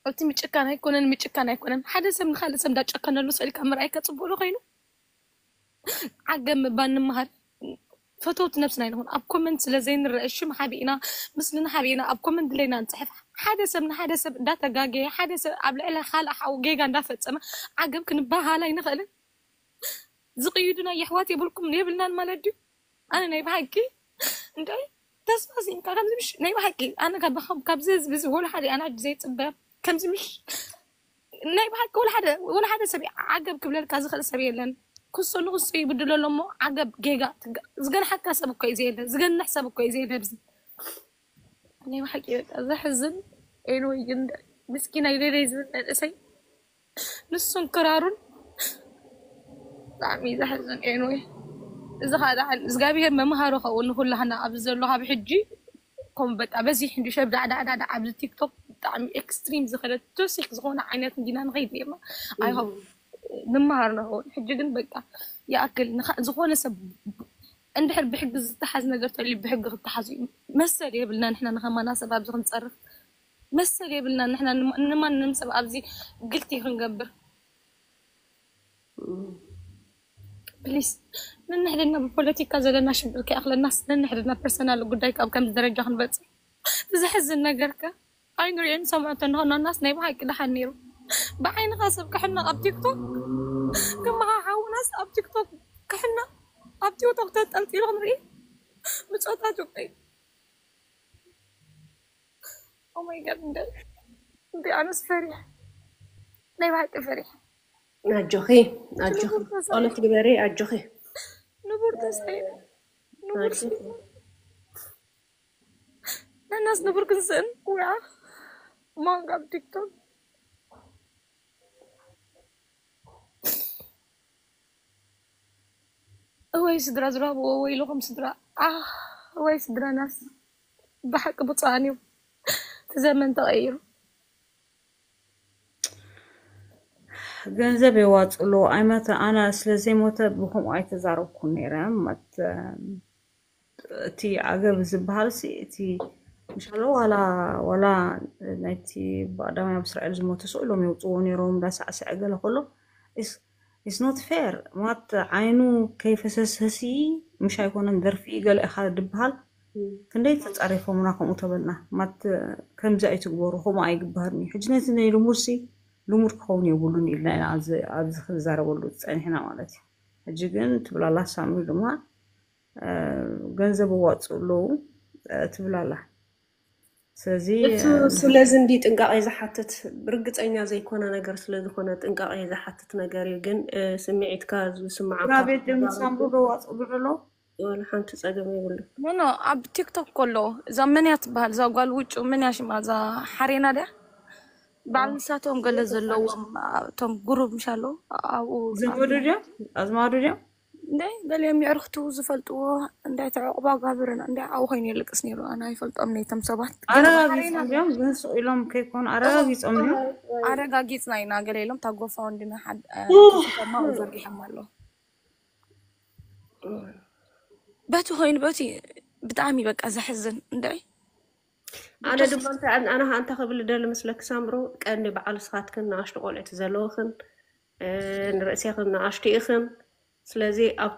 እቲ ምጭካን ኣይኮነን ምጭካን ኣይኮነን ሓደ ሰብ ንካልእ ሰብ እንዳጨከነሉ ስእልካ ምርኣይ ከፅቡቅ ዶ ኮይኑ ዓገብ ምባል ንምሃር ፈተውቲ ነብስና ይንኹን ኣብ ኮመንት ስለ ዘይንረአ ሽም ሓቢእና ምስልና ሓቢእና ኣብ ኮመንት ድለይና ንፅሕፍ ሓደ ሰብ ንሓደ ሰብ እንዳተጋገየ ሓደ ሰብ ኣብ ልዕሊ ካልእ ሓው ጌጋ እንዳፈፀመ ዓገብ ክንበሃል ኣይንኽእልን ዝቕይዱና የሕዋት የብልኩም የብልናን ማለት ድዩ ኣነ ናይ ብሓቂ እንታይ ተስፋ ሲንካ ከምዚ ምሽ ናይ ብሓቂ ኣነ ካብ ካብዚ ህዝቢ እዚ ወላ ሓደ ኣነ ሕጂ ዘይፅበ ከምዚ ምሽ ናይ ብሓቂ ወላ ሓደ ወላ ሓደ ሰብ ዓገብ ክብለልካ ዝኽእል ሰብ የለን ክሶ ንክሶ ይብድሎ ኣሎ እሞ ዓገብ ጌጋ ዝገንሓካ ሰብ እኮ እዩ ዘየለ ዝገንሕ ሰብ እኮ እዩ ዘየለ ኣብዚ ናይ ብሓቂ በቃ ዘሕዝን ኤንወይ ግን ምስኪና ይደለይ ዝብል መንእሰይ ንሱን ክራሩን ብጣዕሚ ዘሕዝን ኤንወይ እዚ ከዓ ደሓን እግዚኣብሄር መምሃሪ ከው ንኩላህና ኣብዚ ዘሎ ካብ ሕጂ ከም በቃ በዚሕ እንዲ ሸብ ዳዕዳዕዳዕዳ ኣብዚ ቲክቶክ ብጣዕሚ ኤክስትሪም ዝኸደ ቶሲክ ዝኾነ ዓይነት እንዲና ንኸይድ ነርና ኣይሆብ ንምሃር ንኸውን ሕጂ ግን በቃ ይኣክል ዝኾነ ሰብ እንድሕር ብሕጊ ዝተሓዝ ነገር ተልዩ ብሕጊ ክተሓዙ እዩ መሰል የብልና ንሕና ንኸማና ሰብ ኣብዚ ክንፀርፍ መሰል የብልና ንሕና ንማንም ሰብ ኣብዚ ግልቲ ክንገብር ፕሊስ ነንሕድና ብፖለቲካ ዘለና ሽግር ከይኣክለናስ ነንሕድና ፐርሰናል ጉዳይ ካብ ከምዚ ደረጃ ክንበፅእ እቲ ዘሕዝን ነገርከ ኣይንሪኦ ንሰምዖ እንተንኾኖናስ ናይ ብሓቂ ደሓን ነይሩ ብዓይንኻ ሰብ ክሕነቕ ኣብ ቲክቶክ ከማኻ ሓውናስ ኣብ ቲክቶክ ክሕነቕ ኣብ ቲክቶክ ተንጠልጢሉ ክንርኢ ብፆታ ጆቀይ ኦማይ ጋድ እንደ እንዲ ኣነስ ፈሪሕ ናይ ብሓቂ ፈሪሕ ኣጆኺ ኣጆኺ ጸሎት ግበሪ ኣጆኺ ንቡር ተሳይ ንቡር ነናስ ንብር ክንስእን ውዓ ማንጋ ኣብ ቲክቶክ። እወይ ስድራ ዝረኽብዎ ወይልኹም ስድራ። ኣህ፣ እወይ ስድራናስ ብሓቂ ብፁዓን እዮም። እቲ ዘመን ተቐይሩ። ገንዘብ የዋፅሉ ኣይመተ ኣነ ስለ ዘይሞተ ብከምኡ ኣይተዛረብኩን ነይረ። መት እቲ ዓገብ ዝበሃል ሲ እቲ ምሻሎ ዋላ ዋላ ናይቲ ብቀዳማይ ኣብ እስራኤል ዝሞተ ሰው ኢሎም የውፅዎ ነይሮም እንዳሳዕስዐ ገለ ከሎ it's not fair። ማት ዓይኑ ከይፈሰሰሲ ምሽ ኣይኮነን ደርፊ ገለ ኢኻ ድበሃል። ክንደይ ተፃሪፎምና ከምኡ ተበልና። ማት ከምዚ ኣይትግበሩ፣ ከምኡ ኣይግበርን እዩ። ሕጂ ነዚ ናይ ልሙድ ሲ ልሙድ ክኸውን የብሉን ኢልና ኢና ኣብዚ ኣብዚ ክንዛረበሉ ዝፀኒሕና ማለት እዩ። ሕጂ ግን ትብላላ ሳምሪ ድማ ገንዘብ እዋፅኡ ኣለዉ ትብላላ። ስለዚ እሱ ስለዚ እንዲ ጥንቃቄ ዝሓትት ርግፀኛ ዘይኮነ ነገር ስለዝኮነ ጥንቃቄ ዝሓትት ነገር እዩ። ግን ስምዒትካ ዝስማዓካ ቤት ሳምሪ ዶ ዋፅኡ ዶ ኣሎ? ወላ ሓንቲ ፀገም የብሉ። ኖ ኖ ኣብ ቲክቶክ ከሎ እዛ መን እያ ትበሃል እዛ ጓል ውጩ መን እያ ሽማ እዛ ሓሬና ድያ በዓል ንሳቶም ገለ ዘለዎም እቶም ጉሩብ ምሽ ኣለዉ ኣብኡ ዘመዱ ድዮም ኣዝማዱ ድዮም እንደ ገሊኦም የዕርክቱ ዝፈልጥዎ እንታይ ተዕቁባ ጋብርን እንደ ኣብኡ ኮይኑ የልቅስ ነይሩ ኣነ ኣይፈልጦም ነይቶም ሰባት ኣረጋጊፆም ድዮም ግን ስቕ ኢሎም ከይኮኑ ኣረጋጊፆም ድዮም ኣረጋጊፅና ኢና ገለ ኢሎም ታጎፋ ወንድና ሓድማ ዘርጊሖም ኣለዉ በቲ ኮይኑ በቲ ብጣዕሚ በቃ ዘሕዝን እንደ ኣነ ድማ እንታይ ኣነ ኣነ ከኣ እንታይ ክብል ደሊ መስለኪ ሳምሩ ቀንዲ በዓል ስኻትክን ንኣሽቱ ቆልዑት ዘለውኽን ንርእሴኽን ንኣሽቱ ኢኽን ስለዚ ኣብ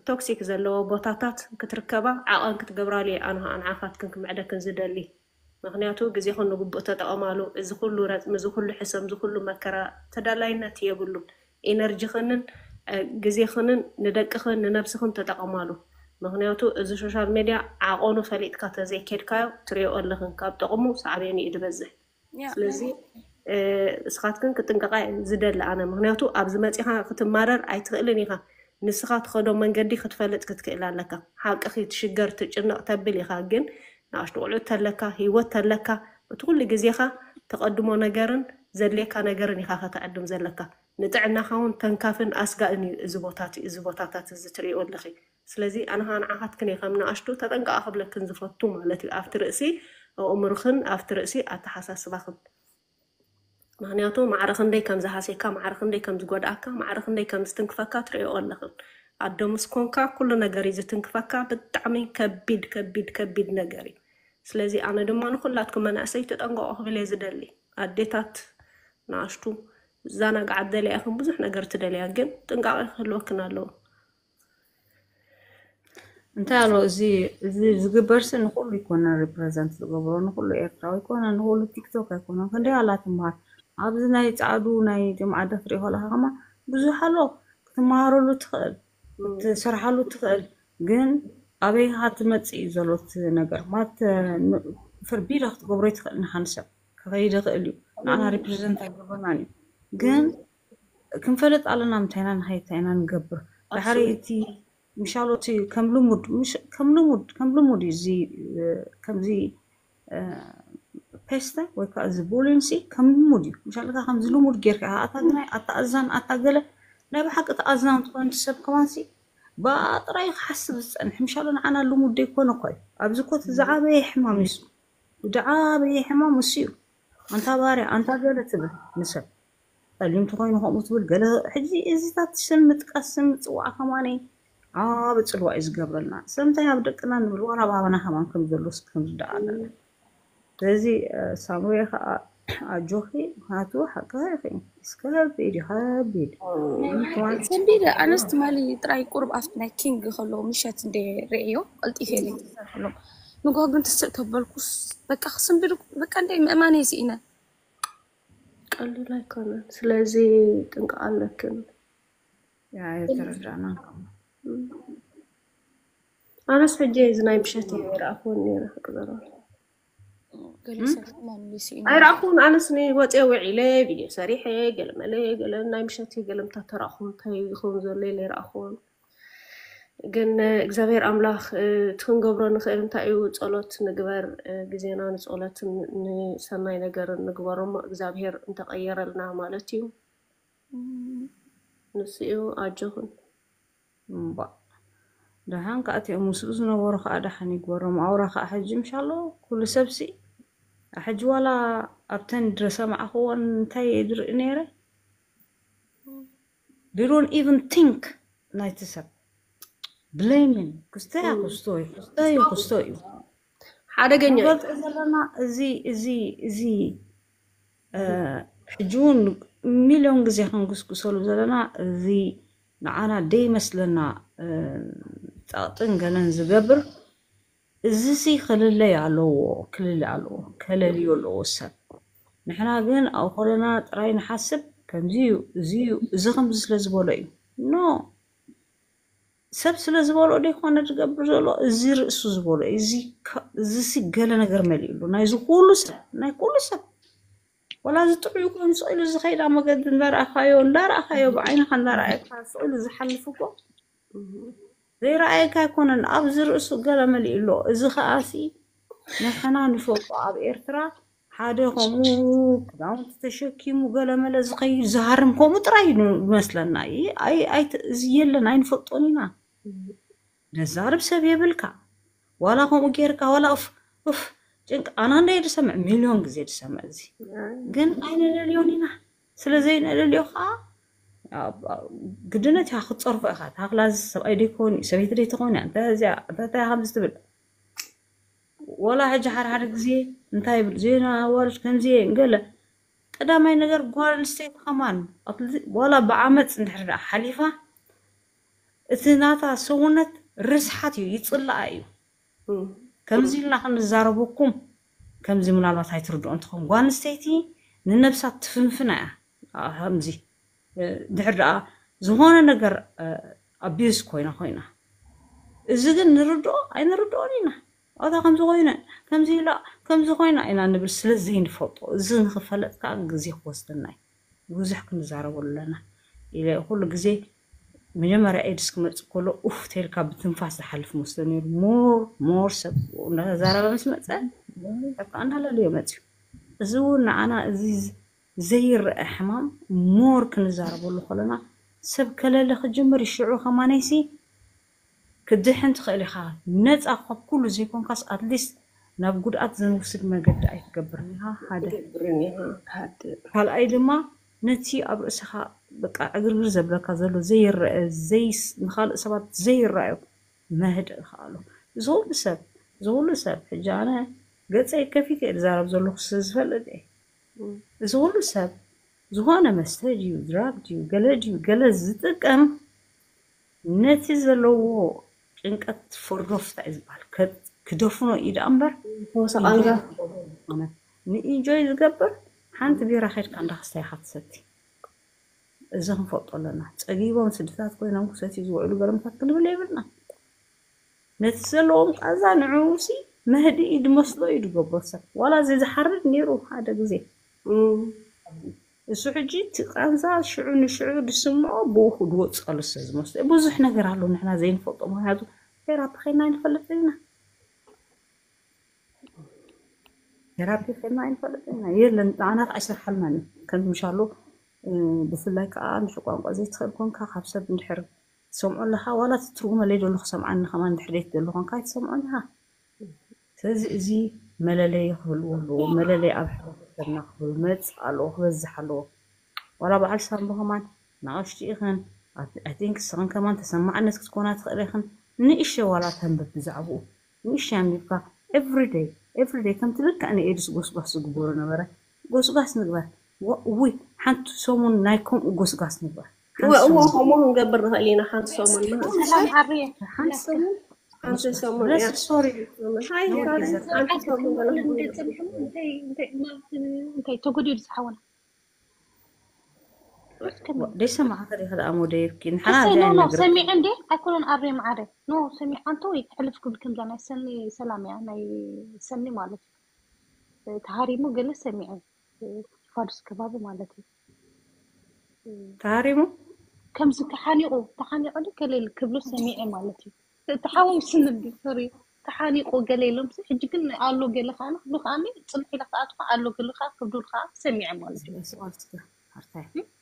ቶክሲክ ዘለዎ ቦታታት ክትርከባ ዓቐን ክትገብራሉ እየ ኣነ ከኣ ንዓኻትክን ክምዕደክን ዝደሊ ምኽንያቱ ግዜኽን ንግቡእ ተጠቐማሉ እዚ ኩሉ ረፅሚ እዚ ኩሉ ሕሰም እዚ ኩሉ መከራ ተዳላይነት የብሉን ኢነርጂኽንን ግዜኽንን ንደቅኽን ንነብስኽን ተጠቐማሉ ምኽንያቱ እዚ ሶሻል ሜድያ ዓቐኑ ፈሊጥካ ተዘይኬድካዮ ትሪኦ ኣለኽን ካብ ጥቕሙ ሳዕቤኑ እዩ ዝበዝሕ ስለዚ እስኻትክን ክጥንቀቃ ዝደሊ ኣነ ምኽንያቱ ኣብዚ መፂኻ ክትማረር ኣይትኽእልን ኢኻ ንስኻ ትኸዶ መንገዲ ክትፈልጥ ክትክእል ኣለካ ሓቅኺ ትሽገር ትጭነቕ ተብል ኢኻ ግን ንኣሽቱ ቆልዑት ተለካ፣ ህይወት ተለካ፣ እቲ ኩሉ ግዜኻ ተቐድሞ ነገርን ዘድልየካ ነገርን ኢኻ ከተዕድም ዘለካ። ንጥዕናኻ እውን ተንካፍን ኣስጋእን እዩ እዚ ቦታት እዚ ቦታታት እዚ ትርእይዎ ኣለኺ። ስለዚ ኣነ ኸኣ ንዓኻትክን እየ ከም ንኣሽቱ ተጠንቀቓ ክብለክን ዝፈቱ ማለት እዩ ኣብቲ ርእሲ ኣእምሮኽን ኣብቲ ርእሲ ኣተሓሳስባኽን። ምኽንያቱ ማዕረ ክንደይ ከም ዝሃስየካ፣ ማዕረ ክንደይ ከም ዝጎድኣካ፣ ማዕረ ክንደይ ከም ዝትንክፈካ ትርእይኦ ኣለኽን። ኣዶ ምስ ኮንካ ኩሉ ነገር እዩ ዝትንክፈካ። ብጣዕሚ ከቢድ ከቢድ ከቢድ ነገር እዩ። ስለዚ ኣነ ድማ ንኹላትኩም መናእሰይ ተጠንቀቑ ክብል እየ ዝደሊ። ኣዴታት ንኣሽቱ ዝዘናግዓ ትደልያ ኢኽን ብዙሕ ነገር ትደልያ፣ ግን ጥንቃቐ ክህልወክን ኣለዎ። እንታይ ኣሎ እዚ እዚ ዝግበር ሲ ንኩሉ ይኮነን represent ዝገብሮ ንኩሉ ኤርትራዊ ይኮነን ንኩሉ ቲክቶክ ኣይኮነን ክንደይ ኣላ ትምሃር ኣብዚ ናይ ጻዕዱ ናይ ጀምዓ ደፍሪ ከለካ ከማ ብዙሕ ኣሎ ክትመሃረሉ ትኽእል ክትሰርሓሉ ትኽእል ግን ኣበይ ሃ ትመጽእ እዩ ዘሎ እቲ ነገር ማለት ፍርቢዳ ክትገብሮ ይትኽእል ንሓንሰብ ክኸይድ ይኽእል እዩ ንዓና represent ኣይገብረናን እዩ ግን ክንፈልጥ ኣለና ምንታይና ንኸይታይና ንገብር ድሕሪ እቲ ምሻሎ እቲ ከም ልሙድ ከም ልሙድ ከም ልሙድ እዩ እዚ ከምዚ ፔስተ ወይ ከዓ እዚ ቡሊን ሲ ከም ልሙድ እዩ ምሻልካ ከምዚ ልሙድ ጌርካ ኣታ ግናይ ኣታ ኣዛን ኣታ ገለ ናይ ብሓቂ ተኣዝና እንትኮን ሰብ ከማን ሲ ብኣ ጥራይ ክሓስብ ዝፀንሕ ምሻሎ ንዓና ልሙድ ደይኮነ እኳ እዩ ኣብዚ ኮት ዝዓበየ ሕማም እዩ ዝዓበየ ሕማም እሱ እዩ ኣንታ ባርያ ኣንታ ገለ ትብል ንሰብ ፀሊም ተኮይኑ ከምኡ ትብል ገለ ሕጂ እዚታት ስም ምጥቃስ ስም ምፅዋዕ ከማኒ ዓቢ ፅልዋ እዩ ዝገብረልና ስለምንታይ ኣብ ደቅና ንብል ዋላ ኣብ ኣባና ከማን ከም ዘሎ እስኪ ክንርዳእ ኣለና ስለዚ ሳምሩየ ከዓ ኣጆኺ ምክንያቱ ሓቅኻ ኢኺ እስከ ከቢድ እዩ ከቢድ ሰንቢደ ኣነስ ትማሊ ጥራይ ቁርብ ኣብቲ ናይ ኪንግ ከሎ ምሸት እንደ ርእዮ ቀልጢፈ ኢለ ንጎ ግን ትስእ ተበልኩስ በቃ ክስንብድ በቃ እንደ ምእማን ስኢነ ቀልል ኣይኮነን ስለዚ ጥንቀቅ ኣለክን የተረዳና ኣነስ ሕጂ እዚ ናይ ምሸት ይረኣኽወን ነረ ክቅበረ ኣይረኣኹን ኣነስ ወፅየ ውዒለ ቪድዮ ሰሪሐ ገለመለ ገለ ናይ ምሸት ገለምታ ተረኣኹ እንታይ ይኸውን ዘሎ ኢለ ይረኣኹን ግን እግዚኣብሔር ኣምላኽ እቲ ክንገብሮ ንኽእል እንታይ እዩ? ጸሎት ንግበር። ግዜና ንጸሎትን ንሰናይ ነገርን ንግበሮ እሞ እግዚኣብሔር እንተቐየረልና ማለት እዩ። ንሱ እዩ። ኣጆኹን። እምባ ደሓን ከዓ እቲኦም ምስኡ ዝነበሩ ከዓ ደሓን ይግበሮም። ኣውራ ከዓ ሕጂ ምሻሎ ኩሉ ሰብሲ ሕጂ ዋላ ኣብተን ድረሰማዕኽዎን እንታይ ድርኢ ነይረ they don't even think ናይቲ ሰብ blaming ክስቶ እያ ክስቶ እዩ ክስቶ እዩ ክስቶ እዩ ሓደገኛ እዩ። ንገልጾ ዘለና እዚ እዚ እዚ እ፣ ሕጂ እውን ሚልዮን ግዜ ክንጉስጉሰሉ ዘለና እዚ ንዓና ደይመስለና እ፣ ጸቕጥን ገለን ዝገብር እዚሲ ክልለይ ኣለዎ ክልለ ኣለዎ ከለልዮ ኣለዎ ሰብ ንሕና ግን ኣብ ኮለና ጥራይ ንሓስብ ከምዚ እዩ እዚ እዩ እዚ ከምዚ ስለ ዝበሎ እዩ ኖ ሰብ ስለ ዝበሎ ደይኮነ ዝገብር ዘሎ እዚ ርእሱ ዝበሎ እዚ ሲ ገለ ነገር መሊእሉ ናይዚ ኩሉ ሰብ ናይ ኩሉ ሰብ ወላ እዚ ጥዑይ ኮይኑ ስቕ ኢሉ ዝኸይዳ መገዲ እንዳረኣኻዮ እንዳረኣኻዮ ብዓይንኻ እንዳረኣየካ ስቕ ኢሉ ዝሓልፍ እኮ ዘይረኣየካ ኣይኮነን ኣብዚ ርእሱ ገለ መሊእሎ እዚ ከኣሲ ንሕና ንፈልጦ ኣብ ኤርትራ ሓደ ከምኡ ክዳውንቲ ተሸኪሙ ገለመለ ዝኸይድ ዝሃርም ከምኡ ጥራይ እዩ ዝመስለና እዚ የለን ኣይንፈልጦን ኢና ደዛርብ ሰብ የብልካ ዋላ ከምኡ ጌርካ ዋላ ፍ ፍ ጭንቅ ኣና እንደ ድሰምዕ ሚልዮን ግዜ ድሰምዕ እዚ ግን ኣይነለልዮን ኢና ስለ ዘይነለልዮ ከዓ ግድነት ኢኻ ክትፀርፎ ኢኻ ታክላ ሰብኣይ ደይኮን ሰበይቲ ደይትኾን እያ እንታይ እዚኣ እንታይ ከምዚ ትብል ወላ ሕጂ ሓደ ሓደ ግዜ እንታይ ይብል ዜና ኣዋርድ ከምዚ እየ ገለ ቀዳማይ ነገር ጓል ኣንስተይቲ ከማን ዋላ ብዓመፅ እንድሕር ደኣ ሓሊፋ እቲ ናታ ሰውነት ርስሓት እዩ ይፅላኣ እዩ ከምዚ ኢልና ክንዛረበኩም ከምዚ ምናልባት ኣይትርድኦ እንትኾን ጓል ኣንስተይቲ ንነብሳ ትፍንፍና እያ ከምዚ ድሕር ደኣ ዝኾነ ነገር ኣቢዩዝ ኮይና ኮይና እዚ ግን ንርድኦ ኣይንርድኦን ኢና ኣታ ከምዚ ኮይነ ከምዚ ኢላ ከምዚ ኮይና ኢና ንብል ስለ ዘይንፈልጦ እዚ ንክፈለጥ ከዓ ግዜ ክወስደና እዩ ብዙሕ ክንዛረበሉ ኣለና ኢለ ኩሉ ግዜ መጀመርያ ኤድስ ክመፅእ ከሎ ኡፍ ተልካ ብትንፋስ ዝሓልፍ መስሎ ነይሩ ሞር ሞር ሰብ እንዳተዛረበ ምስ መፀ በቃ እንዳለለዮ መፅዩ እዚ እውን ንዓና እዚ ዘይረአ ሕማም ሞር ክንዛረበሉ ከለና ሰብ ከለለ ክጅምር እዩ ሽዑ ከማነይሲ ክድሕን ትኽእል ኢኻ ነፃ ካብ ኩሉ ዘይኮንካስ ኣትሊስት ናብ ጉድኣት ዘንውስድ መገዲ ኣይትገብርን ኢኻ ሓደ ትገብርን ኢኻ ሓደ ካልኣይ ድማ ነቲ ኣብ ርእስኻ በቃ ዕግርግር ዘብለካ ዘሎ ዘይረአ ዘይስ ንኻልእ ሰባት ዘይረኣዮ መህድእ ከኣሎ እዚ ኩሉ ሰብ እዚ ኩሉ ሰብ ሕጂ ኣነ ገፀይ ከፊት እየ ዝዛረብ ዘለኹ ስለ ዝፈልጥ እየ እዚ ኩሉ ሰብ ዝኾነ መስተ ድዩ ድራግ ድዩ ገለ ድዩ ገለ ዝጥቀም ነቲ ዘለዎ ጭንቀት ፈርዶፍታ እዩ ዝበሃል ክደፍኖ እዩ ደኣ እምበር ንኢንጆይ ዝገብር ሓንቲ ቢራ ከድካ እንዳክስታ ኢካ ትሰቲ እዚ ክንፈልጦ ኣለና ጸጊቦም ስድታት ኮይኖም ክሰትዩ ዝውዕሉ ገለመታት ክንብል የብልና ነቲ ዘለዎም ቃዛ ንዕኡ ሲ መህድኢ ድመስሎ እዩ ድገብሮ ሰብ ዋላ እዚ ዝሓርድ ነይሩ ሓደ ግዜ እሱ ሕጂ እቲ ቃንዛ ሽዑ ንሽዑ ድስምዖ ብኡ ክድወፀሉ ስለ ዝመስሎ ብዙሕ ነገር ኣሎ ንሕና ዘይንፈልጦ ምክንያቱ ቴራፒ ከይና ኣይንፈልጥ ኢና ቴራፒ ከይና ኣይንፈልጥ ኢና የለን ንዓና ከዓ ኣይሰርሓልናን እዩ ከም ምሻሎ ብፍላይ ከዓ ንሽ ቋንቋ ዘይትኽእል ኮንካ ካብ ሰብ እንድሕር ትሰምዖ ኣለካ ዋላ እቲ ትርጉመለይ ደሎ ክሰምዓኒ ከማን እንድሕር ዘይትደሊ ኮንካ ኣይትሰምዖን ኢካ ስለዚ እዚ መለለይ ክህልዎ ኣለዎ መለለይ ኣብ ሕብረተሰብና ክህሉ መፅእ ኣለዎ ክበዝሕ ኣለዎ ዋላ በዓል ሳምቦ ከማን ንኣሽቱ ኢኽን I think ስኽን ከማን ተሰማዕነት ክትኮና ትኽእል ኢኽን ንእሸ ዋላ ተንብብ ብዛዕብኡ ንእሽተይ ኣንቢብካ everyday everyday ከምቲ ልክዕ ንኤድስ ጎስጓስ ዝግበሩ ነበረ ጎስጓስ ንግበር ውይ ሓንቲ ሰሙን ናይ ከምኡ ጎስጓስ ንግበር እወ እወ ከምኡ ክንገብር ንኽእል ኢና ሓንቲ ሰሙን ማለት ሰላም ዓርየ ሓንቲ ሰሙን ሓንቲ ሰሙን እያ ሶሪ ሃይ ሄራን ሓንቲ ሰሙን ገለ እንታይ ተጎዲሉ ዝሓወና ደይሰማዕካ ዲኻ ደኣ ሞደይብኪ ንሓና እሰይ ኖ ኖ ነግር ሰሚዐ እንዴ ኣይኮነን ኣሬ ማዓረ ኖ ሰሚዐ ኣንተ ወይ ትሕልፍ ክብል ከምዛ ናይ ሰኒ ሰላም እያ ናይ ሰኒ ማለት እዩ ተሃሪሙ ገለ ሰሚዐ ፋዱስ ከባቢ ማለት እዩ ተሃሪሙ ከምዚ ተሓኒቑ፣ ተሓኒቑ ዶ ገለ ክብሉ ሰሚዐ ማለት እዩ። ተሓዋዊስኒ ብል፣ ሶሪ፣ ተሓኒቑ ገለ ኢሎም ሲ፣ ሕጂ ግን ኣሎ ገለ ከኣ ክብሉ ከኣ ጽንሕ ኢለ ክኣትኹ ኣሎ ገለ ከኣ ክብሉ ከኣ ሰሚዐ ማለት እዩ።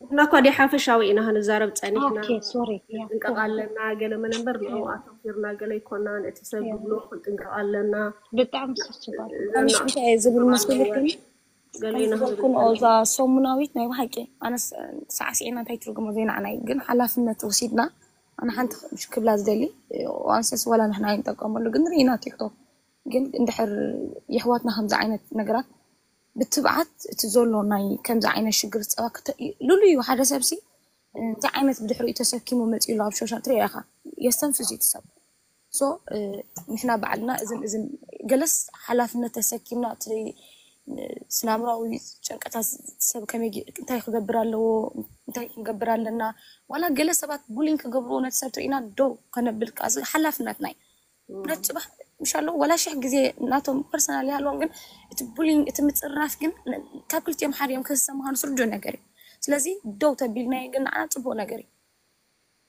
ንሕና እኳ ዲ ሓፈሻዊ ኢና ክንዛረብ ጸኒሕና። ኦኬ፣ ሶሪ፣ ያ። ጥንቀቕ ኣለና፣ ገለ መነንበር ንዕኡ ኣተኩርና ገለ ኣይኮናን። እቲ ሰብ ዝብሎ ክንጥንቀቕ ኣለና። ብጣዕሚ ስስባል። ኣንሽ እንታይ እየ ዝብል መስለኩም? ገሊና ዝብልኩን እዛ ሰሙናዊት ናይ ብሓቂ ኣነስ ሳዕስዒና እንታይ ትርጉሞ ዘይንዓና እዩ፣ ግን ሓላፍነት ወሲድና ኣነ ሓንቲ ክብላ ዝደሊ ዋንሰስ ዋላ ንሕና ኣይንጠቀመሉ ግን ርኢና ቲክቶክ ግን እንድሕር የሕዋትና ከምዚ ዓይነት ነገራት ብትብዓት እቲ ዘሎ ናይ ከምዚ ዓይነት ሽግር ጸባ ክተ- ልሉ እዩ ሓደ ሰብሲ እንታይ ዓይነት ብድሕሪኡ ተሰኪሙ መፂኡ ኣሎ ኣብ ሾሻል ትሪኦ ኢኻ የስተንፍስ እዩ እቲ ሰብ ሶ ንሕና ባዕልና እዝን እዝን ገለስ ሓላፍነት ተሰኪምና እቲ ስናምራዊ ጨንቀታት ሰብ ከመይ ጌ- እንታይ ክገብር ኣለዎ እንታይ ክንገብር ኣለና ዋላ ገለ ሰባት ቡሊን ክገብርዎ ነቲ ሰብ ትርኢና ደው ከነብል ከዓ እዚ ሓላፍነትና እዩ ነት ፅባሕ ምሻሎ ወላ ሽሕ ግዜ ናቶም ፐርሰናል ይሃልዎም ግን እቲ ቡሊን እቲ ምፅርራፍ ግን ን- ካብ ክልቲኦም ሓደ እዮም ክህሰ ምዃኑ ስርዱእ ነገር እዩ ስለዚ ደው ተቢልናዮ ግን ንዓና ፅቡቅ ነገር እዩ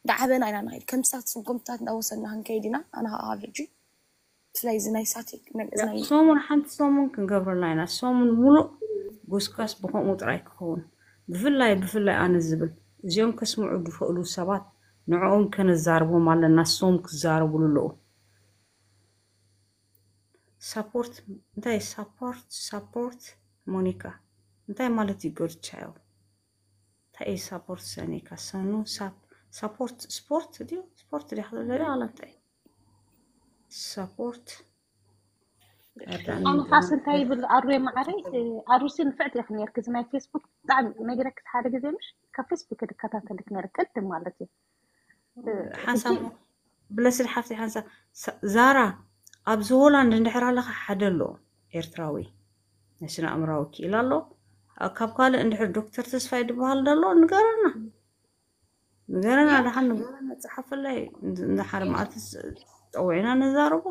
እንዳዓበና ኢና ንኸይድ ከም ሳት ስጉምትታት እንዳወሰድና ክንከይድ ኢና ኣነ ከዓ ኣብ ሕጂ ብፍላይ እዚ ናይ ሳት እዚ ናይ ሰሙን ሓንቲ ሰሙን ክንገብረላ ኢና ሰሙን ሙሉእ ጎስጋስ ብከምኡ ጥራይ ክኸውን ብፍላይ ብፍላይ ኣነ ዝብል እዚኦም ከስምዑ ዝኽእሉ ሰባት ንዕኦም ከነዛርቦም ኣለና ሶም ክዛረቡሉ ኣለዉ ሳፖርት እንታይ ሳፖርት ሳፖርት ሞኒካ እንታይ ማለት እዩ ጎድቻዮ እንታይ እዩ ሳፖርት ሰኒካ ሰኑ ሳፖርት ስፖርት ድዩ ስፖርት ድያ ክትብለ ድያ ዋላ እንታይ ሳፖርት ኣነ ካስ እንታይ ይብል ኣሩየ ማዓረይ ኣሩሲ ንፍዕቲ ኢክ ነርክ እዚ ናይ ፌስቡክ ብጣዕሚ ነግረክ ሓደ ግዜ ምሽ ካብ ፌስቡክ ድከታተልክ ነረ ቅድም ማለት እዩ ሓንሳብ ብለስድ ሓፍቲ ሓንሳብ ዛራ ኣብዚ ሆላንድ እንድሕር ኣለካ ሓደ ኣሎ ኤርትራዊ ናይ ስነ ኣእምራዊ ክኢል ኣሎ ካብ ካልእ እንድሕር ዶክተር ተስፋይ ዝበሃል ዘሎ ንገረና ንገረና ደሓን ንገረና ፀሓፈላይ እንድሓር መዓልቲ ፀዊዕና ነዛረቦ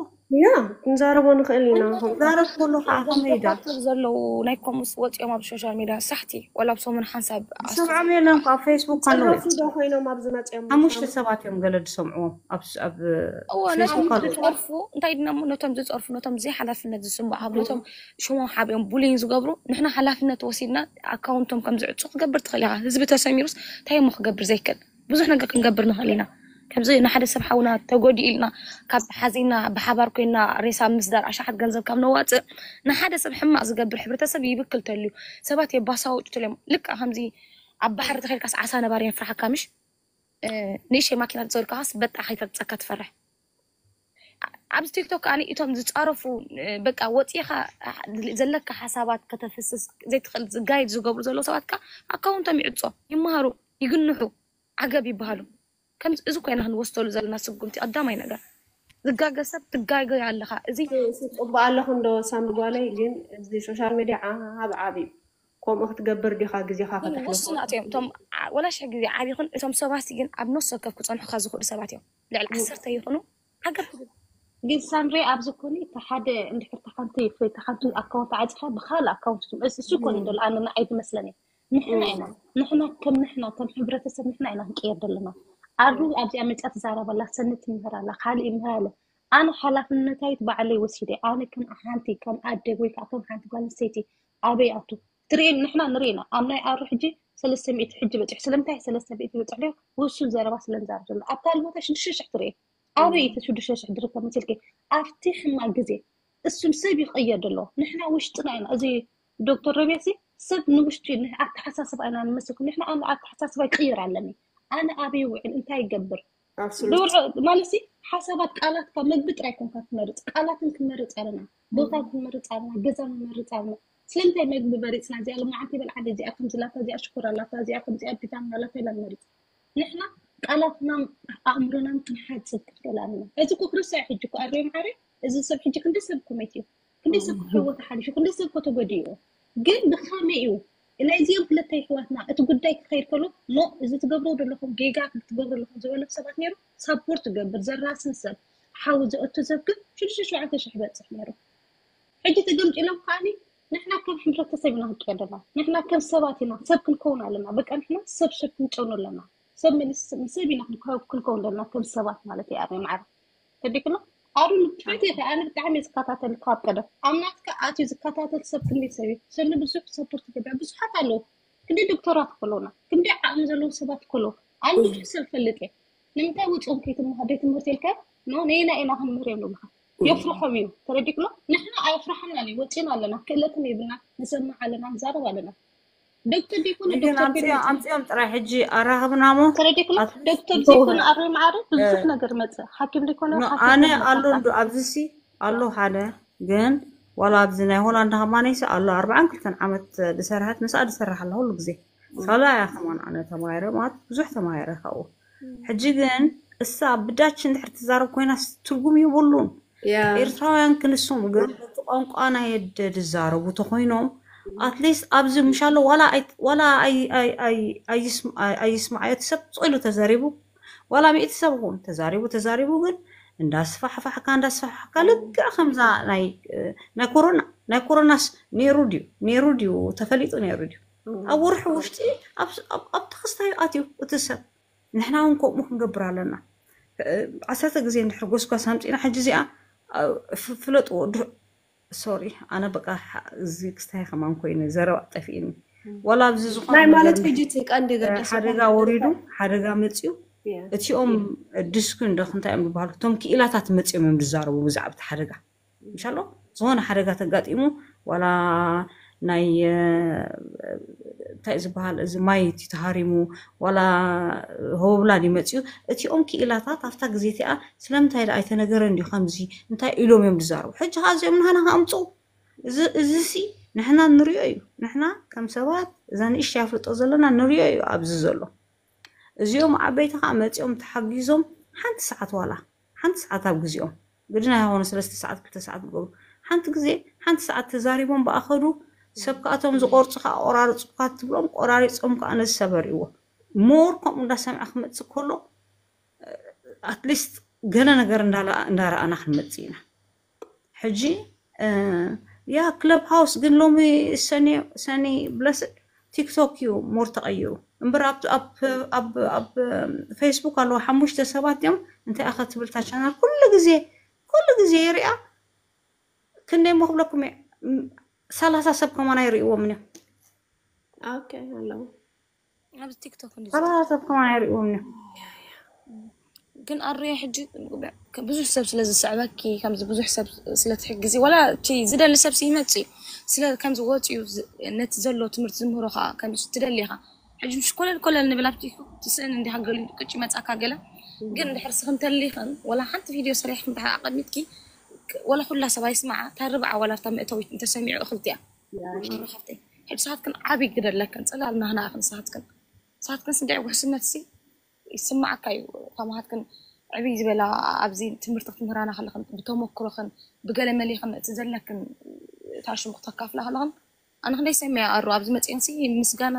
ያ ክንዛረቦ ንኽእል ኢና ዛረብ ከሎ ከዓ ከመይዳ ዘለዉ ናይ ኮሙስ ወፂኦም ኣብ ሶሻል ሚድያ ሳሕቲ ወላ ኣብ ሰሙን ሓንሳብ ሰምዖም የለን ኣብ ፌስቡክ ኣለዉ ዶ ኮይኖም ኣብዚ መፅኦም ሓሙሽተ ሰባት እዮም ገለ ዝሰምዕዎም ኣብ እዎ ነቶም ዝፀርፉ እንታይ ድናሞ ነቶም ዝፀርፉ ነቶም ዘይሓላፍነት ዝስምዖ ካብ ነቶም ሽሞም ሓቢኦም ቡሊን ዝገብሩ ንሕና ሓላፍነት ወሲድና ኣካውንቶም ከም ዝዕፁ ክገብር ትኽእል ኢኻ ህዝቢ ተሰሚሩስ እንታይ እሞ ክገብር ዘይክእል ብዙሕ ነገር ክንገብር ንኽእል ኢና ከምዚ ንሓደ ሰብ ሓውና ተጎዲኡ ኢልና ካብ ሓዚና ብሓባር ኮይና ሬሳ ምስዳር ኣሻሓት ገንዘብ ካብ ነዋፅእ ንሓደ ሰብ ሕማቕ ዝገብር ሕብረተሰብ ይብክል ተልዩ ሰባት የባሳውጡ ተልዮም ልክዕ ከምዚ ኣብ ባሕሪ ተኸድካስ ዓሳ ነባሪ የፍርሓካ ምሽ ንእሽተይ ማኪና ዝፀልካስ በጣ ከይፈፀካ ትፈርሕ ኣብዚ ቲክቶክ ከኣ እቶም ዝፃረፉ በቃ ወፂኻ ዘለካ ሓሳባት ከተፍስስ ዘይትኽእል ዝጋይድ ዝገብሩ ዘለዉ ሰባት ከ ኣካውንቶም ይዕፆ ይመሃሩ ይግንሑ ዓገብ ይበሃሉ ከምዚ እዚ ኮይና ክንወስደሉ ዘለና ስጉምቲ ቀዳማይ ነገር ዝጋገ ሰብ ትጋገ ኣለኻ እዚ ጽቡቅ ኣለኹ እንዶ ሳሚ ጓለይ ግን እዚ ሶሻል ሚዲያ ዓብ ዓብ እዩ ከምኡ ክትገብር ዲኻ ግዜኻ ከተሕልፎ ውሱናት እዮም እቶም ዓ- ወላ ሽሕ ግዜ ዓቢኹን እቶም ሰባት ግን ኣብ ነፍሲ ወከፍ ክፀንሑካ ዝኽእሉ ሰባት እዮም ልዕሊ ዓሰርተ ይኹኑ ዓገብ ትብል ግን ሳምሪ ኣብዚ ኮኒ እቲ ሓደ እንድሕር ተሓንቲ ተሓንቲ ኣካውንት ዓፂኻ ብካልእ ኣካውንት ትመልስ እሱ ኮኒ ዘሎ ኣነ ንዓይ ዝመስለኒ ንሕና ኢና ንሕና ከም ንሕና ከም ሕብረተሰብ ንሕና ኢና ክንቀየር ዘለና ኣሩ ኣብዚኣ መፅኣ ትዛረብ ኣላ ሰኒ ትምህር ኣላ ካልእ ይምህር ኣለ ኣነ ሓላፍነታይት ባዕለይ ወሲደ ኣነ ከም ሓንቲ ከም ኣደ ወይ ከዓ ከም ሓንቲ ጓል ኣንስተይቲ ኣበይ ኣቱ ትርኢ ንሕና ንርኢ ኢና ኣብ ናይ ኣሩ ሕጂ ሰለስተ ሚእቲ ሕጂ በፂሑ ስለምንታይ ሰለስተ ሚእቲ በፅሑ ዶ ውሱን ዘረባ ስለምዛር ዘሎ ኣብ ካልእ ቦታ ሽዱሽተ ሽሕ ትርኢ ኣበይ እቲ ሽዱሽተ ሽሕ ዝርከብ መሲልኪ ኣብቲ ሕማቅ ግዜ እሱም ሰብ ይቀየር ዘሎ ንሕና ውሽጥና ኢና እዚ ዶክተር ረቢያሲ ሰብ ንውሽጢ ኣተሓሳስባ ኢና ንመስልኩም ንሕና ኣነ ኣተሓሳስባ ይቅይር ኣለኒ ኣነ ኣበይ ውዕል እንታይ ይገብር ማለት ሓሳባት ቃላትካ መግቢ ጥራይ ኮንካ ትመርፅ ቃላትን ክንመርፅ ኣለና ቦታ ክንመርፅ ኣለና ገዛ ንመርፅ ኣለና ስለምንታይ መግቢ መሪፅና እዚኣ ልማዓንቲ በልዓደ እዚኣ ከምዚ ላታ እዚኣ ሽኮር ኣላታ እዚኣ ከምዚኣ ቢታሚን ኣላታ ኢላ ንመርፅ ንሕና ቃላትና ኣእምሮና ክንሓፅብ ክንክእል ኣለና እዚ ኮ ክርስያ ሕጂ ኮ ኣሬ ማዓረ እዚ ሰብ ሕጂ ክንደይ ሰብ ኮሜት እዩ ክንደይ ሰብ ክሕወ ተሓሊፉ ክንደይ ሰብ ኮ ተጎዲኡ ግን ብኸመይ እዩ ናይዚኦም ክልተ ይሕዋትና እቲ ጉዳይ ክኸይድ ከሎ ኖ እዚ ትገብሮ ዘለኹም ጌጋ ክትገብሩ ኣለኹም ዝበሎም ሰባት ነይሩ ሳፖርት ትገብር ዘራስን ሰብ ሓዊ ዘእቱ ሰብ ግን ሽዱሽተ ሸውዓተ ሽሕ በፅሕ ነይሩ ሕጂ ተገምጢሎም ከዓኒ ንሕና ከም ሕብረተሰብ ኢና ክንቀየር ዘለና ንሕና ከም ሰባት ኢና ሰብ ክንከውን ኣለና በቃ ንሕና ሰብ ሰብ ክንጨኑ ኣለና ሰብ መልስ ሰብ ኢና ክንከው- ክንከውን ዘለና ከም ሰባት ማለት እዩ። ኣርየ ማዕረ ተዲክሎ ኣሩ ንትሕቲ ይኸ ኣነ ብጣዕሚ እየ ዝከታተል ካብ ቀደም ኣብ ናትካ ኣትዩ ዝከታተል ሰብ ክንደይ ሰብ እዩ ሰኒ ብዙሕ ሰፖርት ይገብር ብዙሓት ኣለዉ። ክንደይ ዶክተራት ከለውና ክንደይ ዓቕሚ ዘለዉ ሰባት ከለዉ ኣነ ብዙሕ ሰብ ፈልጥ እየ። ንምንታይ ውፅኦም ከይትምሃር ደይ ትምህርቲ ኢልካ ኖ ነይና ኢና ክንምህር እዮም ንብልካ የፍርሖም እዩ። ተረዲክሎ ንሕና ኣየፍርሓና እዩ ወፂና ኣለና ክእለትን የብልና ንሰምዕ ኣለና ንዛረብ ኣለና። ዶክተር ዲኮነ ግን ኣምፅኦም ኣምፅኦም ጥራይ ሕጂ ኣራኽብና ሞ ተረዲክሎ ዶክተር ዘይኮነ ኣብ ማዕረ ብዙሕ ነገር መፅእ ሓኪም ዘይኮነ ኣነ ኣሎ እንዶ ኣብዚ ሲ ኣሎ ሓደ ግን ዋላ ኣብዚ ናይ ሆላንድ ከማነይሲ ኣሎ ኣርባዓን ክልተን ዓመት ዝሰርሐት ምስኣ ዝሰርሕ ኣላ ኩሉ ግዜ ካልኣ እያ ከማን ኣነ ተማሂረ ማለት ብዙሕ ተማሂረ ካብኡ ሕጂ ግን እሳ ብዳች እንድሕር ትዛረብ ኮይና ትርጉም ይብሉን ኤርትራውያን ክንሶም ግን በቲ ቋንቋ ናይ ኣደ ዝዛረቡ ተኮይኖም ኣትሊስት ኣብዚ ምሻሎ ዋላ ኣይስማዓዮ እቲ ሰብ ስቕ ኢሉ ተዘሪቡ ዋላ ሚእቲ ሰብ ኹን ተዛሪቡ ተዛሪቡ ግን እንዳስፋሕፋሕካ እንዳስፋሕፋሕካ ልክዕ ከምዛ ናይ ናይ ኮሮና ናይ ኮሮናስ ነይሩ ድዩ ነይሩ ድዩ ተፈሊጡ ነይሩ ድዩ ኣብ ወርሒ ውሽጢ ኣብቲ ክስታዩ ኣትዩ እቲ ሰብ ንሕና እውን ከምኡ ክንገብር ኣለና ዓሰርተ ግዜ እንድሕር ጎስጓስ ኣምፂና ሕጂ እዚኣ ፍለጥዎ ሶሪ ኣነ በቃ እዚ ክስታይ ከማን ኮይኑ ዘረባ ጠፊእኒ ወላ ኣብዚ ዝኾነ ናይ ማለት ሕጂ እቲ ቀንዲ ገደስ ሓደጋ ወሪዱ ሓደጋ መፅዩ እቲኦም ድስኩ እንዶ ክንታይ እዮም ዝበሃሉ እቶም ክኢላታት መፅዮም እዮም ዝዛረቡ ብዛዕባ እቲ ሓደጋ እንሻሎ ዝኾነ ሓደጋ ተጋጢሙ ዋላ ናይ እንታይ ዝበሃል እዚ ማይ እቲ ተሃሪሙ ዋላ ሆብላን ይመፅዩ እቲኦም ክኢላታት ኣብታ ግዜ እቲኣ ስለምንታይ ዳ ኣይተነገረን ድዩ ከምዚ እንታይ ኢሎም እዮም ዝዛረቡ ሕጂ ከዓ እዚኦም ንሃና ከኣምፁ እዚ ሲ ንሕና ንሪኦ እዩ ንሕና ከም ሰባት እዛ ንእሽተይ ኣፍልጦ ዘለና ንሪኦ እዩ ኣብዚ ዘሎ እዚኦም ዓበይቲ ከዓ መፂኦም ተሓጊዞም ሓንቲ ሰዓት ዋላ ሓንቲ ሰዓት ኣብ ግዜኦም ግድና ይኾኑ ሰለስተ ሰዓት ክልተ ሰዓት ዝገብሩ ሓንቲ ግዜ ሓንቲ ሰዓት ተዛሪቦም ብኣኸዱ ሰብ ከኣቶም ዝቆርፁ ከዓ ቆራርፁካ ትብሎም ቆራሪፆም ከዓ ነዚ ሰበሪዎ ሞር ከምኡ እንዳሰምዐ ክመፅእ ከሎ ኣትሊስት ገለ ነገር እንዳረኣና ክንመፅእ ኢና ሕጂ ያ ክለብ ሃውስ ግን ሎሚ ሰኒ ብለስድ ቲክቶክ እዩ ሞር ተቐይሩ እምበር ኣብ ፌስቡክ ኣለዎ ሓሙሽተ ሰባት እዮም እንታይ ኣኸ ትብል ታ ቻናል ኩሉ ግዜ ኩሉ ግዜ ይሪኣ ክንደይ ሞ ክብለኩም እየ ሰላሳ ሰብ ከማን ኣይርእዎም እዮም ኣለዉ ኣብዚ ቲክቶክ ሰላሳ ሰብ ከማን ኣይርእዎም እዮም ግን ኣርዮ ሕጂ ብዙሕ ሰብ ስለ ዝስዕበኪ ከምዚ ብዙሕ ሰብ ስለ ትሕግዚ ዋላ እቲ ዝደሊ ሰብ ይመፅ እዩ ስለ ከምዚ ወፂኡ ነቲ ዘሎ ትምህርቲ ዝምህሮ ከዓ ከምዚ ትደሊ ኢኻ ሕጂ ምሽ ኮለል ኮለል ንብል ኣብ ቲክቶክ ትስእን እንዲኻ ገሊኡ ቅጭ ይመፃካ ገለ ግን ድሕር ስኽም ተሊኽን ወላ ሓንቲ ቪድዮ ሰሪሕክም ድሓር ኣቐሚጥኪ ወላ ኩላ ሰብ ኣይስማዓ እታ ርብዓ ዋላ እታ መእተዊት እንተሰሚዑ እኽልቲ እያ ሽሮ ካብቲ ሕጂ ሰዓትክን ዓብይ ግደ ኣለክን ፅላል ናህና ኢኽን ሰዓትክን ሰዓትክን ስንደዕ ውሕስነት ሲ ይስማዓካ እዩ ከማሃትክን ዕብይ ዝበላ ኣብዚ ትምህርቲ ክትምህራና ከለኽን ብተመክሮኽን ብገለ መሊኽን እቲ ዘለክን ታሽሙ ክተካፍላ ከለኽን ኣነ ክንደይ ሰሚያ ኣሩ ኣብዚ መፅኤን ሲ ምስጋና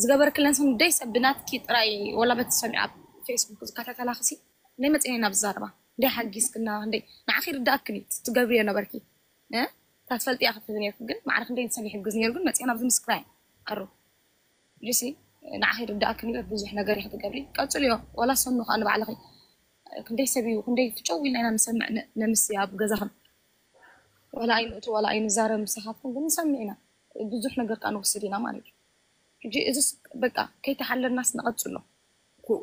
ዝገበርክለን ሲ ደይ ሰብ ብናትኪ ጥራይ ወላ በቲ ሰሚዓ ኣብ ፌስቡክ ዝከታተላኽሲ ክንደይ መፅኤን ኢና ብዛረባ ክንደይ ሓጊዝክና ክንደይ ንዓኺ ርዳእክን እዩ ትገብርዮ ነበርኪ እታ ትፈልጥያ ክትህብ ነርኩ ግን ማዕረ ክንደይ ሰብ ይሕግዝ ነሩ ግን መፅኤን ኣብዚ ምስክራይ ኣሩ ጅሲ ንዓኺ ርዳእክን እዩ ብዙሕ ነገር ኢኺ ትገብሪ ቀፅልዮ ወላ ሰኑ ከዓ ንባዕልኺ ክንደይ ሰብ እዩ ክንደይ ትጨው ኢልና ኢና ንሰምዕ ነምስ ኣብ ገዛኽን ዋላ ኣይንእቱ ዋላ ኣይንዛረብ ምሳኻትኩም ግን ንሰምዕ ኢና ብዙሕ ነገር ከዓ ንወስድ ኢና ማለት እዩ ሕጂ እዚ በቃ ከይተሓለልናስ ንቐፅሎ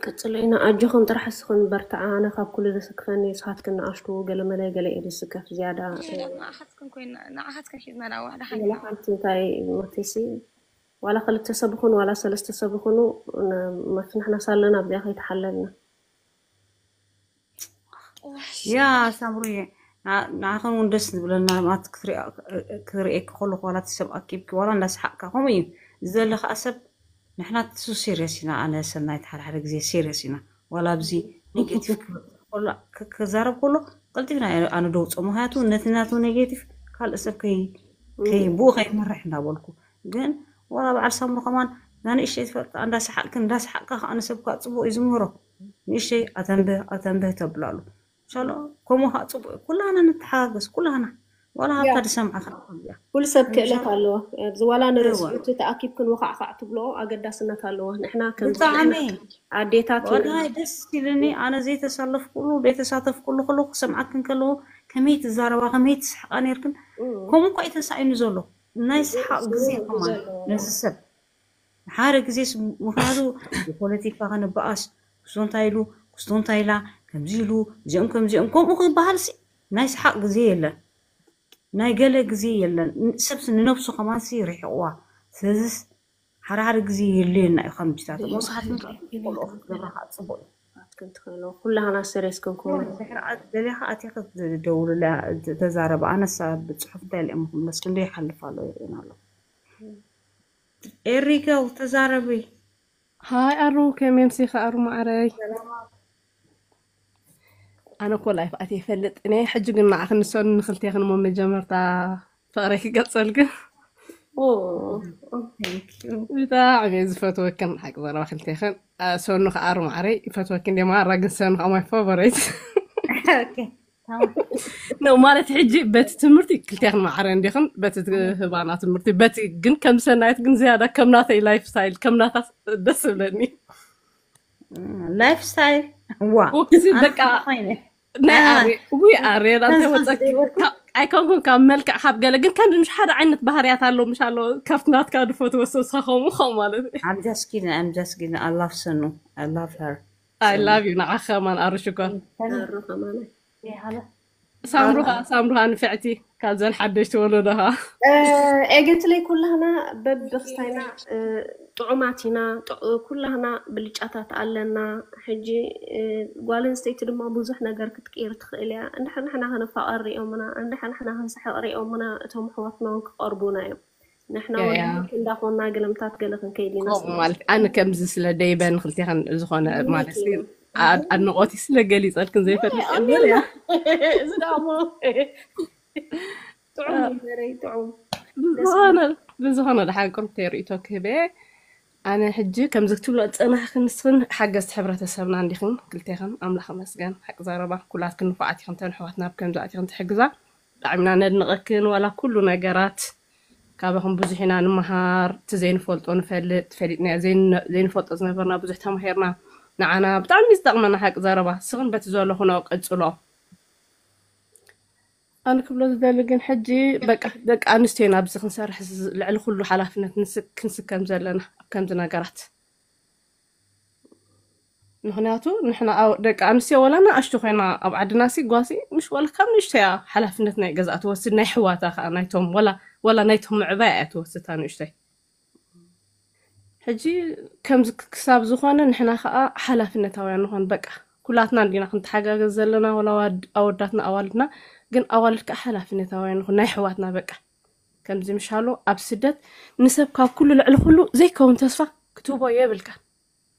ቀፅሎ ኢና ኣጆኽን ጥራሕ እስኽን በርትዓ ኣነ ካብ ኩሉ ዘስክፈኒ ንስኻትክን ንኣሽቱ ገለመለ ገለ እየ ዝስከፍ ዝያዳ ንዓኻትክን ኮይና ንዓኻትክን ሒዝና ናብ ዋሕዳ ሓንቲ ሓንቲ እንታይ መቴሲ ዋላ ክልተ ሰብ ይኹን ዋላ ሰለስተ ሰብ ይኹኑ መፍንሕናስ ኣለና ኣብዚኣ ከይተሓለልና ያ ሳምሩየ ንዓኸን እውን ደስ ዝብለና ማለት ክርእየኪ ከለኩ ዋላ እቲ ሰብ ኣኪብኪ ዋላ እንዳሰሓቅካ ከምኡ እዩ ዝደለ ከዓ ሰብ ንሕና ትሱ ሲሪየስ ኢና ኣነ ሰናይት ሓደ ሓደ ግዜ ሲሪየስ ኢና ዋላ ኣብዚ ኔጌቲቭ ክዛረብ ከሎ ቀልጢፍና ኣነ ደውፆ ምክንያቱ ነቲ ናቱ ኔጌቲቭ ካልእ ሰብ ብኡ ከይመርሕ እንዳበልኩ ግን ዋላ በዓል ሳምሩ ከማን እዛ ንእሽተይ ትፈልጣ እንዳሰሓቅክን እንዳሰሓቅካ ከዓ ንሰብ ከዓ ፅቡቅ እዩ ዝምህሮ ንእሽተይ ኣተንብህ ኣተንብህ ተብላሉ ሻሎ ከምኡ ከዓ ፅቡቅ እዩ ኩላና ንተሓጋገዝ ኩላና ዋላ ያ ሃብታ ዝሰምዓ ክረኽብ እያ ኩሉ ሰብ ክእለት ምሻ ኣለዎ። ኣብዚ ዋላ እወ ንርእስቱ ተኣኪብክን ወኻዕኻዕ ትብሎ ኣገዳስነት ኣለዎ። ንሕና ከምዚ ብጣዕሚ ንሕና ኣዴታት ኢና። ወላሂ ደስ ኢልኒ። ኣነ ዘይተሳለፍኩሉ ዘይተሳተፍኩሉ ከለኹ ክሰምዓክን ከለኹ ከመይ ትዛረባ ከመይ ትስሕቃ ነርክን። እም፣ ከምኡ እኳ እዩ ተሳኢኑ ዘሎ ናይ ሰሓቕ ርእሱ ግዜ ህዝቢ ከማን ዘለዎ ነዚ ሰብ ሓደ ግዜ ስ- ምክንያቱ ብፖለቲካ ከንበኣስ ክስቶ እንታይ ኢሉ ክስቶ እንታይ ኢላ ከምዚ ኢሉ እዚኦም ከምዚኦም ከምኡ ክበሃል ሲ ናይ ሰሓቕ ግዜ የለን። ናይ ገለ ግዜ የለን። ን- ሰብስ ንነብሱ ከማንሲ ርሕቕዋ። ስለዚስ ሓደ ሓደ ግዜ የድልየና እዩ ከምጅታት እሞ ንስኻትኩም ከኣ ቆልዑ ክትገብራ ከዓ ፅቡቅ እዩ። ክትከሎ ኩላህና ሰሪስ ክንከውን ድሕሪ ዓት ገሊኻ ኣቲኻ ትደውልላ ተዛረባ ኣነሳ ብፅሑፍ እንታይ ኢለ እሞ ክምለስ ክንደይ ይሓልፍ ኣሎ ይርእን ኣሎ። ኤሪገው ተዛረቢ። ሃይ ኣሩ ከመይ ኣምሲኺ ኣሩ ማዕረይ? ኣነ እኮ ላይፍ ኣትየ ይፈልጥ እኔ ሕጂ ግን ንዓኽን ንሰኑ ንክልቴኽን እሞ መጀመርታ ፍቕረይ ክገልፀልክን ኦ፣ ብጣዕሚ እየ ዝፈትወክን ሓቂ ዘረባ ክልቴኽን። አ፣ ሰኑ ከዓ ኣሩ ማዕረይ ይፈትወክን እንደ ማራ ግን ሰኑ ከዓ ማይ ፋቨሬት ኦኬ፣ ታማም። ነው ማለት ሕጂ በቲ ትምህርቲ ክልቴኽን ማዕረ እንዲኽን በቲ ትህባና ትምህርቲ በቲ ግን ከም ሰናይት ግን ዝያዳ ከም ናተይ ላይፍ ስታይል ከም ናታ ደስ ዝብለኒ ላይፍ ስታይል ዋ ወክሲ ኣነ በቃ ከምኡ ኮይነ ናይ ኣሃ ኣሬ ውይ ኣሬ ናንተ ተዝሓስ ወፀኪ ዘይበልኩ ካብ- ኣይኮንኩን ካብ መልክዕ ካብ ገለ ግን ከም ምሽ ሓደ ዓይነት ባህርያት ኣሎ ምሽ ኣሎ ካብቲ ናትካ ድፈትወ ሰብስኻ ከምኡ ከምኡ ማለት እዩ I'm just kidding, I'm just kidding. I love Sonu. I love her. I Sonu. love you ንዓኻ ከማን ኣሩ ሽኮር Thank ኣሩ ከማነ you. ሃለ ሳምሩኻ ሳምሩኻ ንፍዕቲ ካብዘን ሓደሽቲ ወለዶኻ ኤገትለይ ኩላህና በብክስታይና እ፣ ጥዑማት ኢና። ጥዑ- ኩላህና ብልጫታት ኣለና። ሕጂ እ፣ ጓል ኣንስተይቲ ድማ ብዙሕ ነገር ክትቅይር ትኽእል እያ። እንድሕር ንሕና ክንፋቐር ሪኦምና፣ እንድሕር ንሕና ክንስሕቕ ሪኦምና፣ እቶም ኣሕዋትና እውን ክቐርቡና እዮም። ንሕና ያ እውን ያ እንዳኾንና ገለምታት ገለ ክንከይድ ኢና ከምኡ ስለ ማለት ኣነ ከምዚ ስለ ደይበ ንክልቴኸን ዝኾነ ማለት ምኒት እዩ። ኣድ- ኣድንቆቲ ስለ ገሊፀልክን ዘይፈልጥ እምበር ኣሜን። ያ እዚ ደሞ ጥዑም እዩ ዘረይ ጥዑም ደስ ብዝኾነ ብዝኾነ ደሓን ቅርብተይ ርእቶ ክህበ ኣነ ሕጂ ከምዚ ክትብሎ ዝፀናሕክን ንስኽን ሓገዝቲ ሕብረተሰብና እንዲኽን ክልቴኽን ኣምላኽ መስገን ሓቂ ዘረባ ኩላትክን ንፉዓት ኢኽን ተን ኣሕዋትና ኣብ ከምዚ ኣቲኽን ትሕግዛ ብጣዕሚ ኢና ነድንቐክን ዋላ ኩሉ ነገራት ካባኹም ብዙሕ ኢና ንምሃር እቲ ዘይንፈልጦ ንፈልጥ ፈሊጥና ዘይንፈልጦ ዝነበርና ብዙሕ ተማሂርና ንዓና ብጣዕሚ ዝጠቕመና ሓቂ ዘረባ ስኽን በቲ ዘለኹ ነው ቀፅሎ ኣነ ክብሎ ዝደሊ ግን ሕጂ በቃ ደቂ ኣንስትዮ ኢና ኣብዚ ክንሰርሕ ዝ- ልዕሊ ኩሉ ሓላፍነት ንስ- ክንስከም ዘለና ኣብ ከምዚ ነገራት ምክንያቱ ንሕና ኣው- ደቂ ኣንስትዮ ወላ ንኣሽቱ ኮይና ኣብ ዓድና ሲ ጓሲ ምሽ ወላ ካብ ንእሽቶ እያ ሓላፍነት ናይ ገዛእ ትወስድ ናይ ሕዋታ ከዓ ናይቶም ወላ ወላ ናይቶም ምዕባይ እያ ትወስድ እታ ንእሽቶይ ሕጂ ከምዚ ክሳብ ዝኾነ ንሕና ከዓ ሓላፍነታውያን ንኾን በቃ ኩላትና እንዲና ክንተሓጋገዝ ዘለና ወላ ኣዋድ- ኣወዳትና ኣዋልድና ግን ኣዋልድ ከዓ ሓላፍነታውያን ንኾን ናይ ኣሕዋትና በቃ ከምዚ ምሻሎ ኣብ ስደት ንሰብ ካብ ኩሉ ልዕሊ ኩሉ ዘይከውን ተስፋ ክትህቦ የብልካን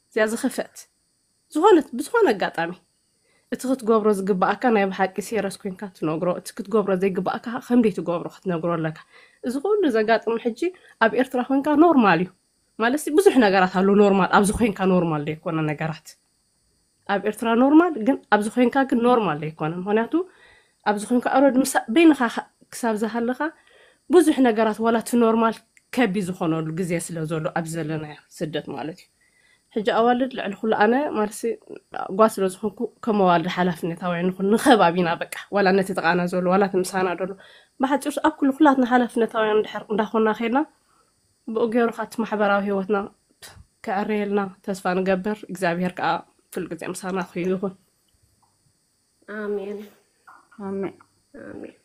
እዚኣ ዝኸፍአት ዝኾነት ብዝኾነ ኣጋጣሚ እቲ ክትገብሮ ዝግባኣካ ናይ ብሓቂ ሲረስ ኮይንካ ትነግሮ እቲ ክትገብሮ ዘይግባኣካ ከምደይ ትገብሮ ክትነግሮ ኣለካ እዚ ኩሉ ዘጋጥም ሕጂ ኣብ ኤርትራ ኮይንካ ኖርማል እዩ ማለት ብዙሕ ነገራት ኣሎ ኖርማል ኣብዚ ኮይንካ ኖርማል ዘይኮነ ነገራት ኣብ ኤርትራ ኖርማል ግን ኣብዚ ኮይንካ ግን ኖርማል ዘይኮነ ምክንያቱ ኣብዚ ኮይንካ ኣረድ ምሳ በይንካ ክሳብ ዝሃለካ ብዙሕ ነገራት ዋላ እቲ ኖርማል ከቢ ዝኾነሉ ግዜ ስለ ዘሎ ኣብዚ ዘለናዮ ስደት ማለት እዩ ሕጂ ኣዋልድ ልዕሊ ኩሉ ኣነ ማለት ጓ ስለ ዝኾንኩ ከም ኣዋልድ ሓላፍነታውያን ንኹን ንኸባቢና በቃ ዋላ ነቲ ጥቓና ዘሎ ዋላ እቲ ምሳና ዘሎ ብሓፂሩስ ኣብ ኩሉ ኩላትና ሓላፍነታውያን እንድሕር እንዳኾና ከይድና ብኡ ገይሩ ካቲ ማሕበራዊ ህይወትና ከዕረየልና ተስፋ ንገብር እግዚኣብሔር ከዓ ኩሉ ግዜ ምሳና ኮይኑ ይኹን ኣሜን ኣሜን ኣሜን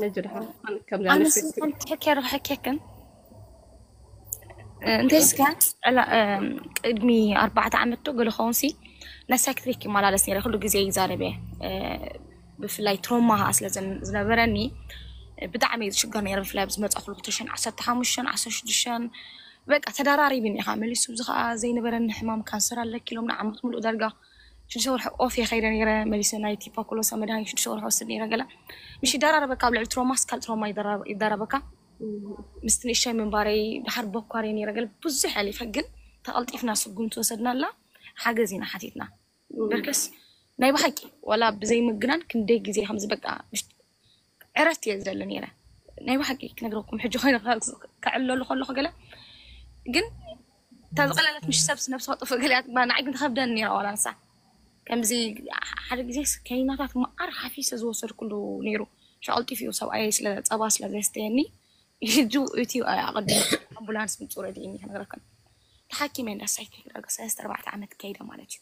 ነጅ ድሓን ከምዚ ኣነ ዓይነት ስንት ሕኬ ርሕኬክን እንተስከ ቅድሚ ኣርባዕተ ዓመት ዶ ገለ ኸውን ሲ ናይ ሳይክትሪክ ይመላለስ ነረ ኩሉ ግዜ ይዛረብ እየ ብፍላይ ትሮማ ከዓ ስለ ዝነበረኒ ብጣዕሚ እየ ዝሽገር ነረ ብፍላይ ዝመፃ ኩሉ ክልተ ሽሕን ዓሰርተ ሓሙሽተን ዓሰርተ ሽዱሽተን በቃ ተደራሪብኒ ኢኻ መሊሱ እዚ ከዓ ዘይነበረኒ ሕማም ካንሰር ኣለኪ ኢሎም ንዓመት ሙሉእ ዳርጋ ሽዱሽተ ወርሒ ኦፍ እየ ከይደ ነረ መሊሰ ናይ ቲፓኮሎሳ መድሃኒት ሽዱሽተ ወርሒ ወስድ ነረ ገለ ምሽ ይደራረበካ ኣብ ልዕሊ ትሮማስ ካልእ ትሮማ ይደራረበካ ምስቲ ንእሽተይ ምንባረይ ድሓር ቦኳር እየ ነረ ገለ ብዙሕ ኣሊፈ ግን ተቐልጢፍና ስጉምቲ ወሰድናላ ሓገዝ ኢና ሓቲትና በርከስ ናይ ብሓቂ ዋላ ብዘይ ምግናን ክንደይ ግዜ ከምዚ በቃ ዕረፍቲ እየ ዝደሊ ነይረ። ናይ ብሓቂ ክነግረኩም ሕጂ ኮይነ ከዕለሉ ከለኹ ገለ ግን እታ ዝቐለለት ምሽ ሰብ ነብሲ ከጥፍእ ገለ እያ ትግባእ። ንዓይ ግን ትኸብደኒ ነይራ ዋላ ንሳ። ከምዚ ሓደ ግዜ ከኒናታት መዓር ሓፊሰ ዝወሰድኩሉ ነይሩ። ሸቐልጢፍ እዩ ሰብኣይ ስለ ጸባ ስለ ዘስተየኒ ሕጂ እቲ ኣቐድም ኣምቡላንስ ምፁ ረድእኒ ክነግረክን ተሓኪመ እንዳሳይት ሰለስተ ኣርባዕተ ዓመት ከይደ ማለት እዩ።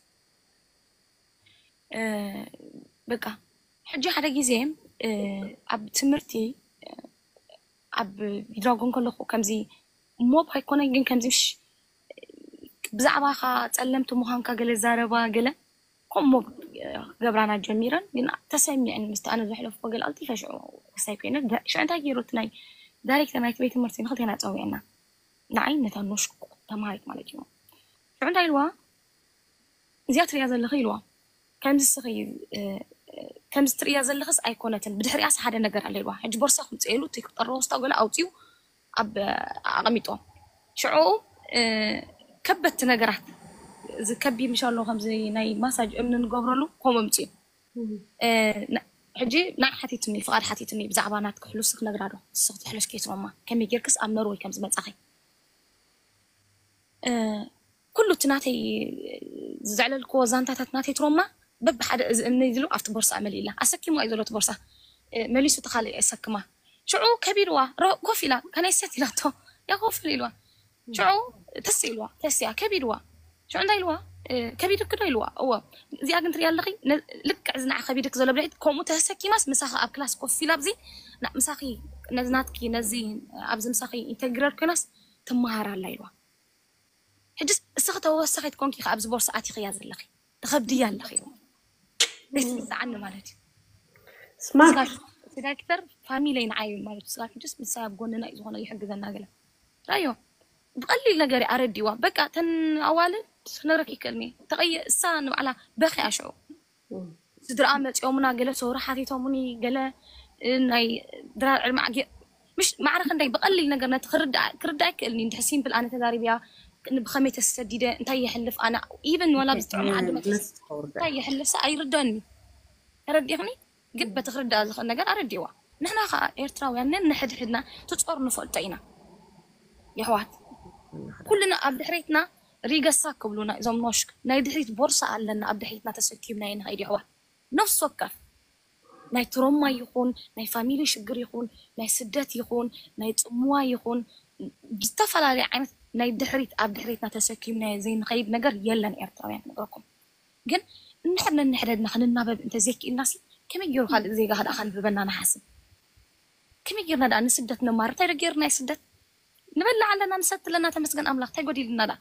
በቃ ሕጂ ሓደ ግዜ ኣብ ትምህርቲ ኣብ ቢድራጎን ከለኹ ከምዚ ሞብ ኣይኮነን ግን ከምዚ ብዛዕባኻ ጸለምቲ ምዃንካ ገለ ዛረባ ገለ ከምኡ ሞብ ገብራና ጀሚረን ግን ተሰሚዐን ምስቲ ኣነ ዘሕለፍኩ ገለ ኣልጢፈ ሽዑ ክሳይ ኮይነ ሽዑ እንታይ ገይሩ እቲ ናይ ዳይሬክተር ናይቲ ቤት ትምህርቲ ንክልቴና ጸዊዕና ንዓይ ነታ ኖሽ ተማሃሪት ማለት እዩ ሽዑ እንታይ ኢልዋ እዚኣ ትሪያ ዘለኺ ኢልዋ ከምዚ ስኺ ከምዚ ትርእያ ዘለኽስ ኣይኮነትን ብድሕሪኣስ ሓደ ነገር ኣለ ኢልዋ ሕጂ ቦርሳ ክምፅኤሉ እቲ ክጠሮ ወስታ ገለ ኣውፅኡ ኣብ ኣቐሚጦ ሽዑ ከበድቲ ነገራት እዚ ከቢድ ምሽ ኣሎ ከምዚ ናይ ማሳጅ እምኒ ንገብረሉ ከምኡ ኣምፅኡ ሕጂ ናይ ሓቲትኒ ፍቓድ ሓቲትኒ ብዛዕባ ናትኪ ሕሉስ ክነግራ ዶ ንስኽ ትሕለሽ ከይትሮማ ከመይ ጌርክስ ኣብ ኖርወይ ከም ዝመፃኺ ኩሉ እቲ ናተይ ዘዕለልክዎ ዛንታታት ናተይ ትሮማ በብሓደ እዚ እምኒ ኢሉ ኣብቲ ቦርሳ መሊእላ ኣሰኪሙ እዩ ዘሎ እቲ ቦርሳ መሊሱ እቲ ካልእ የሰክማ ሽዑ ከቢድዋ ኮፍ ኢላ ከነይ ሰት ኢላቶ ያ ኮፍ ኢልዋ ሽዑ ተስ ኢልዋ ተስያ ከቢድዋ ሽዑ እንታይ ኢልዋ ከቢድክ ዶ ኢልዋ እወ እዚኣ ግን ትሪያ ኣለኺ ልክዕ እዚ ንዓ ከቢድክ ዘሎ ብልዒት ከምኡ ተሰኪማስ ምሳኺ ኣብ ክላስ ኮፍ ኢላ ኣብዚ ምሳኺ ነዚ ናትኪ ነዚ ኣብዚ ምሳኺ ኢንተግረር ኮይናስ ትመሃር ኣላ ኢልዋ ሕጅስ እስኺ ተወሳኺት ኮንኪ ከ ኣብዚ ቦርሳ ኣቲኽያ ዘለኺ ትኸብድያ ኣለኺ ደስ ዝዓኒ ማለት እዩ ስማርት ዳይሬክተር ፋሚለይ ንዓይ ማለት እዩ ስጋር ሕጅስ ምሳይ ኣብ ጎንና እዩ ዝኾነ ይሕግዘና ገለ ራዮ ብቐሊል ነገር ኣረዲዋ በቃ ተን ኣዋልድ ክነግረክ ይክእልኒ ተቐየ እሳ ንባዕላ በኺ ኣሽዑ ስድራኣ መፂኦምና ገለ ሰውሪ ሓቲቶምኒ ገለ ናይ ድራር ዕድመ ዓጊ ምሽ ማዕረ ክንደይ ብቐሊል ነገር ነቲ ክርዳእ ክርዳእ ይክእልኒ እንድሕር ሲምፕል ኣነ ተዛሪብያ ብኸመይ ተሰዲደ እንታይ የሕልፍ ኣነ ኢቨን ወላ ብዝጥዕም ዓዲ መፅስ እንታይ የሕልፍ ሰ ኣይርደኒ ተረዲኽኒ ግን በቲ ክርዳእ ዝኽእል ነገር ኣረዲዋ ንሕና ከዓ ኤርትራውያን ነንሕድሕድና ትፆር ንፈልጦ ኢና የሕዋት ኩልና ኣብ ድሕሬትና ሪገሳ ክብሉና እዞም ኖሽክ ናይ ድሕሪት ቦርሳ ኣለና ኣብ ድሕሪትና ተሰኪምና ንኸይድ የሕዋት ነፍሲ ወከፍ ናይ ትሮማ ይኹን ናይ ፋሚሊ ሽግር ይኹን ናይ ስደት ይኹን ናይ ፅምዋ ይኹን ዝተፈላለዩ ዓይነት ናይ ድሕሪት ኣብ ድሕሪትና ተሰኪምናዮ ዘይንኸይድ ነገር የለን ኤርትራውያን ክነግረኩም ግን እንድሕር ነንሕደድና ክንናበብ እንተዘይክኢልና ሲ ከመይ ገይሩ ካልእ ዜጋ ከደኣ ከንብበና ንሓስብ ከመይ ጌርና ደኣ ንስደት ነማርር እንታይ ዶ ጌርና ስደት ንበልዕ ኣለና ንሰቲ ኣለና ተመስገን ኣምላኽ እንታይ ጎዲልና ደኣ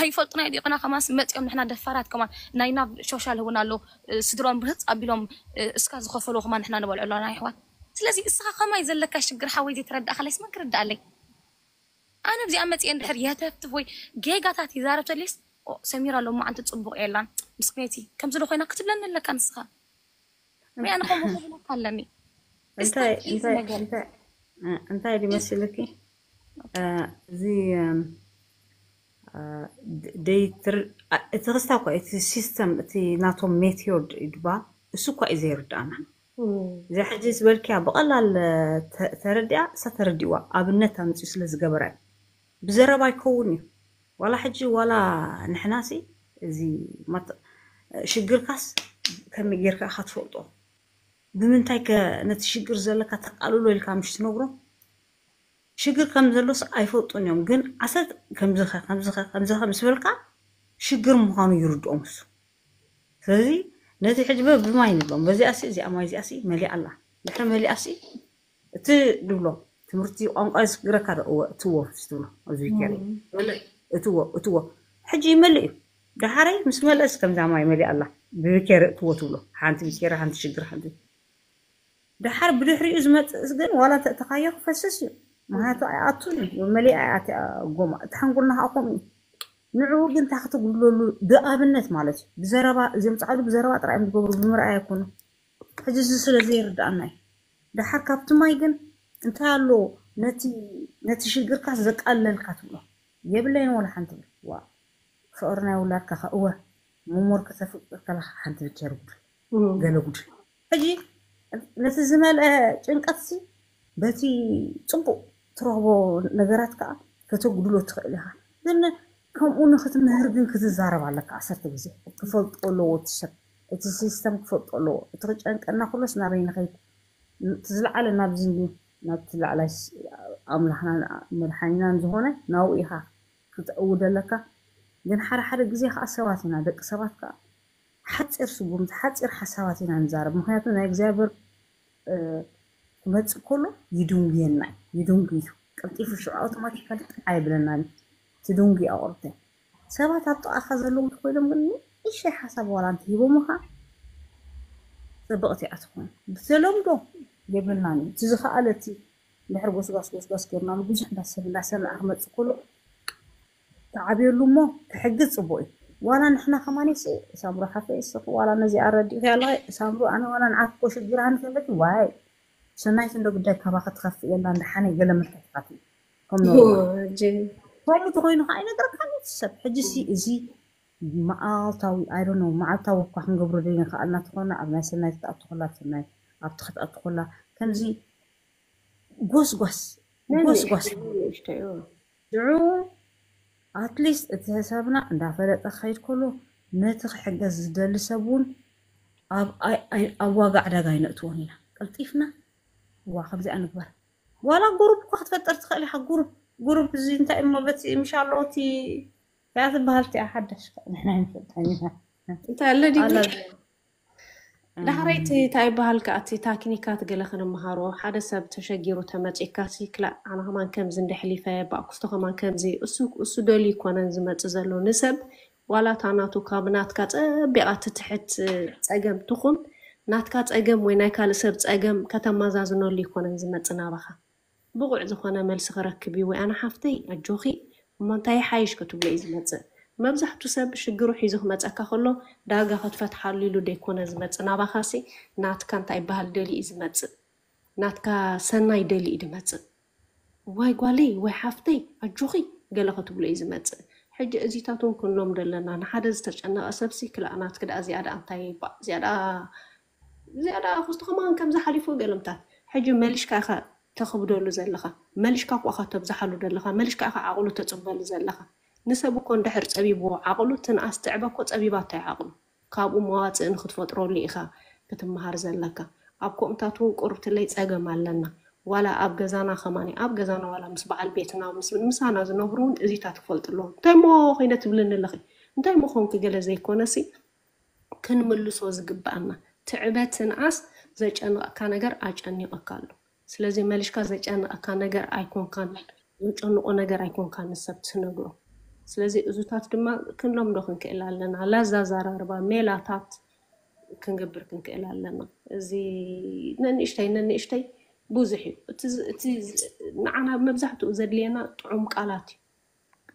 ኣይፈልጡና ይዲቑና ከማስ መፂኦም ንሕና ደፋራት ከማን ናይ ናብ ሾሻል ህውን ኣሎ ስድሮም ብህፅ ኣቢሎም እስካ ዝኸፈሉ ከማን ንሕና ንበልዑ ኣለና ይሕዋት ስለዚ እስኻ ከማይ ዘለካ ሽግር ሓወይ ዘይተረዳእካለይስ መን ክርዳኣለይ ኣነ ኣብዚኣ መፂአ እንድሕር የተፍትፍ ወይ ጌጋታት ይዛረብ ተሊስ ሰሚራ ሎማዓንቲ ፅቡቕ የላን ምስክነይቲ ከምዚ ዶ ኮይና ክትብለኒ ኣለካ ንስኻ ሪኣ ንኸምኡ ክብለካ ኣለኒ እንታይ እንታይ እንታይ እንታይ ድመስልኪ እዚ ደይትር እቲ ክስታ እኳ እቲ ሲስተም እቲ ናቶም ሜትዮድ ድባ እሱ እኳ እዩ ዘይርዳእና እዚኣ ሕጂ ዝበልክያ ብቐላል ተረዲኣ እሳ ተረዲእዋ ኣብነት ኣምፅኡ ስለ ዝገበራ እዩ ብዘረባ ይከውን እዩ ዋላ ሕጂ ዋላ ንሕናሲ እዚ ሽግርካስ ከመይ ጌርካ ኢኻ ትፈልጦ ብምንታይ ከ ነቲ ሽግር ዘለካ ተቃልሎ ኢልካ ምሽ ትነግሮ ሽግር ከም ዘሎስ ኣይፈልጡን እዮም ግን ዓሰት ከምዝኸ ከምዝኸ ከምዝኸ ምስ በልካ ሽግር ምዃኑ ይርድኦም እሱ ስለዚ ነቲ ሕጂ በብማይ ንብሎም በዚኣሲ እዚኣ ማይ እዚኣሲ መሊኣ ኣላ ድሕሪ መሊኣሲ እቲ ድብሎ ትምህርቲ ቋንቋ ዝግረካ ዶ እወ እትዎ ትብሎ ኣብዚ ቢኬሪ እትዎ እትዎ ሕጂ ይመልእ እዩ ደሓረይ ምስ መለስ ከምዛ ማይ መሊኣ ኣላ ብቢኬሪ እትዎ ትብሎ ሓንቲ ቢኬሪ ሓንቲ ሽግር ሓንቲ ደሓር ብድሕሪኡ ዝመፅእስ ግን ዋላ እንተእተኻዮ ክፈስስ እዩ ምክንያቱ ኣይኣቱን እዩ መሊኣ እያ እቲኣ ጎማ እቲ ሓንጎልና ከዓ ከምኡ እዩ ንዕኡ ግን እንታይ ክትጉድለሉ ብኣብነት ማለት እዩ ብዘረባ እዚኦም ፃዕዱ ብዘረባ ጥራይ እዮም ዝገብሩ ብምርኣይ ኣይኮኑ ሕጂ እዚ ስለ ዘይርድኣና እዩ ደሓር ካብቲ ማይ ግን እንታይ ኣሎ ነቲ ነቲ ሽግርካ ዘቃለልካ ትብሎ የብለይን ወላ ሓንቲ ብል ዋ ፍቅሪ ናይ ውላድካ ከ እወ መሞር ከተፍቅር ከለካ ሓንቲ ብኬር ጉድል ገለ ጉድል ሕጂ ነቲ ዝመልአ ጭንቀትሲ በቲ ጽቡቕ ትረኽቦ ነገራት ከዓ ከተጉድሎ ትኽእል ኢኻ። ግን ከምኡ ንክትምህር ግን ክትዛረብ ኣለካ ዓሰርተ ግዜ። ክፈልጦ ኣለዎ እቲ ሰብ፣ እቲ ሲስተም ክፈልጦ ኣለዎ። እቲ ክጨንቀና ኩሎስ ናበይ ንኸይድ? እቲ ዝለዓለ ናብዚ እንድዩ፣ ናብቲ ላዕላይ ስ-፣ ኣምላኽና መድሓኒናን ዝኾነ ናብኡ ኢኻ ክትእውድ ኣለካ። ግን ሓደ ሓደ ግዜ ከዓ ሰባት ኢና፣ ደቂ ሰባት ከዓ ሓፂር ስጉምቲ፣ ሓፂር ሓሳባት ኢና ንዛረብ። ምክንያቱ ናይ እግዚኣብሔር፣ እ፣ ክመፅእ ከሎ ይድንጉየና እዩ፣ ይድንጉ እዩ። ቀልጢፉ ሽዑ ኣውቶማቲካሊ ጥራሕ ኣይብለናን እዩ። ትድንጉ ኣቑርተ ሰባት ኣብ ጥቓኻ ዘለዉ እንተኮይኖም ግን ንእሽተይ ሓሳብ ዋላ እንተሂቦምኻ፣ ፅብቕቲ እያ ትኾን። ብተለምዶ የብልናን እዩ። እቲ ዝኸኣለ እቲ ድሕሪ ጎስጓስ ጎስጓስ ገይርናሉ ብዙሕ እንዳሰብ እንዳሰምዐ ክመፅእ ከሎ፣ ትዓብየሉ እሞ ክሕግዝ ፅቡቅ እዩ። ዋላ ንሕና ከማን ሲ ሳምሩ ሓፈይ እስኺ ዋላ ነዚኣ ረዲእኺ ኣለኺ ሳምሩ፣ ኣነ ዋላ ንዓኪ እኮ ሽግር ሃኒ ከለኪ ዋይ ሰናይት እንዶ ግዳይ ካባኺ ትኸፍእ የላን ደሓነይ ገለ ምልክትታት እዩ። ከም ኖርማል። ከምኡ ተኮይኑ ከዓ ኣይነገረካን እዩ እቲ ሰብ። ሕጂ ሲ እዚ መዓልታዊ፣ I don't know፣ መዓልታዊ እኳ ክንገብሮ ዘይንኽኣል እናተኾነ ኣብ ናይ ሰናይት ክትኣቱ ከላ፣ ሰናይ ኣብቲ ክትኣቱ ከላ ከምዚ ጎስጓስ፣ ጎስጓስ። ሽዑ ኣትሊስት እቲ ሰብና እንዳፈለጠ ክኸይድ ከሎ ነቲ ክሕገዝ ዝደሊ ሰብ እውን ኣብ፣ ኣይ-፣ ኣይ-፣ ኣብ ዋጋ ዕዳጋ ኣይነእትዎን ኢና። ቀልጢፍና፣ ዋ፣ ከምዚኣ ንግበር። ዋላ ጉሩፕ እኳ ክትፈጥር ትኽእል ኢኻ። ጉሩፕ፣ ጉሩፕ እዚ እንታይ እሞ በቲ ምሻሎ እቲ እያ ትበሃል እቲኣ ሓዳሽ ንሕና ኣይንፈልጣን ኢና። እንታይ ኣለ ድዩ? ኣላ ዳሕረይቲ እንታይ ይበሃል ከኣ እቲ ታክኒካት ገለ ክንመሃሮ፣ ሓደ ሰብ ተሸጊሩ ተመጺእካ ሲ ክላእ ኣነ ከማን ከምዚ እንደ ሕሊፈ ባእኩስቶ ከማን ከምዚ እሱ፣ እሱ ደልዩ ይኮነን ዝመጽእ ዘሎ ንሰብ ዋላ እታ ናቱ ካብ ናትካ ጸቢቓ ትትሕት ጸገም ትኹን ናትካ ጸገም ወይ ናይ ካልእ ሰብ ጸገም ከተመዛዝነሉ ይኮነን ዝመጽእ ናባኻ። ብቑዕ ዝኾነ መልሲ ክረክብ እዩ ወይ ኣነ ሓፍተይ ኣጆኺ እሞ እንታይ ይሓይሽ ክትብሎ እዩ ዝመጽእ። መብዛሕቱ ሰብ ሽግሩ ሒዙ ክመጸካ ከሎ ዳርጋ ክትፈትሓሉ ኢሉ ደይኮነ ዝመጽእ ናባኻሲ ናትካ እንታይ ይበሃል ደሊ እዩ ዝመጽእ። ናትካ ሰናይ ደሊ እዩ ዝመጽእ። ዋይ ጓለይ ወይ ሓፍተይ ኣጆኺ ገለ ክትብሎ እዩ ዝመጽእ። ሕጂ እዚታት እውን ክንሎም ደለና ንሓደ ዝተጨነቐ ሰብሲ ክላእ ናትክ ደኣ እዚኣ ደኣ እንታይ ይባ-፣ እዚኣ ደኣ እዚኣ ደኣ ክስቶ ከማን ከምዚ ሓሊፉ ገለምታት ሕጂ መሊሽካ ኢኻ ተኽብደሉ ዘለኻ፣ መሊሽካ እኮ ኢኻ ተብዝሓሉ ዘለኻ፣ መሊሽካ ኢኻ ዓቕሉ ተጽበሉ ዘለኻ። ንሰብ እኮ እንድሕር ጸቢብዎ ዓቕሉ ትንኣስ ትዕበ እኮ ጸቢባቶ እያ ዓቕሉ። ካብኡ መዋጽእ ንክትፈጥረሉ ኢኻ ክትመሃር ዘለካ። ኣብ ኮምታት እውን ቁርብትለይ ጸገም ኣለና። ዋላ ኣብ ገዛና ከማን ኣብ ገዛና ዋላ ምስ በዓል ቤትና ምስ ምሳና ዝነብሩ እውን እዚታት ክፈልጡ ኣለዎም። እንታይ እሞ ኮይነ ትብልኒ ኣለኺ? እንታይ እሞ ኮንኪ ገለ ዘይኮነሲ ክንምልሶ ዝግብኣና ትዕበ ትንኣስ ዘጨንቐካ ነገር ኣጨኒቐካ ኣሎ። ስለዚ መሊሽካ ዘጨንቐካ ነገር ኣይኮንካን፣ ዘጨንቆ ነገር ኣይኮንካን ንሰብ ትነግሮ። ስለዚ እዙታት ድማ ክንለምዶ ክንክእል ኣለና። ላዛ ኣዘራርባ ሜላታት ክንገብር ክንክእል ኣለና። እዚ ነንእሽተይ ነንእሽተይ ብዙሕ እዩ። እቲ ዝ-፣ እቲ ዝ-፣ ንዓና መብዛሕትኡ ዘድልየና ጥዑም ቃላት እዩ።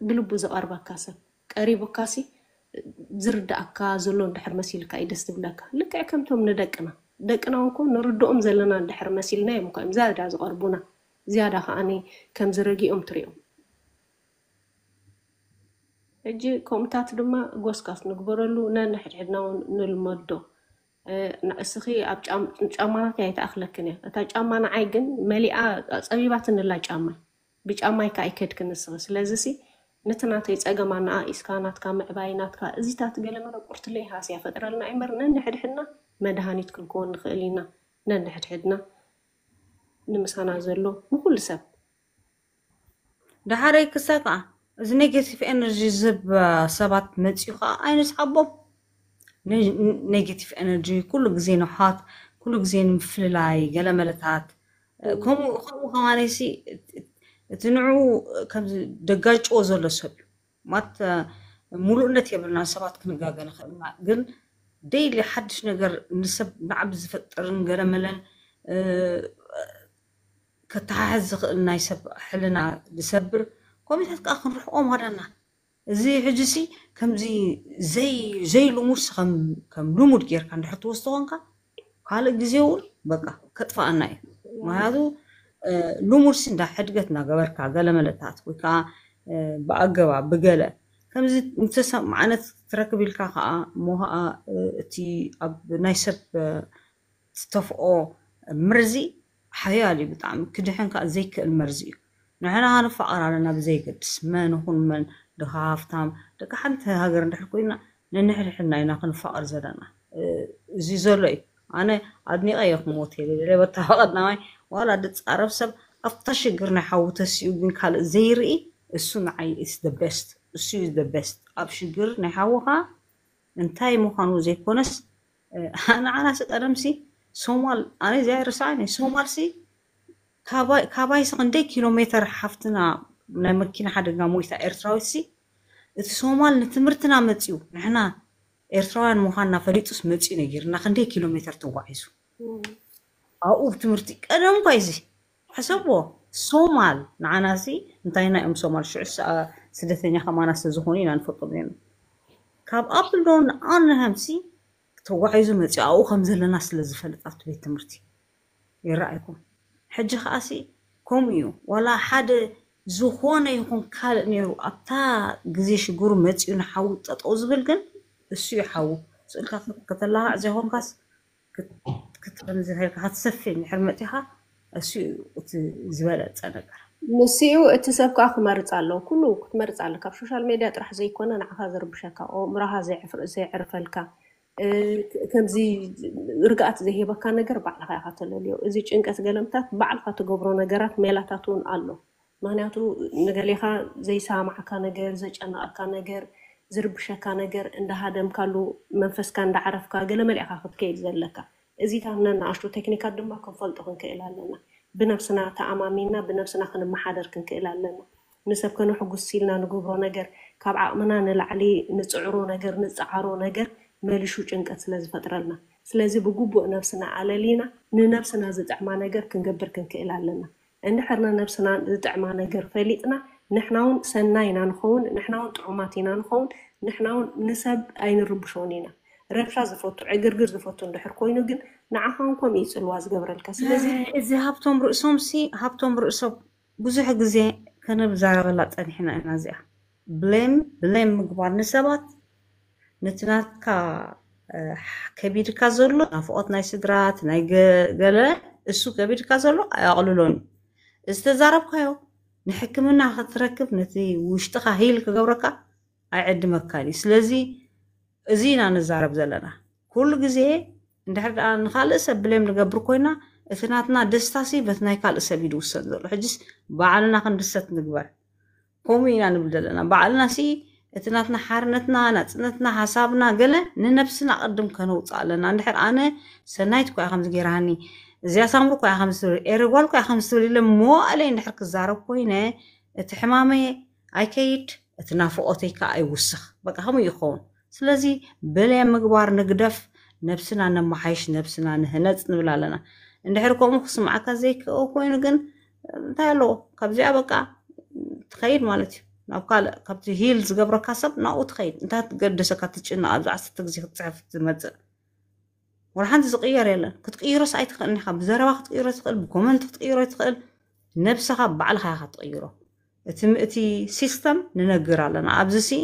ብልቡ ዝቐርበካ ሰብ ቀሪቡካሲ ዝርዳእካ ዘሎ እንድሕር መሲልካ እዩ ደስ ዝብለካ። ልክዕ ከምቶም ንደቅና፣ ደቅና እውን እኮ ንርድኦም ዘለና እንድሕር መሲልና እዮም እኮ እዮም ዝያዳ ዝቐርቡና። ዝያዳ ከዓኒ ከም ዝረጊኦም ትሪኦም። ሕጂ ከምኡታት ድማ ጎስጋስ ንግበረሉ፣ ነንሕድሕድና እውን ንልመዶ። እ፣ ንዕስኺ ኣብ ጫም-፣ ጫማናተይ ኣይትኣኽለክን እያ። እታ ጫማ ንዓይ ግን መሊኣ ጸቢባትንላ ጫማይ። ብጫማይ ከኣ ኣይከድክን ንስኺ። ስለዚሲ ነቲ ናተይ ጸገም ኣነኣኢስካ ናትካ ምዕባይ፣ ናትካ እዚታት ገለ መለ ቁርትለይ ሃስያ ፈጥረልና እምበር ነንሕድሕድና መድሃኒት ክንከውን ንኽእል ኢና። ነንሕድሕድና ንምሳና ዘሎ ንኹሉ ሰብ። ደሓረይ ክሳ ከዓ እዚ ኔጌቲቭ ኤነርጂ ዝህብ ሰባት መፅዩ ከዓ ኣይንስሓቦም። ነ-፣ ኔጌቲቭ ኤነርጂ ኩሉ ግዜ ንውሓት፣ ኩሉ ግዜ ንምፍልላይ ገለ መለታት፣ እ፣ ከምኡ፣ ከምኡ ከማነይሲ እቲ ንዕኡ ከምዚ ደጋጭዎ ዘሎ ሰብ እዩ። ማት፣ እ፣ ሙሉእነት የብልና፣ ሰባት ክንጋገ ንኽእል ኢና። ግን ዴይሊ ሓድሽ ነገር ንሰብ ናዕቢ ዝፈጥርን ገለ መለን፣ እ፣ ከተሓሕዝ ዝኽእል ናይ ሰብ ሕልና ዝሰብር ኮሜንታት ከዓ ክንርሕቆ ማለና። እዚ ሕጂሲ ከምዚ ዘይ-፣ ዘይልሙድሲ ከም፣ ከም ልሙድ ጌርካ እንድሕር ትወስዶ ኮንካ፣ ካልእ ግዜ እውን በቃ ከጥፍኣና እዩ። ምክንያቱ፣ እ፣ ልሙድሲ እንዳ ሕድገት እናገበርካ ገለ መለታት ወይ ከዓ፣ እ፣ ብኣገባብ ብገለ ከምዚ እንተሰማዕነት ትረክብ ኢልካ ከዓ እሞ ከዓ፣ እ፣ እቲ ኣብ ናይ ሰብ፣ እ፣ ትተፍኦ መርዚ ሓያል እዩ ብጣዕሚ፣ ክድሕን ከዓ ዘይክእል መርዚ እዩ። ንሕና ክንፋቐር ኣለና ብዘይገድስ መን ይኹን መን፣ ድኻ ሃፍታም፣ ደቂ ሓንቲ ሃገር እንድሕር ኮይና ነንሕድሕድና ኢና ክንፋቐር ዘለና። እዚ ዘሎ እዩ። ኣነ ኣድኒቐ እየ ክሞት የለ በታ ቀዳማይ ዋላ ድፃረፍ ሰብ ኣብታ ሽግር ናይ ሓዉ ተሲኡ ግን ካልእ ዘይርኢ፣ እሱ ንዓይ is the best፣ እሱ is the best። ኣብ ሽግር ናይ ሓውኻ እንታይ ምዃኑ ዘይኮነስ፣ ንዓናሲ ቀደምሲ ሶማል፣ ኣነ እዚኣ ይርስዓኒ፣ ሶማልሲ ካባይሲ ክንደይ ኪሎ ሜተር ሓፍትና ናይ መኪና ሓደጋ ሞይታ ኤርትራዊትሲ፣ እቲ ሶማል ንትምህርትና መፅዩ፣ ንሕና ኤርትራውያን ምዃንና ፈሊጡስ መፅዩ ነጊርና፣ ክንደይ ኪሎ ሜተር ተጓዒዙ ኣብኡ ብትምህርቲ። ቀደም እኳ እዚ ሕሰቦ፣ ሶማል ንዓናሲ እንታይና እዮም ሶማል ሽዑ ስደተኛ ከማና ስለዝኾኑ ኢና ንፈልጦም ነርና። ካብ ኣፕልዶን ኣርንሃምሲ ተጓዒዙ መፅኡ ኣብኡ ከም ዘለና ስለ ዝፈልጥ ኣብቲ ቤት ትምህርቲ ይረኣይኩም። ሕጂ ከዓሲ ከምኡ እዩ። ዋላ ሓደ ዝኾነ ይኹን ካልእ ነይሩ ኣብታ ግዜ ሽግሩ መፂኡ ንሓዊ ጠጠው ዝብል ግን እሱ እዩ ሓዊ። ስእልካ ከተላኻዕ ዘይኮንካስ ክትሰፊ እንድሕር መፂኻ እሱ እዩ እቲ ዝበለፀ ነገር። ንስኡ እቲ ሰብ ከዓ ክመርፅ ኣለዎ። ኩሉ ክትመርፅ ኣለ። ካብ ሶሻል ሜድያ ጥራሕ ዘይኮነ ንዓኻ ዘርብሸካ፣ ኣእምሮኻ ዘየዕርፈልካ፣ ከምዚ ርግኣት ዘይህበካ ነገር ባዕልኻ ኢኻ ተለልዮ። እዚ ጭንቀት ገለምታት ባዕልኻ ትገብሮ ነገራት ሜላታት እውን ኣሎ። ምክንያቱ ንገሌኻ ዘይሰማዕካ ነገር፣ ዘጨነቐካ ነገር፣ ዝርብሸካ ነገር እንዳሃደምካሉ መንፈስካ እንዳዓረፍካ ገለ መሊእኻ ክትከይድ ዘለካ። እዚታት ነናኣሽቱ ቴክኒካት ድማ ክንፈልጦ ክንክእል ኣለና። ብነብስና ተኣማሚንና ብነብስና ክንመሓደር ክንክእል ኣለና። ንሰብ ከነሕጉስ ኢልና ንገብሮ ነገር፣ ካብ ዓቕምና ንላዕሊ ንፅዕሮ ነገር፣ ንፀዓሮ ነገር መሊሹ ጭንቀት ስለ ዝፈጥረልና። ስለዚ ብግቡእ ነብስና ኣለሊና ንነብስና ዝጥዕማ ነገር ክንገብር ክንክእል ኣለና። እንድሕር ንነብስና ዝጥዕማ ነገር ፈሊጥና ንሕና እውን ሰናይ ኢና ንኸውን፣ ንሕና እውን ጥዑማት ኢና ንኸውን፣ ንሕና እውን ንሰብ ኣይንርብሾን ኢና። ረብሻ ዝፈቱ ዕግርግር ዝፈቱ እንድሕር ኮይኑ ግን ንዓኻ እውን ከምኡ እዩ ፅልዋ ዝገብረልካ። ስለዚ እዚ ሃብቶም ርእሶም ሲ ሃብቶም ርእሶም ብዙሕ ግዜ ከነብዛረበላ ፀኒሕና ኢና። እዚኣ ብሌም ብሌም ምግባር ንሰባት ነቲ ናትካ ከቢድካ ዘሎ ናፍቆት ናይ ስድራ ናይ ገለ እሱ ከቢድካ ዘሎ ኣያቕልሎን እዩ። ዝተዛረብካዮ ንሕክምና ክትረክብ ነቲ ውሽጥኻ ሂል ክገብረካ ኣይዕድመካን እዩ። ስለዚ እዚ ኢና ንዛረብ ዘለና። ኩሉ ግዜ እንድሕር ደኣ ንኻልእ ሰብ ብሌም ንገብር ኮይና እቲ ናትና ደስታሲ በቲ ናይ ካልእ ሰብ እዩ ዝውሰን ዘሎ። ሕጅስ ባዕልና ክንድሰት ንግበር። ከምኡ ኢና ንብል ዘለና። ባዕልና ሲ እቲ ናትና ሓርነትና፣ ናጽነትና፣ ሓሳብና ገለ ንነብስና ቅድም ከነውጽእ ኣለና። እንድሕር ኣነ ሰናይት እኮ እያ ከምዚ ገይራኒ፣ እዚኣ ሳምሪ እኮ እያ ከምዚ ትብል፣ ኤረ ጓል እኮ እያ ከምዚ ትብል ኢለ መዋእለይ እንድሕር ክዛረብ ኮይነ እቲ ሕማመይ ኣይከይድ፣ እቲ ናፍቆተይ ከዓ ኣይውስኽ። በቃ ከምኡ ይኸውን። ስለዚ በለያ ምግባር ንግደፍ፣ ነብስና ነመሓይሽ፣ ነብስና ንህነጽ ንብል ኣለና። እንድሕር ከምኡ ክስምዓካ ዘይክእል ኮይኑ ግን እንታይ ኣለዎ? ካብዚኣ በቃ ትኸይድ ማለት እዩ። ናብ ካልእ ካብቲ ሂል ዝገብረካ ሰብ ናብኡ ትኸይድ። እንታይ ትገደሰካ ትጭነቕ ኣብዚ ዓሰርተ ግዜ ክትፅሕፍ ትመፅእ? ወላ ሓንቲ ዝቕየር የለን። ክትቅይሮስ ኣይትኽእልን ኢኻ። ብዘረባ ክትቅይሮ ትኽእል፣ ብኮመንት ክትቅይሮ ትኽእል። ነብስኻ ባዕልኻ ኢኻ ትቕይሮ። እቲ እቲ ሲስተም ንነግር ኣለና። ኣብዚ ሲ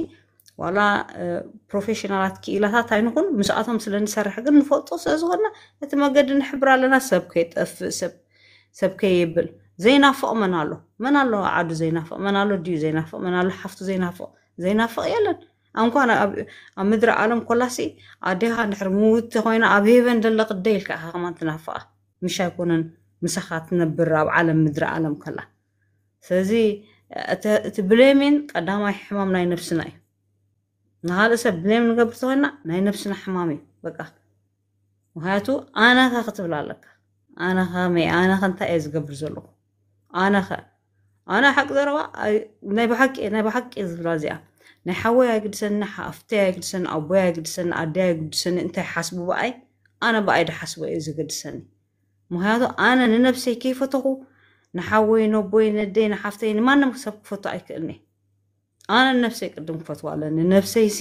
ዋላ ፕሮፌሽናላት ክኢላታት ኣይንኹን ምስኣቶም ስለ ንሰርሕ ግን ንፈልጦ ስለ ዝኾንና እቲ መገዲ ንሕብር ኣለና። ሰብ ከይጠፍእ ሰብ ሰብ ከየብል ዘይናፍቕ መን ኣሎ? መን ኣሎ ዓዱ ዘይናፍቕ? መን ኣሎ ድዩ ዘይናፍቕ? መን ኣሎ ሓፍቱ ዘይናፍቕ? ዘይናፍቕ የለን። ኣንኳን ኣብ ኣብ ምድሪ ዓለም ኮላሲ ኣዴኻ እንድሕር ምውቲ ኮይና ኣብ ሄቨን ደለ ቅደ ኢልካ ኢኻ ከማን ትናፍቓ። ምሽ ኣይኮነን ምሳኻ ትነብር ኣብ ዓለም ምድሪ ዓለም ከላ። ስለዚ እቲ ብሌሚን ቀዳማይ ሕማም ናይ ነብስና እዩ። ንኻልእ ሰብ ብሌም ንገብር ተኾይና ናይ ነብስና ሕማም እዩ በቃ። ምክንያቱ ኣነኸ ክትብል ኣለካ። ኣነኸ መይ ኣነኸ እንታይ እየ ዝገብር ዘለኹ? ኣነኸ ኣነ ሓቂ ዘረባ ናይ ብሓቂ ናይ ብሓቂ ዝብላ እዚኣ ናይ ሓወይ ኣይግድሰኒ፣ ሓፍተይ ኣይግድሰኒ፣ ኣቦይ ኣይግድሰኒ፣ ኣደይ ኣይግድሰኒ፣ እንታይ ሓስቡ ብኣይ ኣነ ብኣይ ድሓስቦ እዩ ዝገድሰኒ። ምክንያቱ ኣነ ንነብሰይ ከይፈተኹ ንሓወይ ነቦይ ነደይ ንሓፍተይ ንማንም ሰብ ክፈቱ ኣይክእልኒ። ኣነ ንነብሰይ ቅድም ክፈትዋ ኣለኒ። ነብሰይሲ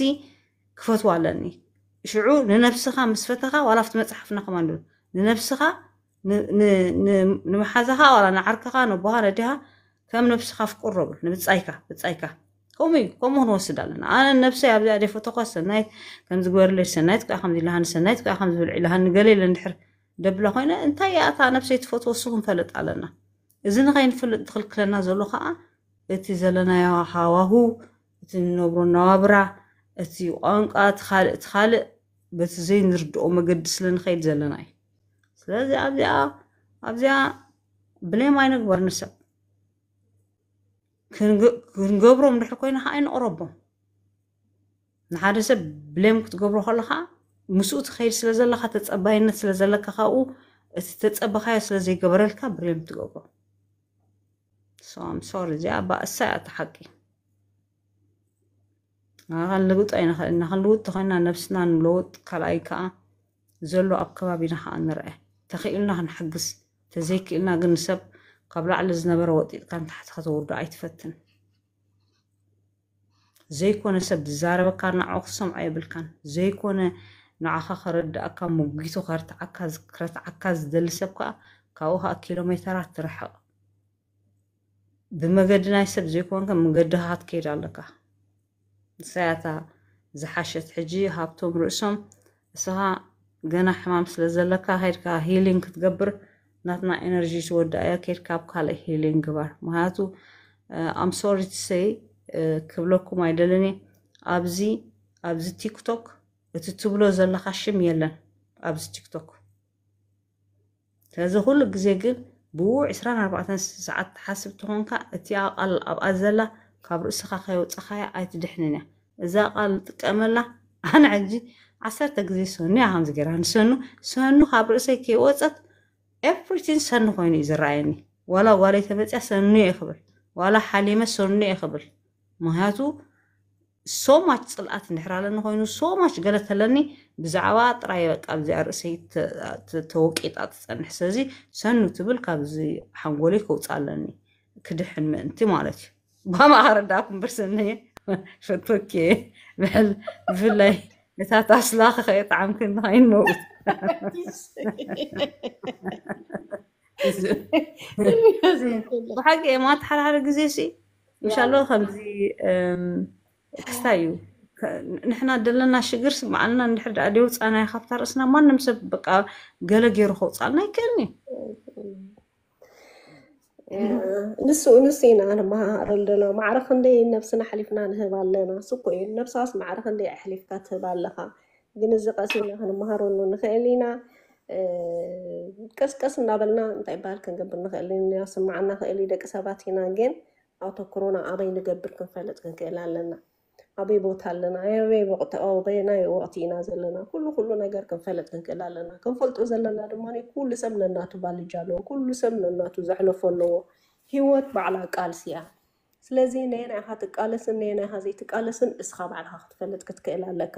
ክፈትዋ ኣለኒ። ሽዑ ንነብስኻ ምስ ፈተኻ ዋላ ኣብቲ መፅሓፍና ከማን ንብል ንነብስኻ ን- ን- ን- ንመሓዛኻ ዋላ ንዓርክኻ ነቦኻ ነዲኻ ከም ነብስኻ ፍቁሮ ብል ንብፃይካ ብፃይካ ከምኡ እዩ። ከምኡ ክንወስድ ኣለና። ኣነ ነብሰይ ኣብዚኣ ደይ ፈተኳ ሰናይት ከምዚ ግበርለይ ሰናይት ከዓ ከምዚ ኢላሃኒ ሰናይት ከዓ ከምዚ ብልዒ ኢላሃኒ ገለ ኢለ እንድሕር ደብላ ኮይነ እንታይ እያ እታ ነብሰይ ትፈትዎ እሱ ክንፈልጥ ኣለና። እዚ ንኸይንፈልጥ ዝኽልክለና ዘሎ ከዓ እቲ ዘለናዮ ሃዋሁ፣ እቲ ንነብሮ ነዋብራ፣ እቲ ቋንቋ፣ እቲ ካልእ እቲ ካልእ በቲ ዘይንርድኦ መገዲ ስለ ንኸይድ ዘለና እዩ። ስለዚ ኣብዚኣ ኣብዚኣ ብሌም ኣይነግበር ንሰብ ክንገብሮም ድሕር ኮይና ከዓ ኣይንቕረቦም። ንሓደ ሰብ ብሌም ክትገብሮ ከለካ ምስኡ ትኸይድ ስለ ዘለካ ተፀባይነት ስለ ዘለካ ካብኡ እቲ ተፀበካዮ ስለ ዘይገበረልካ ብሌም ትገብሮ። ሶም ሶሪ እዚኣ ባእሳ እያ እቲ ሓቂ። ክንልውጥ ኣይንኽእል ኢና። ክንልውጥ ተኮይና ነብስና ንለውጥ፣ ካልኣይ ከዓ ዘሎ ኣብ ከባቢና ከዓ ንርአ። ተኽኢልና ክንሕግዝ፣ ተዘይክእልና ግን ንሰብ ካብ ላዕሊ ዝነበረ ወጢጥካ ንታሕቲ ከተውርዶ ኣይትፈትን። ዘይኮነ ሰብ ዝዛረበካ ንዓኡ ክትሰምዖ የብልካን። ዘይኮነ ንዓኻ ከረድኣካ፣ መጒቱ ከርትዓካ፣ ክረትዓካ ዝደሊ ሰብ ከዓ ካብኡ ከዓ ኪሎ ሜተራት ትርሕቕ። ብመገዲ ናይ ሰብ ዘይኮንካ መገድኻ ክትከይድ ኣለካ። ንሳያታ ዝሓሸት ሕጂ ሃብቶም ርእሶም እስኻ ገና ሕማም ስለ ዘለካ ከይድካ ሂሊንግ ክትገብር ናትና ኤነርጂ ትወድኣያ ከይድካ ኣብ ካልእ ሂሊንግ ግባር። ምክንያቱ ኣም ሶሪ ቱ ሰይ ክብለኩም ኣይደልን እየ። ኣብዚ ኣብዚ ቲክቶክ እቲ ትብሎ ዘለካ ሽም የለን ኣብዚ ቲክቶክ። ስለዚ ኩሉ ግዜ ግን ብኡ ዕስራን ኣርባዕተን ሰዓት ትሓስብ ተኾንካ እቲኣ ቃል ኣብኣ ዘላ ካብ ርእስኻ ከየውፀኻያ ኣይትድሕንን እያ። እዛ ቃል ጥቀመላ። ኣነ ሕጂ ዓሰርተ ግዜ ሰኑ እያ ከምዚ ገይራ ንሰኑ ሰኑ ካብ ርእሰይ ከይወፀት ኤቭሪቲን ሰኑ ኮይኑ እዩ ዝረኣየኒ። ዋላ ጓለይ ተመፅያ ሰኑ እየ ክብል፣ ዋላ ሓሊመ ሰኑ እየ ክብል። ምክንያቱ ሶማች ፅልኣት እንድሕር ኣለኒ ኮይኑ ሶማች ገለ ተለኒ ብዛዕባ ጥራይ በቃ ኣብዚኣ ርእሰይ ተወቂጣ ትፀንሕ። ስለዚ ሰኑ ትብል ካብዚ ሓንጎለይ ከውፃ ኣለኒ ክድሕን ምእንቲ ማለት እዩ። ባማ ከረዳእኩም በርሰነየ ፈቶኬ ብሕል ብፍላይ እታ ታስላ ከየጣዕምክን ከይንመውት ብሓቂ ማት ሓደ ሓደ ግዜ ሲ ምሻሎ ከምዚ ክስታይ እዩ። ንሕና ደለና ሽግር ስምዓልና እንድሕር ደኣ ደውፃናዮ ካብታ ርእስና ማንም ሰብ በቃ ገለ ገይሩ ከውፃልና ይክእልኒ። ንሱ ንሱ ኢና ንመሃረሉ ዘለና። ማዕረ ክንደይ ነብስና ሓሊፍና ንህብ ኣለና። ስኮ እዩ ነብሳስ ማዕረ ክንደይ ኣሕሊፍካ ትህብ ኣለኻ። ግን እዚ ቀስ ኢልና ክንመሃረሉ ንኽእል ኢና። ቀስቀስ እናበልና እንታይ ይበሃል ክንገብር ንኽእል ኢና። ስምዓና ክእል ደቂ ሰባት ኢና። ግን ኣተኩሮና ኣበይ ንገብር ክንፈልጥ ክንክእል ኣለና። ኣበይ ቦታ ኣለና፣ ኣበይ ወቕቲ፣ ኣበየናይ ወቕቲ ኢና ዘለና፣ ኩሉ ኩሉ ነገር ክንፈልጥ ክንክእል ኣለና። ክንፈልጦ ዘለና ድማ ኩሉ ሰብ ነናቱ ባልጃ ኣለዎ፣ ኩሉ ሰብ ነናቱ ዘሕለፎ ኣለዎ። ህይወት ባዕላ ቃልሲ እያ። ስለዚ ነየናይ ኢኻ ትቃለስን ነየናይ ኢኻ ዘይትቃለስን እስኻ ባዕልኻ ክትፈልጥ ክትክእል ኣለካ።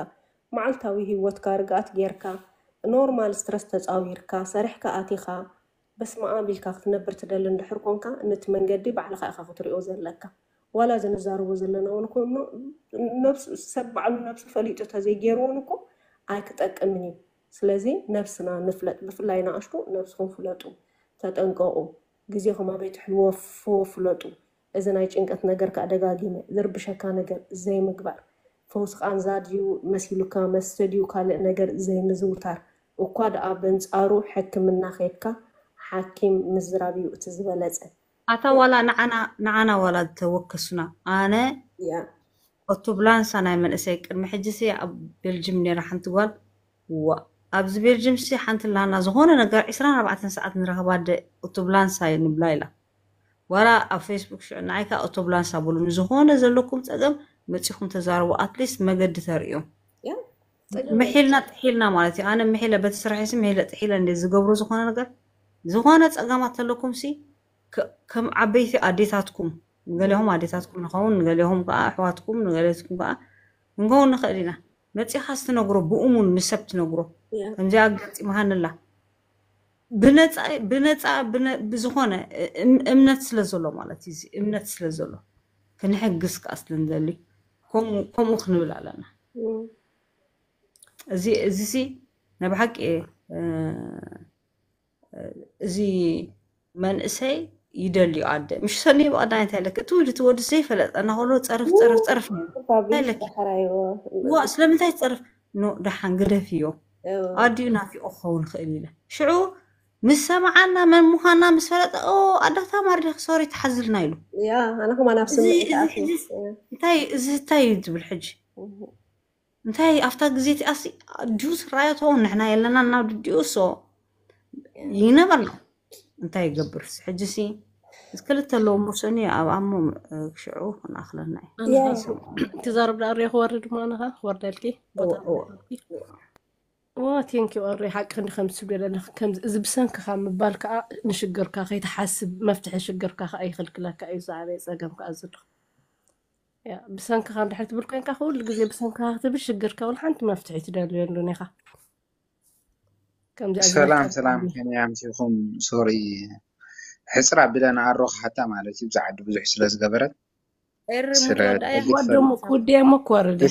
መዓልታዊ ህይወትካ ርግኣት ጌርካ ኖርማል ስትረስ ተፃዊርካ ሰሪሕካ ኣቲኻ በስመኣብ ኢልካ ክትነብር ትደሊ እንድሕር ኮንካ፣ ነቲ መንገዲ ባዕልኻ ኢኻ ክትሪኦ ዘለካ። ዋላ እዚ ንዛረቦ ዘለና እውን እኮ እሞ፣ ነብሱ፣ ሰብ ባዕሉ ነብሱ ፈሊጡ ተዘይገይሩ እውን እኮ ኣይክጠቅምን እዩ። ስለዚ ነብስና ንፍለጥ፣ ብፍላይ ንኣሽቱ ነብስኹም ፍለጡ፣ ተጠንቀቑ፣ ግዜኹም ኣበይ ትሕልዎ ፍለጡ። እዚ ናይ ጭንቀት ነገር ከዓ ደጋጊመ ዝርብሸካ ነገር ዘይምግባር፣ ፈውሲ ቃንዛ ድዩ መሲሉካ መስተ ድዩ ካልእ ነገር ዘይምዝውታር፣ እኳ ደኣ በንጻሩ ሕክምና ከይድካ ሓኪም ምዝራብ እዩ እቲ ዝበለጸ። ኣታ ዋላ ንዓና ንዓና ዋላ ተወከሱና ኣነ ያ ኦቶብላንሳ ናይ መንእሰይ ቅድሚ ሕጂ ሲ ኣብ ቤልጅም ነራ ሓንቲ ጓል ዋ ኣብዚ ቤልጅም ሲ ሓንቲ ላና ዝኾነ ነገር ዕስራን ኣርባዕተን ሰዓት ንረኸባ ደ ኦቶብላንሳ ንብላ ኢላ ዋላ ኣብ ፌስቡክ ሽዑ ንዓይ ከኣ ኦቶብላንሳ በሉኒ ዝኾነ ዘለኩም ጸገም መጺኹም ተዛረቡ ኣትሊስት መገዲ ተርእዮም ያ ጸገም ምሒልና ጥሒልና ማለት እዩ ኣነ ምሒለ በቲ ስራሐይ ሲ ምሒለ ጥሒለ እንደ ዝገብሮ ዝኾነ ነገር ዝኾነ ጸገማት ተለኩም ሲ ከ- ከም ዓበይቲ ኣዴታትኩም ንገሊኹም ኣዴታትኩም ንኸውን ንገሊኹም ከዓ ኣሕዋትኩም ንገሊትኩም ከዓ ክንከውን ንኽእል ኢና መፂኻ ስትነግሮ ብእሙን ንሰብ ትነግሮ ያ ከምዚኣ ኣጋጢማሃንላ ብነፃ ብነፃ ብነ- ብዝኾነ እም- እምነት ስለ ዘሎ ማለት እዩ እዚ እምነት ስለ ዘሎ ክንሕግዝ ከዓ ስለ ንደሊ ከምኡ ከምኡ ክንብል ኣለና እም። እዚ እዚ ሲ ናይ ብሓቂ እ፣ እዚ መንእሰይ ይደልዩ ኣደ ምሽ ሰኒ ብቐዳይ እንታይ ኣለክ እቲ ወዲ እቲ ወዲ ዘይፈለጠ እናኸሎ ፀርፍ ፀርፍ ፀርፍ ነይሩ እንታይ ኣለክ ዋ ስለምንታይ ትፀርፍ ኖ ደሓን ግደፍዮ ኣዲኡ ናፊቑ ክኸውን ይኽእል ኢለ ሽዑ ምስ ሰምዓና መን ምዃና ምስ ፈለጠ ኣዳታ ማርዲክ ሶሪ ትሓዝልና ኢሉ። ኣነ ከማን ኣብ ስምዒት እንታይ እዚ እንታይ እዩ ትብል ሕጂ እንታይ ኣብታ ግዜ እቲኣሲ ድዩ ስራዮ ተውን ንሕና የለና ናብ ድዲኡ ሶ ይነበር ነው እንታይ ይገብር ሕጂ ሲ ክልተ ኣለዎ ሙሰኒ ኣብ ኣሞ ሽዑ ክንኣክለና እዩ ትዛረብ ዳ ሪኦ ክወርድ ማነኻ ክወርደልኪ ቦታ ቴንኪ ሪ ሓቂ ክንዲ ከም ትስብዮ ዘለክ ከምዚ እዚ ብሰንክኻ ምባል ከዓ ንሽግርካ ከይትሓስብ መፍትሒ ሽግርካ ከዓ ይኽልክለካ እዩ ዝዓበየ ፀገም ከዓ ዘሎ ብሰንክኻ እንድሕር ትብል ኮይንካ ኩሉ ግዜ ብሰንክኻ ክትብል ሽግርካ እውን ሓንቲ መፍትሒ ትደልየሉን ኢኻ ሰላም ሰላም ከመይ ኣምሲኹም ሶሪ ሕፅር ኣቢለ ንኣሮ ክሓታ ማለት እዩ ብዛዕዲ ብዙሕ ስለ ዝገበረት ወደሞ ክወደየሞ ክወርድ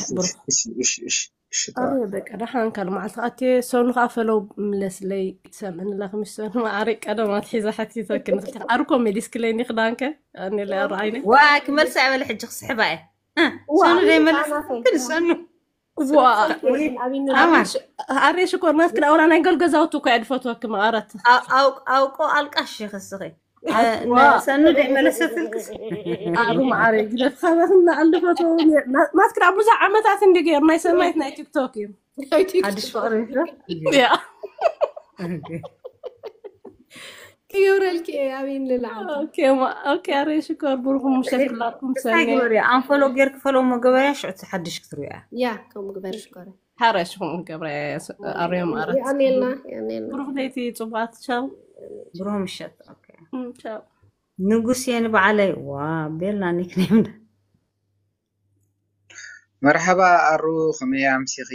በቃ ደሓን ካል መዓልቲ ኣትየ ሰኑ ከዓ ፈለው ምለስለይ ትሰምዕኒ ኣለክ ምስ ሰኑ ማዕረ ቀደም ኣትሒዛ ሓቲተኪ ንክልተ ኣርኮ መሊስክለይ ኒ ክዳንከ ኣኒለ ኣረኣይነ ዋ ክመልሳ ይበለ ሕጂ ክስሕባ እየ ሰኑ ደይመለስ ሰኑ ኣሬ ሽኮር ናትክን ኣውላ ናይ ገል ገዛውቲ እኮ እያ ድፈትወኪ መቐረት ኣውቆ ኣልቃሽ ይኽስኺ ሰኑ ደይመለሰትልክስ ኣሩ መዓረ ግደፍ ካበክና ኣልፈቶ ናትክን ኣብ ብዙሕ ዓመታት እንዲ ገይር ናይ ሰናይት ናይ ቲክቶክ እዩ ሓድሽ ፍቅሪ ክብረልኪ ኣበይ ንልዓል ኣሬ ሽኮር ብሩኹም ምሸት ክላኩም ሰነ ኣንፈሎ ጌርክ ፈሎ መገበርያ ሽዑ ሓድሽ ክትሪያ ያ ከምኡ ግበር ሽኮር ሓረሽኹም ገብረ ኣርዮም ኣረት የቀኔልና የቀኔልና ብሩኽ ለይቲ ፅቡቃት ቻው ብሩህ ምሸት ቻው ንጉስ የን በዓለይ ዋ ቤልና ኒክኔም መርሓባ ኣሩ ከመይ ኣምሲኺ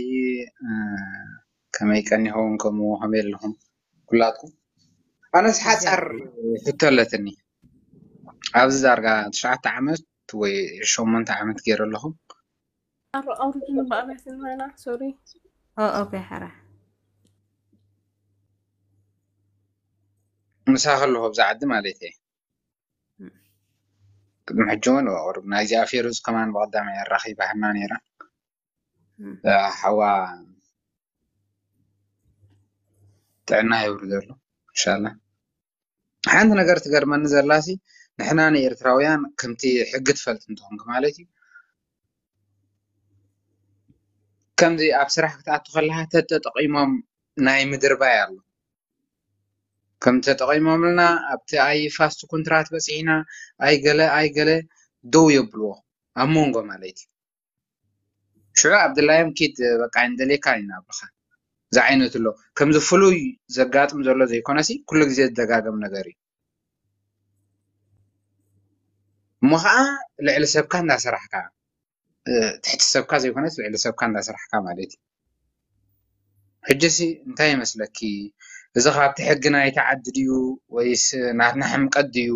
ከመይ ቀኒኹም ከምኡ ከመይ ኣለኹም ኩላትኩም ኣነስ ሓፃር ሕቶ ኣለትኒ ኣብዚ ዳርጋ ትሽዓተ ዓመት ወይ ሸሞንተ ዓመት ገይረ ኣለኹ ኣሩ ኣውርድኒ ብኣብያት ንበላ ሶሪ ኦኬ ሓራ ምሳ ከለኹ ኣብዚ ዓዲ ማለት እየ ቅድሚ ሕጂ እውን ቁሩብ ናይዚኣ ፌሩዝ ከማን ብቐዳማይ ኣራኺባህና ነይራ ሓዋ ጥዕና የውርደሉ እንሻላ ሓንቲ ነገር ትገርመኒ ዘላሲ ንሕና ንኤርትራውያን ከምቲ ሕጊ ትፈልጥ እንተኾንክ ማለት እዩ ከምዚ ኣብ ስራሕ ክትኣቱ ከለካ ተተጠቂሞም ናይ ምድርባይ ኣሎ ከም ተጠቂሞምልና ኣብቲ ኣይ ፋስት ኩንትራት በፂሕና ኣይ ገለ ኣይ ገለ ደው የብልዎ ኣብ መንጎ ማለት እዩ ሽዑ ኣብ ድላዮም ኪድ በቃ እንደሌካ ይናብርካ ዝዓይነቱ ኣሎ ከምዚ ፍሉይ ዘጋጥም ዘሎ ዘይኮነሲ ኩሉ ግዜ ዝደጋገም ነገር እዩ እሞ ከዓ ልዕሊ ሰብካ እንዳሰራሕካ ትሕቲ ሰብካ ዘይኮነስ ልዕሊ ሰብካ እንዳሰራሕካ ማለት እዩ ሕጂሲ እንታይ ይመስለኪ እዚ ካብቲ ሕጊ ናይቲ ዓዲ ድዩ ወይስ ናትና ሕምቀት ድዩ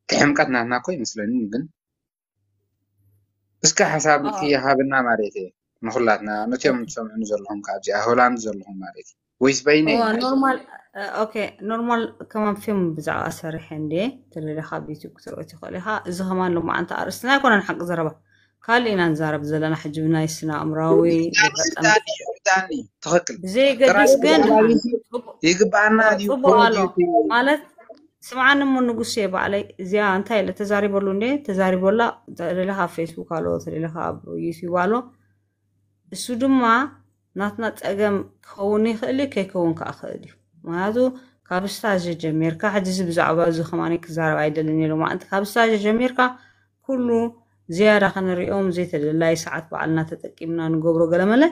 እቲ ሕምቀት ናትና እኮ ይመስለኒ ግን እስከ ሓሳብ ክይሃብና ማለት እየ ንኩላትና ነትዮም ትሰምዑኒ ዘለኹም ካብዚ ሆላንድ ዘለኹም ማለት እዩ ወይስ በይነ ኖርማል ኦኬ ኖርማል ከማን ፊልም ብዛዕባ ሰሪሐ እንዴ ተደለኻ ኣብ ዩቱብ ክትርኢ ትኽእል ኢኻ እዚ ከማን ሎማዓንቲ ኣርእስትና ኣይኮነን ሓቂ ዘረባ ካልእ ኢና ንዛረብ ዘለና ሕጂ ብናይ ስነ ኣእምራዊ ዳኒ ትኽክል ብዘየገድስ ግን ይግብኣና ጽቡቅ ኣሎ ማለት ስምዓኒ እሞ ንጉሴ ባዕለይ እዚኣ እንታይ ኢለ ተዛሪበሉ እንዴ ተዛሪበላ ተደለኻ ኣብ ፌስቡክ ኣሎ ተደለኻ ኣብ ዩቱብ ኣሎ እሱ ድማ ናትና ጸገም ክኸውን ይኽእል እዩ ከይከውን ከዓ ክእል እዩ ምክንያቱ ካብ ስታዥ ጀሚርካ ሕጂ እዚ ብዛዕባ እዚ ከማኒ ክዛረብ ኣይደልን ኢሉ ማለት ካብ ስታዥ ጀሚርካ ኩሉ ዝያዳ ክንሪኦም ዘይተደላይ ሰዓት ባዕልና ተጠቂምና ንገብሮ ገለመለ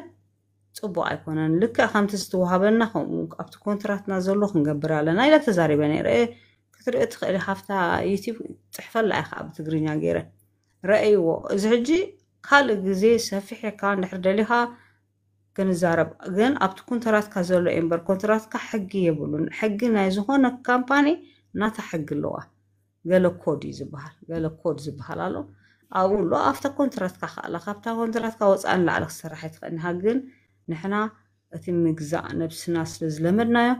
ጽቡቕ ኣይኮነን ልክዕ ከምቲ ዝተዋሃበና ከምኡ ኣብቲ ኮንትራትና ዘሎ ክንገብር ኣለና ኢለ ተዛሪበ ነይረ ክትሪኦ ትኽእል ሃፍታ ዩቲብ ፅሕፈላ ኢኻ ብትግርኛ ገይረ ረእይዎ እዚ ሕጂ ካልእ ግዜ ሰፊሕካ እንድሕር ደሊኻ ክንዛረብ ግን ኣብቲ ኮንትራትካ ዘሎ እምበር ኮንትራትካ ሕጊ የብሉን ሕጊ ናይ ዝኾነ ካምፓኒ ናታ ሕጊ ኣለዋ ገለ ኮድ እዩ ዝበሃል ገለ ኮድ ዝበሃል ኣሎ ኣብኡ ኣሎ ኣብታ ኮንትራትካ ከኣላ ካብታ ኮንትራትካ ወፃእ ንላዕሊ ክሰርሕ ኣይትኽእል ንሃ ግን ንሕና እቲ ምግዛእ ነብስና ስለ ዝለመድናዮ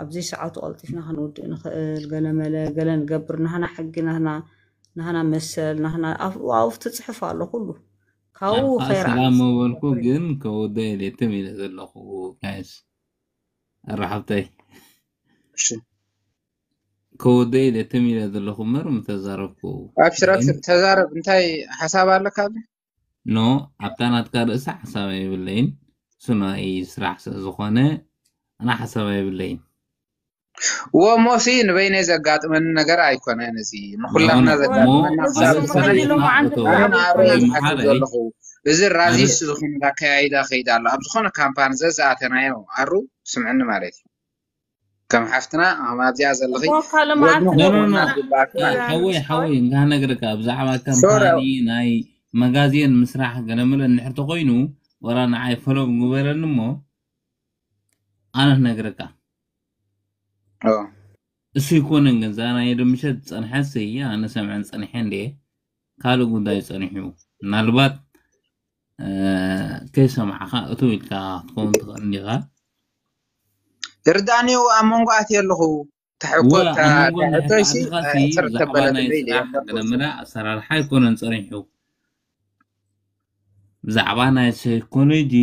ኣብዚ ሰዓቱ ቀልጢፍና ክንውድእ ንኽእል ገለመለ ገለ ንገብር ናህና ሕጊ ናህና ናህና መሰል ናህና ኣብኡ ትፅሕፍ ኣሎ ኩሉ ካብኡ ኣንታ ከይረኣ ሰላም መበልኩ ግን ከወደ ኢለ ትም ኢለ ዘለኹ ጋይስ ኣራሓብተይ እሺ ከወደ ኢለ ትም ኢለ ዘለኹ እምበር ምተዛረብኩ ኣብሽር ኣብሽር ተዛረብ። እንታይ ሓሳብ ኣለካ? ኣብ ኖ ኣብታ ናትካ ርእሲ ሓሳብ የብለይን። እሱ ናይ ስራሕ ስለ ዝኾነ ኣና ሓሳብ የብለይን። ወሞሲ ንበይነይ ዘጋጥመኒ ነገር ኣይኮነን። እዚ ንኩላትና ኖ፣ ኖ፣ ዘጋጥመና ኖ፣ ክሳብ ኣነ ዝኾነ ሰሪሕና እዩ። ኣቶ ኣነ ንኣሮይ ዝሓስብ ይምሓረይ። ዘለኹ እዚ ኣነ ራዚስት ዝኾነ ኣካያይዳ ከይዳ ኣሎ። ኣብ ዝኾነ ካምፓኒ ዘዝኣተናዮ ኣሩ ስምዕኒ ማለት እዩ። ከም ሓፍትና ከም ኣብዚኣ ዘለኺ እሞ ካልእ መዓልቲ ጎድንኹም ኖ፣ ኖ፣ ኖ። ክኾና ዝግባኣኪ ማለት እዩ። ሓወይ፣ ሓወይ፣ እንካ ነግርካ፣ ብዛዕባ ሶሪ ካምፓኒ ናይ መጋዜን ምስራሕ ገለመለ እንድሕር ተኾይኑ፣ ወላ ንዓይ ፈሎ ግበረኒ እሞ፣ ኣነ ክነግረካ። ኦ፣ እሱ ይኮነን ግን፣ እዛ ናይ ዶ ምሸት ዝጸንሐት ስይ፣ ኣነ ሰምዐን ጸኒሐ እንዴ፣ ካልእ ጉዳይ ጸኒሑ። ምናልባት፣ እ፣ ከይሰማዕኻ እትው ኢልካ ክትኸውን ትኽእል እንዲኻ። ርዳኒው ኣብ መንጎ ኣትየ ኣለኹ። እወ፣ ተሕኮታ ኣብ መንጎ እንድሕር ተሕቶይሲ ኣቲኻሲ፣ ስር ብዛዕባ ተበለት ናይ እንደ ኢለ ስራሕ የንበብኩ። ገለመለ ኣሰራርሓ ኣይኮነን ጸኒሑ። ብዛዕባ ናይ ሳይኮሎጂ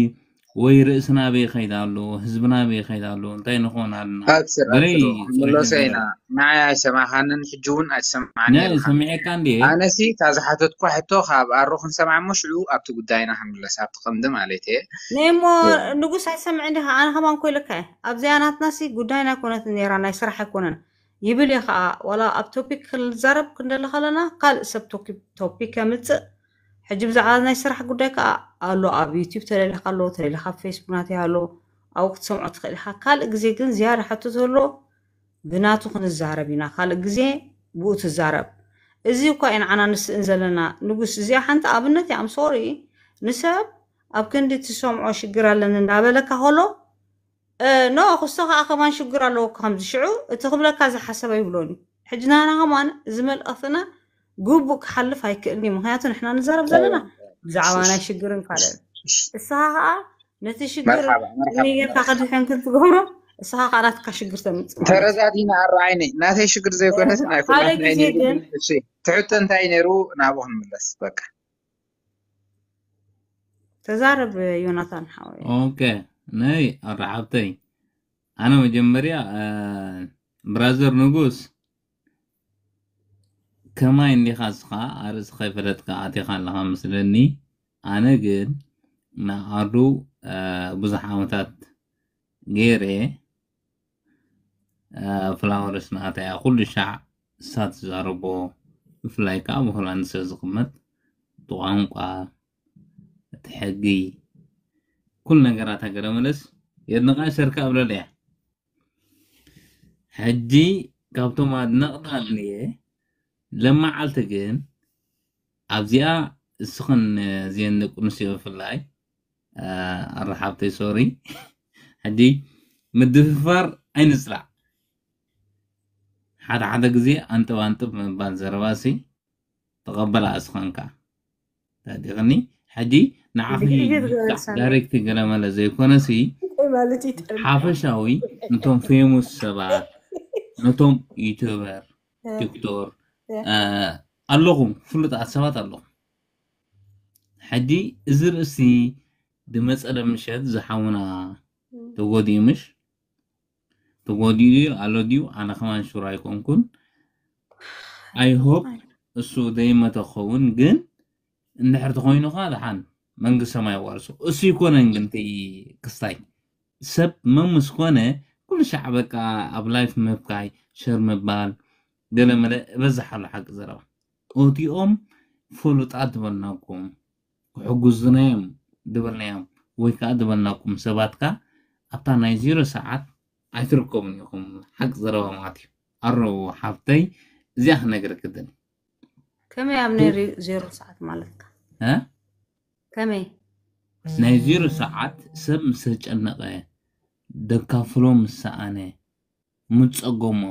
ወይ ርእስና ኣበይ ከይዳ ኣሎ፣ ህዝብና ኣበይ ከይዳ ኣሎ፣ እንታይ ንኾን ኣለና? ኣብሽር ገለይ ኣብሽር ጸኒሑ ክምለሶ ነይረ። ኢና። ንዓይ ኣይሰማኻንን ሕጂ እውን ኣይትሰማዓኒ ናይ ኢኻ። ሰሚዐካ እንዴ? ኣነሲ እታ ዝሓተትኳ ሕቶ ካብ ኣሮ ክንሰምዓ እሞ ሽዑ ኣብቲ ጉዳይና ክንምለስ ኣብቲ ቀንዲ ማለት እየ። ነሞ እ፣ ንጉስ ኣይሰምዕን ዲኻ? ኣነ ከማን ኮ ኢለካ እየ። ኣብዚኣ ናትናሲ ጉዳይና ኣይኮነትን ነይራ፣ ናይ ስራሕ ኣይኮነን ይብል እየ ከዓ። ዋላ ኣብ ቶፒክ ክንዛረብ ክንደሊ ከለና ካልእ ሰብ ቶኪ- ቶፒክ ከምፅእ። ሕጂ ብዛዕባ ናይ ስራሕ ጉዳይ ከዓ ኣሎ፣ ኣብ ዩቲዩብ ተለሊኻ ኣሎ፣ ተለሊኻ ኣብ ፌስቡክ ናተይ ኣሎ፣ ኣብኡ ክትሰምዖ ትኽእል ኢኻ። ካልእ ግዜ ግን ዝያዳ ሕቶ ዘሎ ብናቱ ክንዛረብ ኢና፣ ካልእ ግዜ ብኡ ትዛረብ። እዚ እኳ እዩ ንዓና ንስእን ዘለና ንጉስ። እዚኣ ሓንቲ ኣብነት እያ። ኣም ሶሪ፣ ንሰብ ኣብ ክንዲ ትሰምዖ ሽግር ኣለኒ እንዳበለካ ከሎ፣ እ፣ ኖ ክስቶ ከዓ ከማን ሽግር ኣለዎ እኮ ከምዚ። ሽዑ እቲ ክብለካ ዝሓሰብ ኣይብሎን እዩ። ሕጂ ናና ከማን እዚ መልእኽትና ግቡእ ክሓልፍ ኣይክእልን እዩ። ምክንያቱ ንሕና ንዛረብ ዘለና ብዛዕባ ናይ ሽግርን ካልእን። እስኻ ከዓ ነቲ ሽግር መርሓባ መርሓባ ኔጌርካ መርሓባ። ከድሕን ክትገብሮ፣ እስኻ ከዓ ናትካ ሽግር ተምፅእ ማለት እዩ። ተረዳዲና ኣሮ ዓይነይ ናተይ ሽግር ዘይኮነስ ናይ ሓደ ኩላትና ግዜ ነይሩ። ግን እሺ ትሕቶ እንታይ ነይሩ? ናብኡ ክንምለስ በቃ። ተዛረብ ዮናታን ሓወይ። ኦኬ፣ ነይ ኣራሓብተይ፣ ኣነ መጀመርያ፣ እ፣ ብራዘር ንጉስ፣ ከማይ እንዲኻ እስኻ ኣርእስኻ ይፈለጥካ ኣቲኻ ኣለኻ መስለኒ። ኣነ ግን ንኣዱ፣ እ፣ ብዙሕ ዓመታት ገይረ፣ እ፣ ፍላወርስ ናተያ ኩሉ ሻዕ እሳ ትዛረቦ፣ ብፍላይ ከዓ ኣብ ሆላንድ ስለ ዝቕመጥ፣ እቲ ቋንቋ፣ እቲ ሕጊ፣ ኩሉ ነገራት ሃገረ መለስ የድንቓ ይሰርካ እብለለያ። ሕጂ ካብቶም ኣድነቕታ እየ፣ ለመዓልቲ ግን ኣብዚኣ እስኽን እዚአን ደቂ ኣንስትዮ ብፍላይ፣ እ፣ ኣራሓብተይ ሶሪ፣ ሕጂ ምድፍፋር ኣይንጽላእ። ሓደ ሓደ ግዜ ኣንጥብ ኣንጥብ ምባል ዘረባሲ ተቐበላ እስኸንካ። ተዲቕኒ ሕጂ ንዓኺ ድሕሪ ገለ ትገበርሳ ዳይሬክት ገለመለ ዘይኮነሲ እንታይ ማለት እዩ? ጠልሚ ሓፈሻዊ ነቶም ፌሙስ ሰባት፣ ነቶም ዩቱበር፣ እ፣ ቲክቶር እ፣ እ፣ ኣለኹም፣ ፍሉጣት ሰባት ኣለኹም። ሕጂ እዚ ርእሲ ዝመጸለ ምሸት ዝሓውና እ፣ ተጎዲኡ ምሽ ተጎዲኡ ድዩ ኣሎ ድዩ? ኣነ ከማን ሹር ኣይኮንኩን። ኣይ ሆፕ እሱ ዘይመተ ክኸውን፣ ግን እንድሕር ተኾይኑ ኸዓ ደሓን መንግስቲ ሰማይ ዋርሶ። እሱ ይኮነን ግን እቲ ክስታይ ሰብ መምስ ኮነ ኩሉ ሻዕ በቃ ኣብ ላይፍ ምብካይ፣ ሸር ምባል፣ ገለመለ እበዝሕ ኣሎ ሓቂ ዘረባ። እቲኦም ፍሉጣት ዝበልናኩም፣ ክሕግዙና እዮም ዝበልናዮም ወይ ከዓ ዝበልናኩም ሰባት ከ ኣብታ ናይ ዜሮ ሰዓት ኣይትርከቡን ኢኹም። ሓቂ ዘረባ ማለት እዩ። ኣሮ ሓፍተይ እዚኣ ክነግረኪ ደሊ። ከመይ ኣብ ናይ ሪ- ዜሮ ሰዓት ማለትካ? እ? ከመይ? ናይ ዜሮ ሰዓት ሰብ ምስ ተጨነቐ፣ ደካፍሎ ምስ ሰኣነ፣ ምስ ጸገሞ፣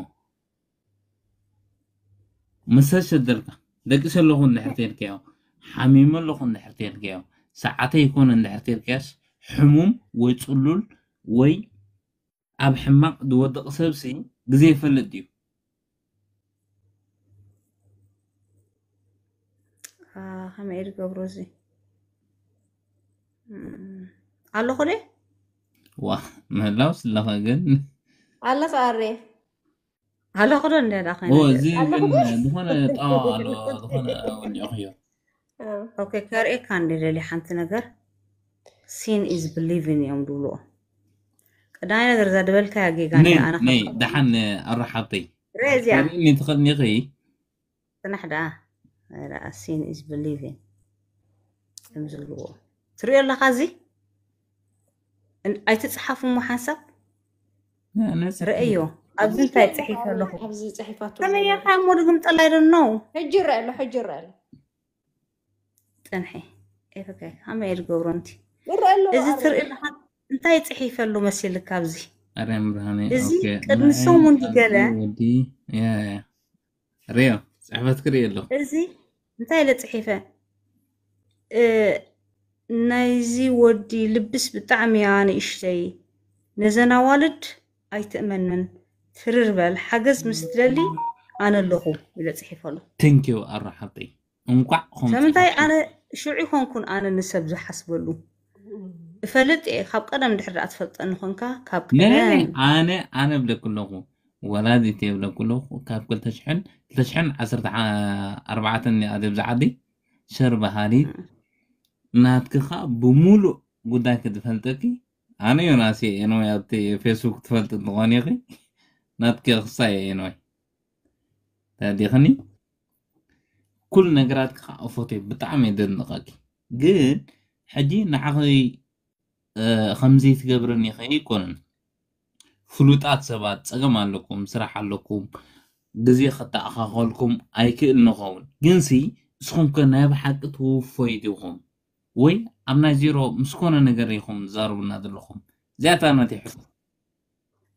ምስ ተሸደልካ፣ ደቂሰ ኣለኹ እንድሕር ተልካዮ፣ ሓሚመ ኣለኹ እንድሕር ተልካዮ፣ ሰዓተይ ይኮነ እንድሕር ተልካዮስ፣ ሕሙም ወይ ጽሉል ወይ ኣብ ሕማቕ ዝወድቕ ሰብሲ ግዜ ይፈልጥ ድዩ? አ፣ ከመይ ኢሉ ገብሮ እዚ? ኣለኹ ደ ዋ ምህላው ስለኸ ግን ኣለኻ ኣሬ ኣለኹ ዶ እንደ ዳኸ ኦ እዚ ግን ዝኾነ ጣዋ ኣሎ ዝኾነ ወዲኦኽዮ ኦኬ ከርእየካ እንደ ደሊ ሓንቲ ነገር seeing is believing እዮም ድብልዎ። ቀዳማይ ነገር እዛ ድበልካያ ጌጋ ነይ እንደ ኣነ ነይ ካብ ደሓን ኣራሓብተይ ርእ እዚኣ ርእኒ ትኽእልኒ ኽይ ጽናሕ ደኣ ርኣ seeing is believing ከም ዝብልዎ ትሪኦ ኣለኻ። እዚ እን- ኣይትጽሓፉ እሞ ሓንሳብ ርእዮ። ኣብዚ እንታይ ጽሒፈ ኣለኹ? ኣብዚ ጽሒፋቱ ከመይ ጌርካ እሞ ድግምጠል? I don't know። ሕጂ ይረአ ኣሎ፣ ሕጂ ይረአ ኣሎ። ጽንሒ ኤፈካይ ከመይ እየ ዝገብሮ? እንቲ ይረአ ኣሎ። እዚ ኣረ፣ ትርኢ ኣለኻ እንታይ ጽሒፈ ኣሎ መሲልካ? ኣብዚ ኣርያም ብርሃነ እዚ ኦኬ፣ ቅድሚ ንዓይ ሰሙን ኣብዚ ገለ ወዲ ያ ያ ያ። ሪዮ ጽሕፈት ክርኢ ኣለኹ። እዚ እንታይ ኢለ ጽሒፈ? እ፣ ናይዚ ወዲ ልብስ ብጣዕሚ እያ ንእሽተይ። ነዘን ኣዋልድ ኣይትእመነን። ትርር በል፣ ሓገዝ ምስ ትደሊ ኣነ ኣለኹ ኢለ ጽሒፈሉ። ቴንኪዩ ኣሮ ሓብተይ እንኳዕ ኾም ስለምንታይ ጽሓፍኪ። ኣነ ሽዑ ይኾንኩን ኣነ ንሰብ ዝሓስበሉ እፈልጥ እየ። ካብ ቀደም ድሕር ደኣ ትፈልጠኒ ኾንካ ካብ ነይ ቀደም ኣነ ኣነ ብለኩ ኣለኹ ወላዲት የብለኩ ኣለኹ ካብ ክልተ ሽሕን ክልተ ሽሕን ዓሰርተ ኣርባዕተን እያ ኣብዚ ዓዲ ሸር በሃሊት ናትክኻ ብሙሉእ ጉዳይ ክትፈልጠኪ ኣነ ዮናስ እየ ኤንወይ ኣብቲ ፌስቡክ ትፈልጥ እንትኾን ኢኺ ናትኪ ክሳይ እየ ኤንወይ ተዲኽኒ ኩሉ ነገራት ከዓ እፎት እየ ብጣዕሚ እየ ደድንቐኪ ግን ሕጂ ንዓኺ እ፣ ከምዚ ትገብርኒ ከይኮንን ፍሉጣት ሰባት ጸገም ኣለኩም ስራሕ ኣለኩም ግዜ ከተኣኻኸልኩም ኣይክእል ንኸውን ግንሲ እስኹም ከ ናይ ብሓቂ ትውፈዩ ዲኹም ወይ ኣብ ናይ ዜሮ ምስ ኮነ ነገር ኢኹም ትዛረቡና ዘለኹም እዚኣታ ናተይ ሕቶ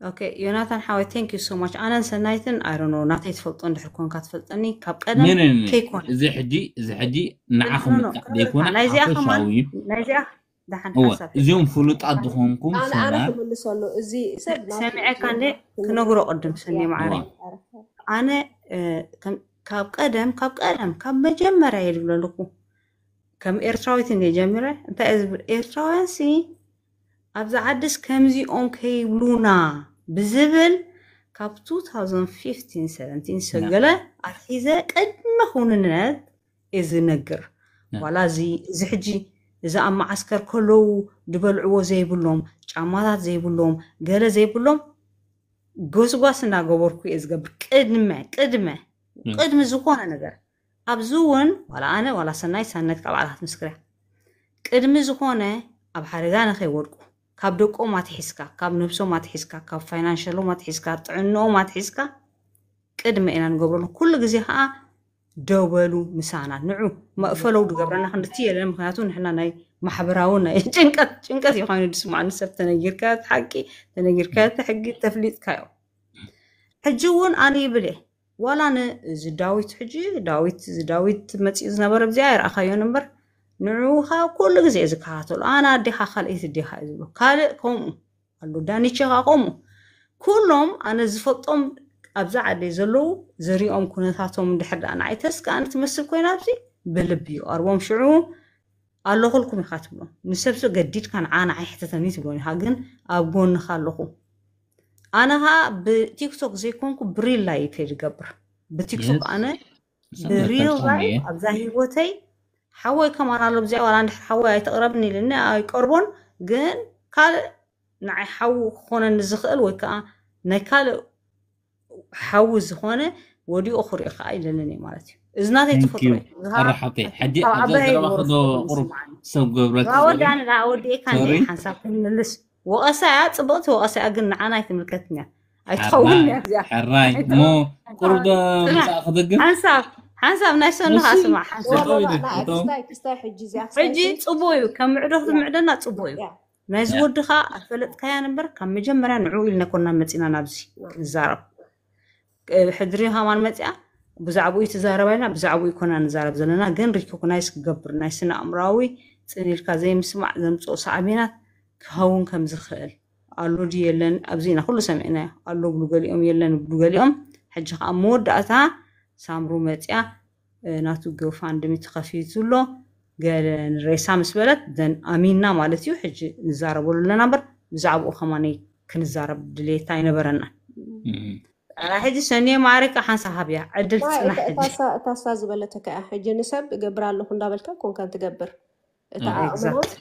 ኦኬ ዮናታን ሓወይ thank you so much። ኣነን ሰናይትን I don't know ናተይ ትፈልጦ እንድሕር ኮንካ ትፈልጠኒ ካብ ቀደም ነ- ነ- ነ- ከይኮነ እዚ ሕጂ እዚ ሕጂ ንዓኹም ኖ፣ ኖ፣ ምጥቃዕ ዘይኮነ ናይዚኣ ከማን ሓፈሻዊ እዩ ናይዚኣ ደሓን እወ ሓሳብ እዚኦም ፍሉጣት ዝኾንኩም ኣነ ኣነ ሰናይ ክምልሰሉ እዚ ሰብ ናቱ ሰሚዐካ እንደ ክምልሰሉ። ክነግሮ ቅድም ሰኒ ማዕረ እዋ ኣነ እ፣ ከም- ካብ ቀደም ካብ ቀደም ካብ መጀመርያ እየ ዝብሎ ኣለኩ ከም ኤርትራዊት እንደ ጀሚረ እንታይ እየ ዝብል ኤርትራውያን ሲ ኣብዚ ዓድስ ከምዚኦም ከይብሉና ብዝብል ካብ two thousand fifteen seventeen ሰገለ ኣትሒዘ ቅድሚ ክውንነት እየ ዝነግር ያ። ዋላ እዚ እዚ ሕጂ እዚ ኣብ መዓስከር ከለዉ ዝበልዕዎ ዘይብሎም ጫማታት ዘይብሎም ገለ ዘይብሎም ጎስጓስ እናገበርኩ እየ ዝገብር ቅድመ ቅድመ ያ። ቅድሚ ዝኾነ ነገር ኣብዚ እውን ዋላ ኣነ ዋላ ሰናይ ሳነት ካብ ዓላት ምስክርያ ቅድሚ ዝኾነ ኣብ ሓደጋ ንኸይወድቁ ካብ ደቆም ኣትሒዝካ ካብ ነብሶም ኣትሒዝካ ካብ ፋይናንሸሎም ኣትሒዝካ ጥዕንኦም ኣትሒዝካ ቅድመ ኢና ንገብረሉ ኩሉ ግዜ ከዓ ደው በሉ ምሳና ንዑ መእፈለው ድገብረና ክንድቲ የለን ምክንያቱ ንሕና ናይ ማሕበራዊ ናይ ጭንቀት ጭንቀት እዩ ኮይኑ ድስማዕ ንሰብ ተነጊርካ እቲ ሓቂ ተነጊርካ እቲ ሕጊ ተፍሊጥካዮ ሕጂ እውን ኣነ ይብል እየ ዋላ ንዚ ዳዊት ሕጂ ዳዊት እዚ ዳዊት መፂኡ ዝነበረ ብዚኣ ኣይረኣኻዮን እምበር ንዑ ከዓ ኩሉ ግዜ እየ ዝከታተሉ ኣነ ኣዴኻ ካልኣይቲ ኣዴኻ እዩ ዝብሎ ካልእ ከምኡ ኣሎ ዳኒቸ ከዓ ከምኡ ኩሎም ኣነ ዝፈልጦም ኣብዛ ዓደይ ዘለዉ ዝሪኦም ኩነታቶም እንድሕር ደኣ ንዓይ ተስካ ኣነ ትመስል ኮይና ኣብዚ ብልቢ ይቐርቦም ሽዑ ኣለኹልኩም ኢኻ ትብሎም ንሰብሲ ገዲድካ ንዓ ንዓይ ሕተተኒ ትብሎም ኢኻ ግን ኣብ ጎንኻ ኣለኹ ኣነ ኸዓ ብቲክቶክ ዘይኮንኩ ብሪል ላይፍ እየ ዝገብር ብቲክቶክ ኣነ ብሪል ላይፍ ኣብዛ ህይወተይ ሓወይ ከማን ኣሎ ብዚኣ ዋላ እንድሕር ሓወይ ኣይተቕረብኒ ኢልኒ ኣይቀርቦን ግን ካልእ ንዓይ ሓዉ ክኾነኒ ዝኽእል ወይ ከዓ ናይ ካልእ ሓዊ ዝኾነ ወዲኡ ክሪኦ ከዓ ይደልን እየ ማለት እዩ እዚ ናተይ ተፈጥሮ እዩ። ዝሃብ ኣራሓብተይ ሕጂ ካብ ኣብዛ ዓባይ ዘረባ ወርሶ ክዶ ክኸውን ቁሩብ ይስምዓኒ። ሰብ ገብረኪ ዋ ዘሎ ወዳኒ ደኣ ወዲኤካ እንደ ሶሪ ሓንሳብ ክንምልስ ወቐሳ እያ ፅብቕቲ ወቐሳ እያ ግን ንዓና ኣይትምልከትን እያ ኣይትኸውን እያ እዚኣ ሕራይ እሞ ቁሩብ ዶ ስማዕ ምሳእ ክድግም ሓንሳብ ሓንሳብ ናይ ሰንኻ እሺ ስማዕ ሓንሳብ ጠጠው ኢለ ንዓ ጠጠው ክስታይ ክስታይ ሕጂ እዚኣ ሕጂ ክስታይ ፅቡቅ እዩ ከም ምዕዶ ክትምዕደና ፅቡቅ እዩ ያ ናይዚ ያ ወድኻ ኣፈለጥካያን እምበር ካብ መጀመርያ ንዕኡ ኢልና ኮና መፂና ናብዚ ንዛረብ ሕድሪ ሃማን መፅያ ብዛዕባኡ ትዛረባ ኢልና ብዛዕባኡ ኮና ንዛረብ ዘለና ግን ሪኮግናይዝ ክገብር ናይ ስነ ኣእምራዊ ፅን ኢልካ ዘይምስማዕ ዘምፅኦ ሳዕቤናት ክኸውን ከም ዝኽእል ኣሎ ድዩ የለን ኣብዚ ኢና ኩሉ ሰሚዕናዮ ኣሎ ብሉ ገሊኦም የለን ብሉ ገሊኦም ሕጂ ከዓ መወዳእታ ሳምሩ መፅያ እ፣ ናቱ ጎፋንድሚ ተኸፊቱ ኣሎ ገለ ንሬሳ ምስ በለት ደን ኣሚንና ማለት እዩ። ሕጂ ንዛረበሉ ኣለና እምበር ብዛዕባኡ ከማነይ ክንዛረብ ድሌት ኣይነበረና። እም። ሕጂ ሰኒየ ማዕረካ ሓንሳ ሃብያ ዕድል ዋይ ትፅናሕ እታ ሕጂ እታ እሳ ዝበለተካ እያ። ሕጂ ንሰብ እገብር ኣለኹ እንዳበልካ ኮንካ ትገብር። እታ እም። ዓቕምና exact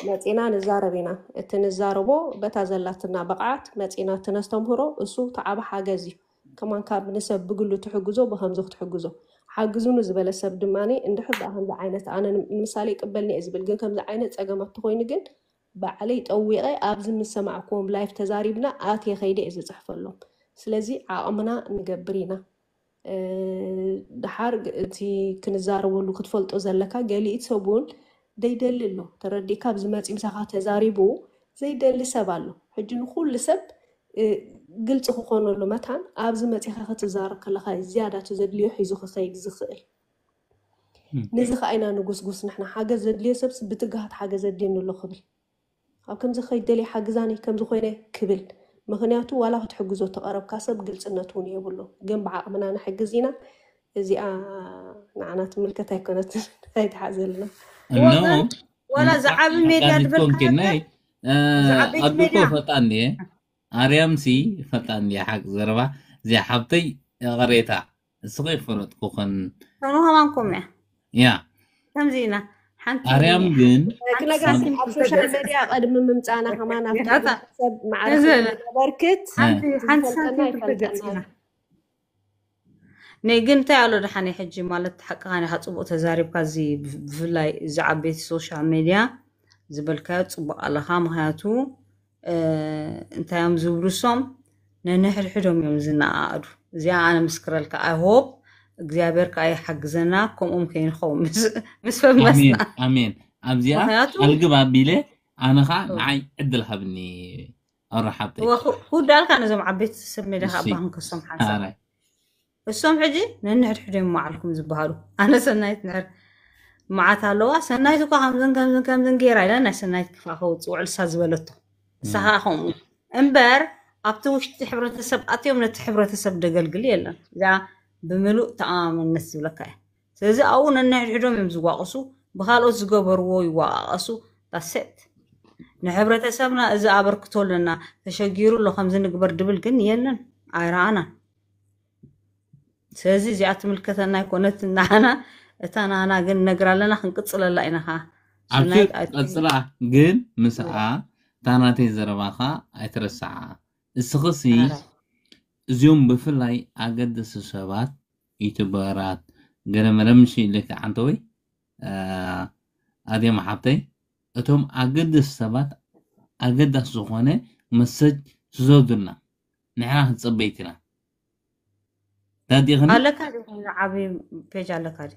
መፂና ንዛረብ ኢና። እቲ ንዛረቦ በታ ዘላትና ብቕዓት መፂና እቲ ነስተምህሮ እሱ እቲ ዓቢ ሓገዝ እዩ። ከማን ካብ ንሰብ ብግሉ ትሕግዞ ብከምዚ ክትሕግዞ ሓግዙኑ ዝበለ ሰብ ድማ እንድሕር ደኣ ከምዚ ዓይነት ኣነ ንምሳሌ ይቅበልኒ እየ ዝብል ግን ከምዚ ዓይነት ፀገማት ተኮይኑ ግን ባዕለይ ጠዊቐ ኣብዚ ምስ ሰማዕክዎም ላይፍ ተዛሪብና ኣትየ ከይደ እየ ዝፅሕፈሎም። ስለዚ ዓቕምና ንገብር ኢና። እ፣ ድሓር ግ- እቲ ክንዛረበሉ ክትፈልጦ ዘለካ ገሊኡ ሰብ እውን ዘይደሊ ኣሎ። ተረዲእካ ኣብዚ መፂ ምሳኻ ተዛሪቡ ዘይደሊ ሰብ ኣሎ። ሕጂ ንኩሉ ሰብ እ፣ ግልፂ ክኾነሉ መታን ኣብዚ መፂኻ ክትዛረብ ከለኻ እዩ ዝያዳ እቲ ዘድልዮ ሒዙ ክኸይድ ዝኽእል። እም። ነዚ ከዓ ኢና ንጉስጉስ ንሕና ሓገዝ ዘድልዮ ሰብስ ብትግሃት ሓገዝ ዘድልየኒ ኣሎ ክብል ኣብ ከምዚ ከይደልየ ሓግዛኒ ከምዚ ኮይነ ክብል ምክንያቱ ዋላ ክትሕግዞ ተቐረብካ ሰብ ግልፅነት እውን የብሉ ግን ብዓቕምና ንሕግዝ ኢና። እዚኣ ንዓና ትምልከት ኣይኮነትን። ኣይትሓዘልና። እነሆ ወገን ዋላ ዝዓቢ ሜድያ ኣጋዚት ዝበልካዮ ኮንኪ ናይ ዝዓበይቲ ኣድኮ ሜድያ ፈጣን እየ ኣርያምሲ ፈጣን እየ ሓቂ ዘረባ እዚኣ ሓብተይ ይቕሬታ እስኺ ይፈለጥኩኽን ከምኡ ከማንኩም እያ ያ ከምዚ ኢና ሓንቲ ኣርያም ግን ክነጋሲ ኣብ ሶሻል ሜድያ ቅድሚ ምምፃና ከማን ኣብቲ ያታ ሰብ ማዕረ እዚ ስለነበርክት እ፣ ሓንቲ ሓንቲ ዝፈልጠና ሳንቲም ይፈልጠና ተገፂና እዩ። ነይ ግን እንታይ ኣሎ ደሓን ሕጂ ማለት ሓቅኻ ኒኻ ፅቡቅ ተዛሪብካ እዚ ብፍ- ብፍላይ እዚ ዓበይቲ ሶሻል ሜድያ ዝበልካዮ ፅቡቅ ኣለኻ ምክንያቱ እ፣ እንታይ እዮም ዝብሉ እሶም ነንሕድሕዶም እዮም ዝነኣኣዱ እዚኣ ኣነ ምስክረልካ ኣይሆፕ እግዚኣብሔር ከዓ ይሓግዘና ከምኦም ከይንኸው ምስ ምስ ኣሜን ፈመስና ኣሜን ኣብዚኣ ምክንያቱ ኣልግብ ኣቢለ ኣነ ከዓ እ፣ ንዓይ ዕድል ሃብኒ ኣረ ሓብተይ እወ፣ ክውዳልካ ነዞም ዓበይቲ ሰብ ሜዳ ከዓ እሺ ኣባኽን ከሶም ሓንሳብ ኣራይ እሶም ሕጂ ነንሕድሕዶም መዓልኩም ዝበሃሉ ኣነ ሰናይት ንሕር መዓት ኣለዋ ሰናይት እኳ ከምዝን ከምዝን ከምዝን ገይራ ኢላ ናይ ሰናይት ክፋ ከውፅእ ውዕልሳ ዝበለቶ ንሳ እም። ከዓ ከምኡ እምበር ኣብቲ ውሽጢ ሕብረተሰብ ኣትዮም ነቲ ሕብረተሰብ ደገልግል የለን እዚኣ ብምሉእ ተኣማመነት ዝብለካ እየ ስለዚ ኣብኡ ነንሕድሕዶም እዮም ዝዋቀሱ ብካልኦት ዝገበርዎ ይዋቃቀሱ ዳሴት ንሕብረተሰብና እዚ ኣበርክቶ ኣለና ተሸጊሩ ኣሎ ከምዚ ንግበር ድብል ግን የለን ኣይረኣናን ስለዚ እዚኣ ትምልከተና ኣይኮነት ናና እታ ናና ግን ነግራ ኣለና ክንቅፅለላ ኢና ካ ኣብቲ ሰናይት ኣቲ ቀፅላ ግን ምስኣ እታ ናተይ ዘረባ ኸ ኣይትረስዓ እስኽሲ ኣረ እዚኦም ብፍላይ ኣገደሲ ሰባት ዩቱበራት ገለመለ ምሽ ኢልካ ዓንተወይ ኣድዮም ሓብተይ እቶም ኣገደሲ ሰባት ኣገዳሲ ዝኾነ መሰጅ ስዘዱልና ንሕና ክንፅበይት ኢና ዳዲኽኒ ኣለካ ዲ ዓብዪ ፔጅ ኣለካ ዲ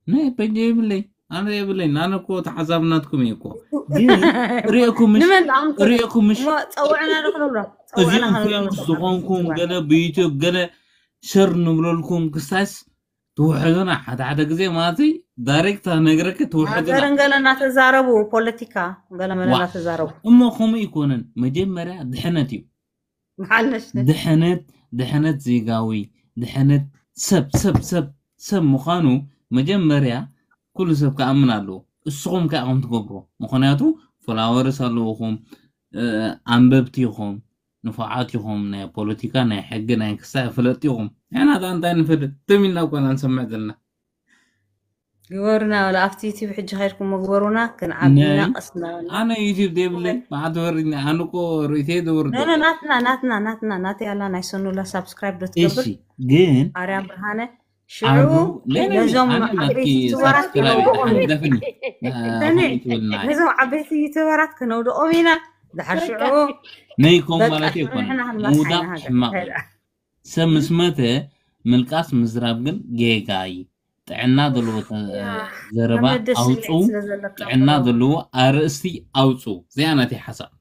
ናይ ፔጅ የብለይ ኣነ የብለይ ኣነ እኮ ተሓዛብናትኩም እየ እኮ ግን ሪእኩምሽ ንመን ኣምተ ሪእኩምሽ እሞ ፀውዕና ዶ ክንብሎ እዚኦም ፀውዕና ፌመስ ክንብሎ ዝኾንኩም ገለ ብዩቱብ ገለ ሸር ንብለልኩም ክሳይስ ትውሕዱና ሓደ ሓደ ግዜ ማለት ዳይሬክት ነግረክ ትውሕዱና ሃገርን ገለ እናተዛረቡ ፖለቲካ ገለ መለ ዋ እናተዛረቡ እሞ ከምኡ ይኮነን መጀመርያ ድሕነት እዩ መሓለሽ ድሕነት ድሕነት ዜጋዊ ድሕነት ሰብ ሰብ ሰብ ሰብ ምዃኑ መጀመርያ ኩሉ ሰብ ክኣምን ኣለዎ እስኹም ከ ኣኹም ትገብርዎ ምክንያቱ ፎላወርስ ኣለውኹም እ፣ ኣንበብቲ ኢኹም ንፉዓት ኢኹም ናይ ፖለቲካ ናይ ሕጊ ናይ ክሳይ ፍለጥ ኢኹም ንሕና ከ እንታይ ንፈልጥ ትም ኢልና እኮ ኢና ንሰምዕ ዘለና ግበሩና ወላ ኣብቲ ዩቲብ ሕጂ ከይድኩም ግበሩና ክንዓብና ናይ ቀስ እናበልና ኣነ ዩቲብ ዘይብለይ መዓት ወሪድኒ ኣነ እኮ ርእተይ ዘወርዶ ኖኖ ናትና ናትና ናትና ናተይ ኣላ ናይ ሰኑላ ሳብስክራይብ ዶ ትገብር እሺ ግን ኣርያም ብርሃነ ሽዑ ኣዱ ለይለይ ነዞም ኣነ ናትኪ ዓበይቲ ዩቱበራት ሳብስክራይብ ከነውድቖም ኢና ደፍኒ ሰኒ ነዞም ዓበይቲ ዩቱበራት ከነውድቖም ኢና ድሓር ሽዑ ነይኮም በቃ ማለት ሽዑ ኣይኮነን ንሕና ክንመርሓ ምውዳቕ ኢና ሃገር ሕማቕ እዩ ሰብ ምስ መተ ምልቃስ ምዝራብ ግን ጌጋ እዩ ጥዕና ዘለዎ ተ- ዘረባ ኣነ ደስ ኣውፁ ይብል ስለ ዘለካ ጥዕና ዘለዎ ኣርእስቲ ኣውፁ እዚኣ ናተይ ሓሳብ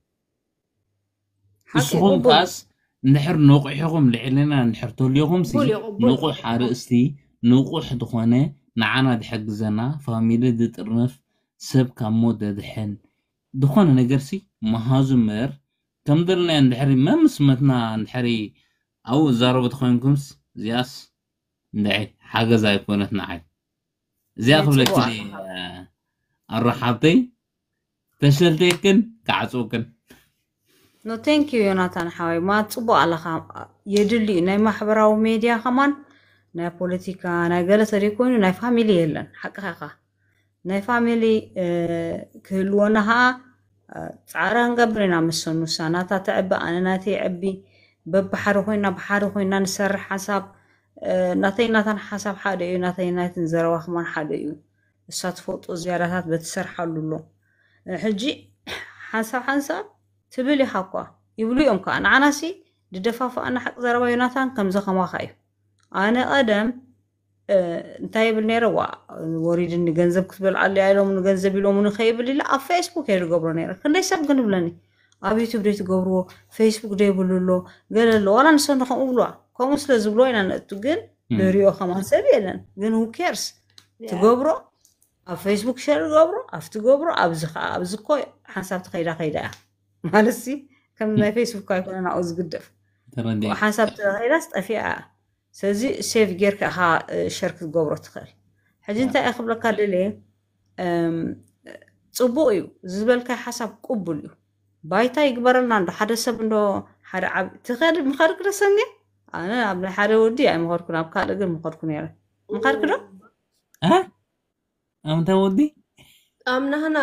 ሓቂ እስኹም ቅቡል ከኣስ እንድሕር ነቑሕኹም ልዕልና እንድሕር ተልዮኹም ሲ ቅቡል እዩ ቅቡል ንቑሕ ኣርእስቲ ንቑሕ ዝኾነ ንዓና ዝሕግዘና ፋሚሊ ዝጥርንፍ ሰብ ካብ ሞት ዘድሕን ዝኾነ ነገር ሲ መሃዙ እምበር ከም ዘለና እንድሕሪ መምስ መትና እንድሕሪ ኣብኡ ዝዛረቡ ተኮይንኩምስ እዚኣስ እንድዒ ሓገዝ ኣይኮነት ንዓይ እዚኣ ናይ ክብለኪ ፅቡቅ ድየ ኣለካ ኣሮ ሓብተይ ተሸልቴክን ክዓጽውክን። No, thank you ዮናታን ሓወይ፣ ማ ጽቡቅ ኣለኻ። የድሊ እዩ ናይ ማሕበራዊ ሜድያ ከማን ናይ ፖለቲካ ናይ ገለ ተደይኮይኑ ናይ ፋሚሊ የለን። ሓቅኻ ኢኻ። ናይ ፋሚሊ ክህልወና ከዓ ፃዕሪ ክንገብር ኢና። ምስ ሰኑ እሳ ናታ ተዕቢ፣ ኣነ ናተይ ዕቢ፣ በብሓደ ኮይና ብሓደ ኮይና ንሰርሕ ሓሳብ ናተይ ናታን ሓሳብ ሓደ እዩ። ናተይ ናይትን ዘረባ ከማን ሓደ እዩ። እሳ ትፈልጦ ዝያዳታት በትሰርሓሉ ኣሎ። ሕጂ ሓንሳብ ሓንሳብ ትብል ኢኻ እኳ ይብሉ እዮም ከዓ። ንዓናሲ ድደፋፍኣና ሓቂ ዘረባ ዮናታን ከምዚ ከማኻ እዩ። ኣነ ቀደም እንታይ ይብል ነይረ? ዋ ወሪድኒ፣ ገንዘብ ክትበልዓሉ እያ ኢሎም ገንዘብ ኢሎምኒ ከይብል ኢለ ኣብ ፌስቡክ እየ ዝገብሮ ነይረ። ክንደይ ሰብ ግን ይብለኒ ኣብ ዩቱብ ደይ ትገብርዎ፣ ፌስቡክ ደይ ብሉ ኣሎ፣ ገለ ኣሎ። ዋላ ንሰን ከምኡ ብልዋ፣ ከምኡ ስለ ዝብልዎ ኢና ነእቱ። ግን ንሪኦ ከማን ሰብ የለን። ግን who cares? ትገብሮ ኣብ ፌስቡክ ሸር ገብሮ ኣብቲ ገብሮ ኣብዚ ከዓ ኣብዚ እኮ ሓንሳብ ትኸይዳ ከይዳ እያ ማለት ሲ ከም ናይ ፌስቡክ ኣይኮነ ናብኡ ዝግደፍ። ሓንሳብ ተኸይዳስ ጠፊኣ እያ። ስለዚ ሴቭ ጌርካ ኢኻ ሸር ክትገብሮ ትኽእል። ሕጂ እንታይ እየ ክብለካ ደልየ፣ ፅቡቅ እዩ ዝበልካይ ሓሳብ ቅቡል እዩ። ባይታ ይግበረልና እንዶ ሓደ ሰብ እንዶ ሓደ ዓብ ትኸድ ምኸድክ ደሰኒ ኣነ ኣብ ናይ ሓደ ወዲ ኣይምኸድኩን፣ ኣብ ካልእ ግን ምኸድኩ ነይረ። ምኸድክ ዶ? ኣምታ ወዲ ኣምናህና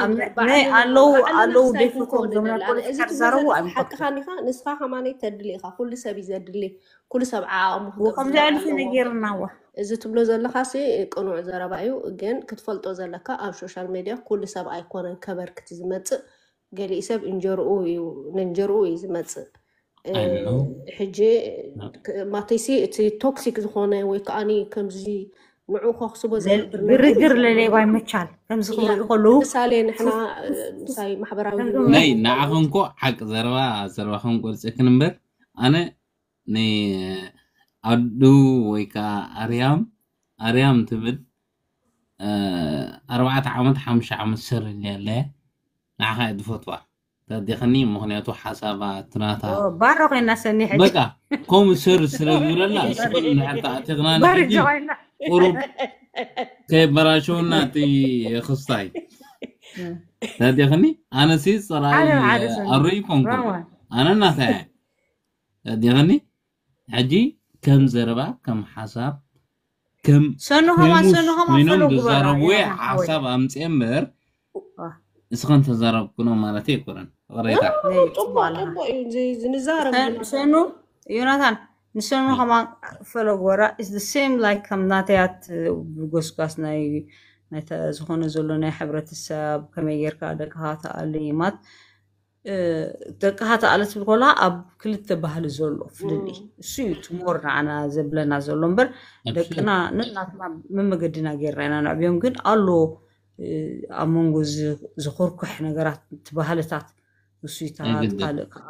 ኣለዉ ኣለዉ ደፍቶም ዘምና ፖለቲካ ዝዛረቡ ኣይምኸድኩ። ሓቅኻ ኒኻ ንስኻ ከማነይ ተድሊ ኢኻ። ኩሉ ሰብ እዩ ዘድሊ፣ ኩሉ ሰብ ዓቕሙ ከምዚ ኣልፊ ነጌርናዋ። እዚ ትብሎ ዘለኻ ሲ ቅኑዕ ዘረባ እዩ፣ ግን ክትፈልጦ ዘለካ ኣብ ሶሻል ሜድያ ኩሉ ሰብ ኣይኮነን ከበርክቲ ዝመፅእ። ገሊኡ ሰብ እንጀርኡ እዩ፣ ንእንጀርኡ እዩ ዝመፅእ። ሕጂ ማተይሲ እቲ ቶክሲክ ዝኾነ ወይ ከዓኒ ከምዚ ንዑ ከኽስቦ ዝነብር ነገር ግርግር ለሌባ ይመቻል። ከምዚ ክብሉ ከለዉ ምሳሌ ንሕና ምሳይ ማሕበራዊ ናይ ንዓኸንኮ ሓቂ ዘረባ ዘረባ ከም ቆርፀክን እምበር ኣነ ንኣዱ ወይ ከዓ ኣርያም ኣርያም ትብል ኣርባዕተ ዓመት ሓሙሽተ ዓመት ሰርልያ ኣለያ ንዓኻ እየ ዝፈትዋ። ተዲኽኒ ምኽንያቱ ሓሳባ ትናታ ባሮ ኮይና ሰኒ ሕጂ በቃ ከምኡ ሸር ስለ ዝብለላ ስኹም ንሕር ተኣቲኽና ንሕጂ ቁሩብ ከይበላሸውና እቲ ክስታይ ተዲኽኒ ኣነሲ ፀላኢ ኣሩ ይኮንኩ ኣነ እናታይ ተዲኽኒ ሕጂ ከም ዘረባ ከም ሓሳብ ከም ሰኑ ከማን ሰኑ ከማን ኮይኖም ፈለጉ ዝዛረብዎ ሓሳብ ኣምፅኤ እምበር እስኸን ተዛረብኩኖ ማለት ኣይኮነን። ቅሬታ ዝንዛረብ ሰኑ ዮናታን ንሰኑ ከማን ፈለጉ ወራ is the same like ከም ናተያት ብጎስጓስ ናይ ዝኾነ ዘሎ ናይ ሕብረተሰብ ከመይ ጌርካ ደቅኻ ተኣልይማት ደቅኻ ተኣለ ትብል ከለካ ኣብ ክልተ ባህሊ ዘሎ ፍልልይ እሱ እዩ ትሞር ንዓና ዘብለና ዘሎ እምበር ደቅና ነናትና መመገድና ጌርና ኢና ነዕብዮም። ግን ኣሎ ኣብ መንጎ ዝኹርኩሕ ነገራት እቲ ባህልታት ውሱይታት ካልእ ከዓ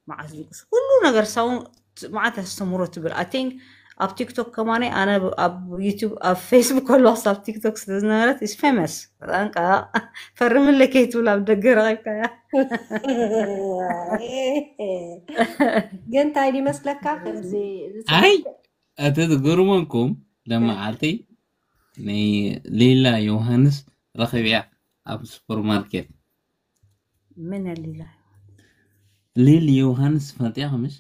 መዓት ዝቅስ ኩሉ ነገር ሳውን መዓት ያስተምሮ ትብል I think ኣብ ቲክቶክ ከማነ ኣነ ኣብ ዩቱብ ኣብ ፌስቡክ ከለዋስ ኣብ ቲክቶክ ስለዝነበረት is famous በጣም ከዓ ፈርምለ ከይትብል ኣብ ደገ ረቂብካያ ግን እንታይ ይመስለካ ከምዚ ኣይ እቲ ዝገርመኩም ለመዓልቲ ንሌላ ዮሃንስ ረኺብያ ኣብ ሱፐርማርኬት ምን ሊላ ሊል ዮሃንስ ፈልጥያ ከምሽ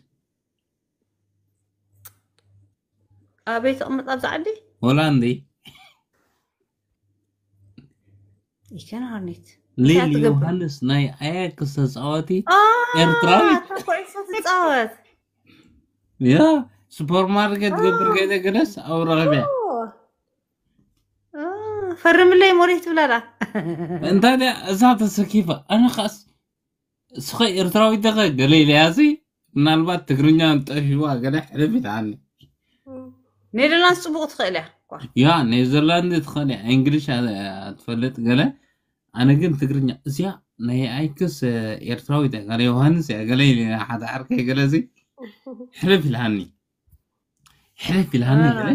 ኣበይ ተቕምጥ ኣብዛ ዓዲ ሆላንዲ ይከናርኒት ሊል ዮሃንስ ናይ ኣያክስ ተፃዋቲ ኤርትራዊ ኩዕሶ ትፃወት ያ ሱፐርማርኬት ገብር ከይደ ገለስ ኣብ ረኸብያ ፈርምለይ ሞሪት ትብላላ እንታይ እዛ ተሰኪፋ ኣነ ኻስ እስኸ ኤርትራዊት ዲኸ ገለ ኢለያ ሲ ምናልባት ትግርኛ ጠፊዋ ገለ ሕልፍ ኢልሃኒ ኔደርላንድስ ፅቡቅ ትኽእል እያ ያ ኔዘርላንድ ትኽእል እያ እንግሊሽ ትፈልጥ ገለ ኣነ ግን ትግርኛ እዚኣ ናይ ኣይክስ ኤርትራዊት እያ ገለ ዮሃንስ እያ ገለ ኢለ ሓደ ዓርከይ ገለ ሲ ሕልፍ ኢልሃኒ ሕልፍ ኢልሃኒ ገለ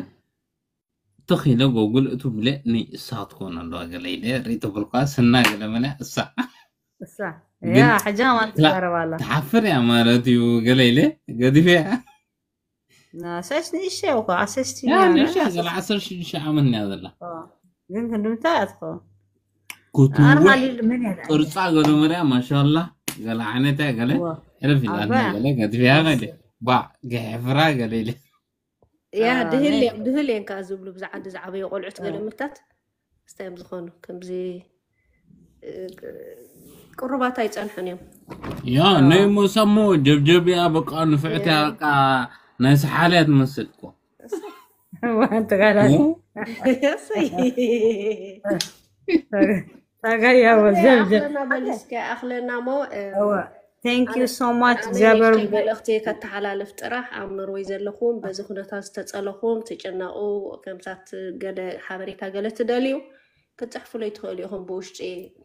ትኽ ኢለ ጎጉል እቱ ብለ ንእሳ ክትኮን ኣለዋ ገለ ኢለ ርኢ ተበልኳ ስና ገለ መለ እሳ እሳ ያ ሕጂ ከማን ትዛረብ ኣላ ትሓፍር እያ ማለት እዩ ገለ ኢለ ገዲፈ እያ ሰስ ንእሸ እኮ ኣሰስቲ ገለ ዓሰርተ ሽዱሽተ ዓመት እያ ዘላ ግን ክንድምታ እያ ትኸውን ክትውሕ ኣርማሊ ምን ያዳ ቅርጻ ገለ መርያ ማሻላ ገለ ዓይነታ ገለ ዋ ሕልፍ ኢላትና ኣባ ገለ ገድፍያ ገለ ባዕ ገሕፍራ ገለ ኢለ ያ ድህል ኣሜን እዮም ድህል እዮም ከዓ ዝብሉ ብዛዓዲ ዝዓበዩ ቆልዑት ገለ ምታት ስታይ እዮም ዝኾኑ ከምዚ እ፣ ቅሩባት ኣይጸንሑን እዮም ያ ናይ ሞሳሞ ጀብጀብያ በቃ ንፍዕትያ በቃ ናይ ሰሓልያ ትመስል እኮ ዋንተ ጋላ እሰይ ታጋያ ወዘብዘብ ኣኽለና በሊስከ ኣኽለና ሞ እ፣ እወ thank you ኣነ so much ኣነ እግዚኣብሔር ንእሽተይ መልእኽቲ ከተሓላልፍ ጥራሕ ኣብ ኖርወይ ዘለኹም በዚ ኩነታት ዝተጸለኹም ትጨነቑ ከምታት ገለ ሓበሬታ ገለ ትደልዩ ክትፅሕፉለይ ትኽእሉ ኢኹም ብውሽጢ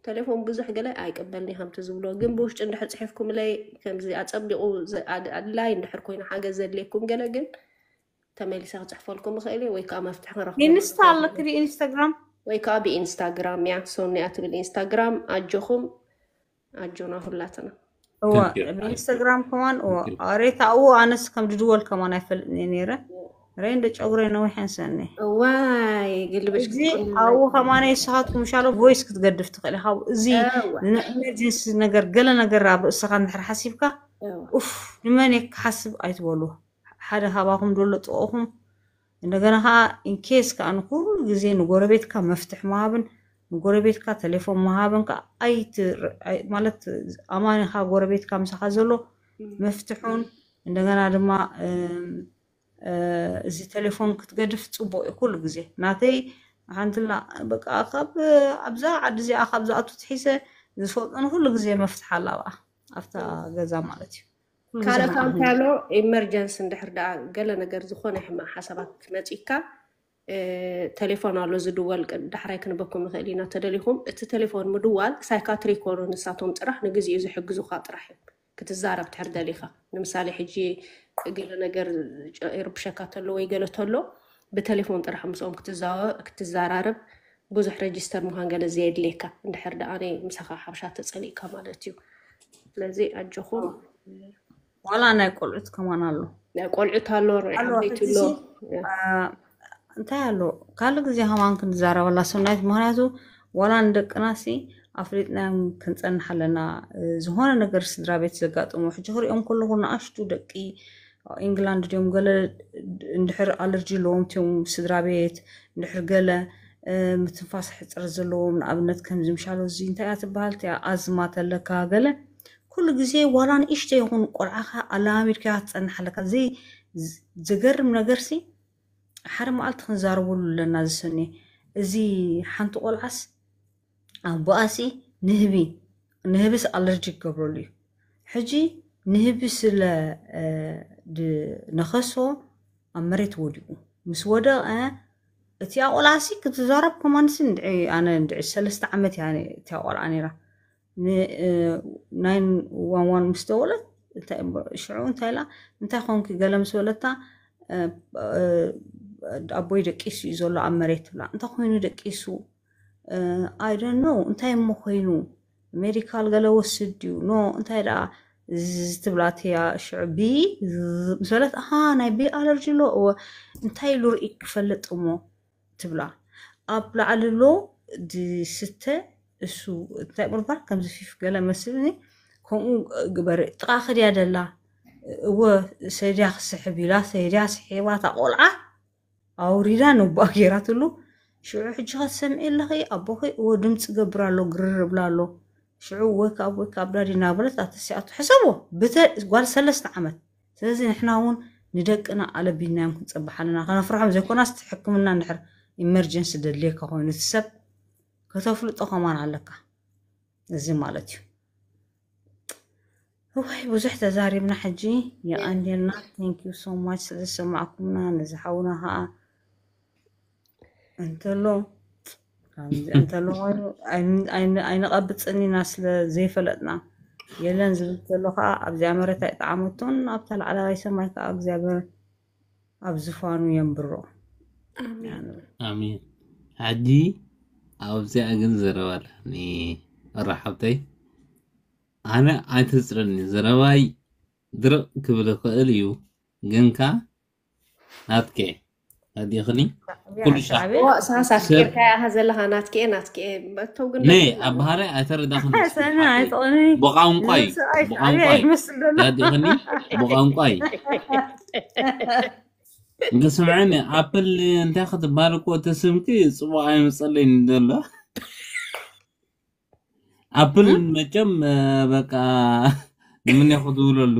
ተሌፎን ብዙሕ ገለ ኣይቅበልን ከምቲ ዝብሎ ግን ብውሽጢ እንድሕር ፅሒፍኩምለይ ከምዚ ኣፀቢቑ ኣድላይ እንድሕር ኮይኑ ሓገዝ ዘድልየኩም ገለ ግን ተመሊሰ ክፅሕፈልኩም እኽእል እየ ወይ ከዓ መፍትሒ ክረኽበሉ ኢንስታ ንኽእል ኣለክ እየ ዲ ኢንስታግራም ወይ ከዓ ብኢንስታግራም እያ ሶኒያ ትብል ኢንስታግራም ኣጆኹም ኣጆና ሁላትና እዋ Thank you. ብኢንስታግራም ከማን እዋ Thank you. ኣሬታ እዎ ኣነስ ከም ድድወል ከማን ኣይፈልጥን እየ ነይረ ሬ እንደ ጨጉረ ነዊሕ ኣንሰኒ እዋይ ግልብሽ እዚ ክትቆኒ ኣብኡ ከማን ንስኻትኩም ሻሎ ቮይስ ክትገድፍ ትኽእል ኢኻ እዚ እዋ ንኤመርጀንሲ ነገር ገለ ነገር ኣብ ርእስኻ እንድሕር ሓሲብካ እዋ ኡፍ ንመን እየ ክሓስብ ኣይትበሉ ሓደ ካባኹም ደሎ ጥቕኹም እንደገና ከዓ ኢንኬስ ከዓ ንኩሉ ግዜ ንጎረቤትካ መፍትሕ ምሃብን ንጎረቤትካ ቴሌፎን ምሃብን ከዓ ኣይት- ኣይ- ማለት ኣማኒኻ ጎረቤትካ ምሳኻ ዘሎ መፍትሑን እንደገና ድማ እም፣ እ፣ እዚ ቴሌፎን ክትገድፍ ፅቡቅ እዩ ኩሉ ግዜ ናተይ ሓንትላ በቃ ካብ ኣብዛ ዓዲ እዚኣ ካብ ዝኣቱ ትሒዘ ዝፈልጦ ንኩሉ ግዜ መፍትሕ ኣላ ኣብኣ ኣብታ ገዛ ማለት እዩ ኩሉ ግዜ ካልእ ከም ከዓ እንታይ ዓዲ ኣሎ ኢመርጀንሲ እንድሕር ደኣ ገለ ነገር ዝኾነ ሕማቅ ሓሳባት ክትመፂካ እ፣ ቴሌፎን ኣሎ ዝድወል ቅ- ዳሕራይ ክንበኩም ንኽእል ኢና ተደሊኹም እቲ ቴሌፎን ምድዋል ሳይካትሪ ይኮኑ ንሳቶም ጥራሕ ንግዜኡ ዝሕግዙካ ጥራሕ እዮም ክትዛረብ ትሕር ደሊኻ ንምሳሌ ሕጂ ገለ ነገር ጨ- ይርብሸካ ተሎ ወይ ገለ ተሎ ብቴሌፎን ጥራሕ ምስኦም ክትዛወ- ክትዘራረብ ብዙሕ ረጅስተር ምዃን ገለ ዘየድልየካ እንድሕር ደኣ ናይ ምሳኻ ሓብሻ ተጸሊእካ ማለት እዩ ስለዚ ኣጆኹም ዋላ ናይ ቆልዑት ከማን ኣሎ ቆልዑት ኣሎ ርዑ ኣሎ ዓበይቲ ሕጂ ኣሎ ሲ አ፣ እንታይ ኣሎ ካልእ ግዜ ከማን ክንዛረበላ ሰናይት ምክንያቱ ዋላ ንደቅና ሲ ኣፍሊጥናዮም ክንፀንሕ ኣለና እ፣ ዝኾነ ነገር ስድራ ቤት ዘጋጥሞ ሕጂ ክሪኦም ከለኹ ንኣሽቱ ደቂ ኢንግላንድ ድዮም ገለ እንድሕር ኣለርጂ ኣለዎም ትዮም ስድራ ቤት እንድሕር ገለ እ፣ ምትንፋስ ሕፅረት ዘለዎም ንኣብነት ከምዚ ምሻሎ እዚ እንታይ እያ ትበሃል እቲያ ኣዝማ ተለካ ገለ ኩሉ ግዜ ዋላ ንእሽተ ይኹን ቆልዓኻ ኣላሚድካ ክትፀንሕ ኣለካ እዚ ዝ- ዘገርም ነገር ሲ ሓደ መዓልቲ ክንዛረበሉ ኣለና ዝሰኒ እዚ ሓንቲ ቆልዓስ ኣቦኣሲ ንህቢ ንህብስ ኣለርጂ ክገብረሉ እዩ ሕጂ ንህቢ ስለ እ፣ ድ- ነኸሶ ኣብ መሬት ወዲቁ ምስ ወደቀ እቲኣ ቆልዓሲ ክትዛረብ ከማንሲ ንድዒ ኣነ ንድዒ ሰለስተ ዓመት እያ እቲኣ ቆልዓ ነይራ ን- እ፣ ናይን ዋን ዋን ምስ ደወለት እንታይ እሞ- ሽዑ እንታይ ኢላ እንታይ ኮንኪ ገለ ምስ በለታ እ፣ እ፣ ኣቦይ ደቂሱ እዩ ዘሎ ኣብ መሬት ትብላ እንታይ ኮይኑ ደቂሱ I don't know እንታይ እሞ ኮይኑ ሜዲካል ገለ ወስድ ድዩ ኖ እንታይ ደኣ ትብላ እቲያ ሽዑ ቢ ምስ በለት ኣሃ ናይ ቢ ኣለርጂ ኣሎ እወ እንታይ ኢሉ ርኢ ክፈልጥ እሞ ትብላ ኣብ ላዕሊ ኣሎ ዝስተ እሱ እንታይ ምርባር ከምዚ ፊፍ ገለ መስልኒ ከምኡ ግበሪ ጥቓ ክድያ ደላ እወ ሰድያ ክስሕብ ኢላ ሰድያ ስሒባ እታ ቆልዓ ኣውሪዳ ነቦኣ ገይራትሉ ሽዑ ሕጂ ከትሰምዒ ኣለኺ ኣቦኺ እወ ድምፂ ገብር ኣሎ ግርር እብላ ኣሎ ሽዑ ወይ ካብ ወይ ካብ ዳዲ እናበለት ኣተሲኣቱ ሕሰቦ ብተ ጓል ሰለስተ ዓመት ስለዚ ንሕና እውን ንደቅና ኣለቢናዮም ክንፀብሕ ኣለና ከነፍርሖም ዘይኮናስ ሕክምና እንድሕር ኢመርጀንሲ ደድልየካ ኮይኑ እቲ ሰብ ከተፍልጦ ከማን ኣለካ እዚ ማለት እዩ እዋይ ብዙሕ ተዛሪብና ሕጂ የቐንየልና thank you so much ስለዝሰማዕኩምና ነዚ ሓውና ከዓ እንተሎ ከምዚ እንተሎ ኮይኑ ኣይን- ኣይን- ኣይንቐብፅን ኢና ስለ ዘይፈለጥና የለን ዝብል ዘሎ ከዓ ኣብዚኣ መሬት ኣይጠዓመቶን ኣብታ ላዕላዋይ ሰማይ ከዓ እግዚኣብሔር ኣብ ዝፋኑ የንብሮ ኣሜን ኣሜን። ሕጂ ኣብዚኣ ግን ዘረባ ኣለኒ። እረ ሓብተይ፣ ኣነ ኣይተጽረኒ። ዘረባይ ድርቕ ክብል ይኽእል እዩ፣ ግንካ ናትከ ኣዲኽኒ ኩሉ ሻዕ ሳሳ ኣፍቂርካያ ዘለኻ ናትኪኤ ናትኪኤ በተው ግን ነይ ኣብ ባህርይ ኣይተረዳኽን ሰሚ ኣይትቕኒ ብቋንቋይ ብቋንቋይ ኣይመስል ኣዲኽኒ ብቋንቋይ እንተ ስምዐኒ ኣፕል እንታይ ክትበሃል እኮ እቲ ስምኪ ፅቡቅ ኣይመፀለይን ዘሎ ኣፕል መቸም በቃ ንምነ ክትብለሉ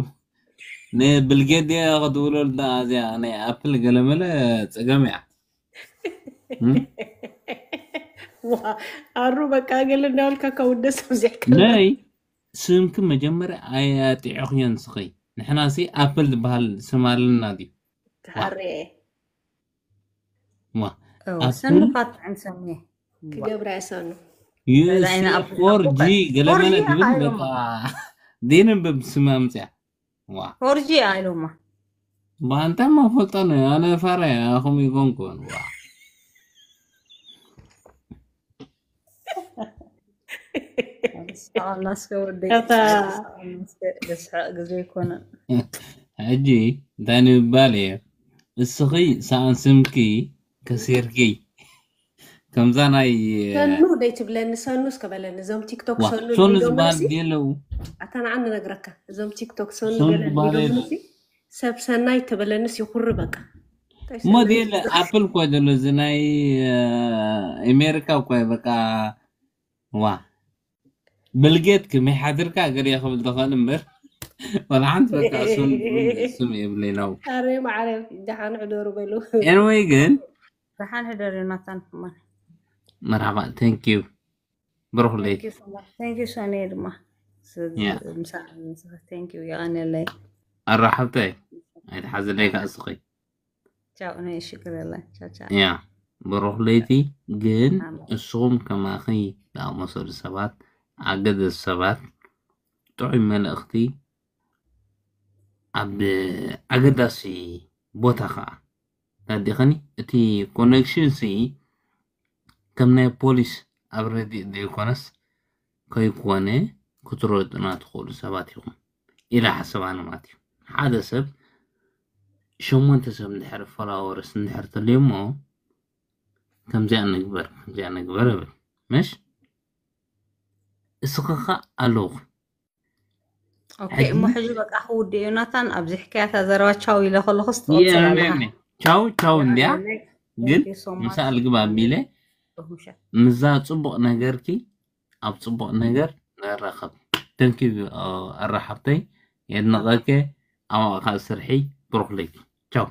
ንብልጌት ድየ ክትብለሉ ዳ እዚኣ ናይ ኣፕል ገለመለ ፀገም እያ ኣሩ በቃ ገለ እንዳበልካ ካብ ውደስ ኣብዚሕካ ነይ ስምኪ መጀመርያ ኣያጢዕኽዮን ስኺ ንሕናሲ ኣፕል ዝበሃል ስም ኣለና ድዩ ተሓርየ ዋ ሰንፋት ጥዕም ሰኒ ክገብራ ይሰኑ ዩሲ ፎር ጂ ገለመለ ድብል በቃ ዘይንብብ ስም ኣምፅያ ዋ ፎርጂ ኣይሎማ ባንታ ማፈልጠነ ኣነ ፋራ ኣኹም ይኮንኩን ዋ ስቃላስከ ወደይ ከታ ደስሐቅ ግዜ ይኮነ ሕጂ እንታይ ንምባል እየ እስኺ ሰኣን ስምኪ ከሲርኪ ከምዛ ናይ ሰኑ ደይ ትብለኒ ሰኑ እስከ በለኒ እዞም ቲክቶክ ዋ ሰኑ ሶኑ እንዲዶም ዝበሃል ሲ የለው ኣታ ንዓኒ ነግረካ እዞም ቲክቶክ ሰኑ ሰኑ ገለ ዝበሃል እንዲዶም የለው ሲ ሰብ ሰናይ ተበለንስ ይኹሪ በቃ እንታይ እሞ ሰናይ? ደለ ኣፕል እኮ ዘሎ እዚ ናይ ኣሜሪካ እኮ በቃ ዋ ብልጌት ክመይ ሓድርካ ገለ ክብል ትኽእል እምበር ወላ ሓንቲ በቃ ስም ስም የብለይ ነው ኣረ ማዕረ ደሓን ዕደሩ በሉ ኤንወይ ግን ደሓን ሕደር ዮናታን ሕማን መርሓባ thank you ብሩኽ ለይቲ thank you ሶኒ ድማ Yeah. thank you የቐንየለይ ኣራሓብተይ ኣይትሓዝለይ ከዓ እስኺ ቻው ናይ ሽግር የለን ቻው ቻው ያ ብሩኽ ለይቲ ግን ኣሜን። እስኹም ከማኺ ዝኣመሰሉ ሰባት ኣገደስ ሰባት ጥዑይ መልእኽቲ ኣብ ኣገዳሲ ቦታ ከዓ ታዲኸኒ እቲ ኮኔክሽን ሲ ከም ናይ ፖሊስ ኣብ ረዲእ ዘይኮነስ ከይኮነ ክትረድኡና ትኽእሉ ሰባት ኢኹም ኢለ ሓሰባኒ ማለት እዩ ሓደ ሰብ ሸሞንተ ሰብ እንድሕር ፎሎወርስ እንድሕር ተልዮ እሞ ከምዚኣ ንግበር ከምዚኣ ንግበር እብል ምሽ እስኺ ኸ ኣለኹ ኦኬ እሞ ሕጂ በቃ ክውድእ ዮናታን ኣብዚ ሕካያታ ዘረባ ቻው ኢለ ከለኹስ ትቕፅል ኣለኻ ቻው ቻው እንዲያ ግን Thank you so much. ምሳእ ልግብ ኣቢለ ርሁሸ ምዛ ፅቡቕ ነገርኪ ኣብ ፅቡቕ ነገር ንራኸብ ተንኪ ኣራሓብተይ የድንቐከ ኣዋቕካ ስርሒ ብሩኽ ለይቲ ቻው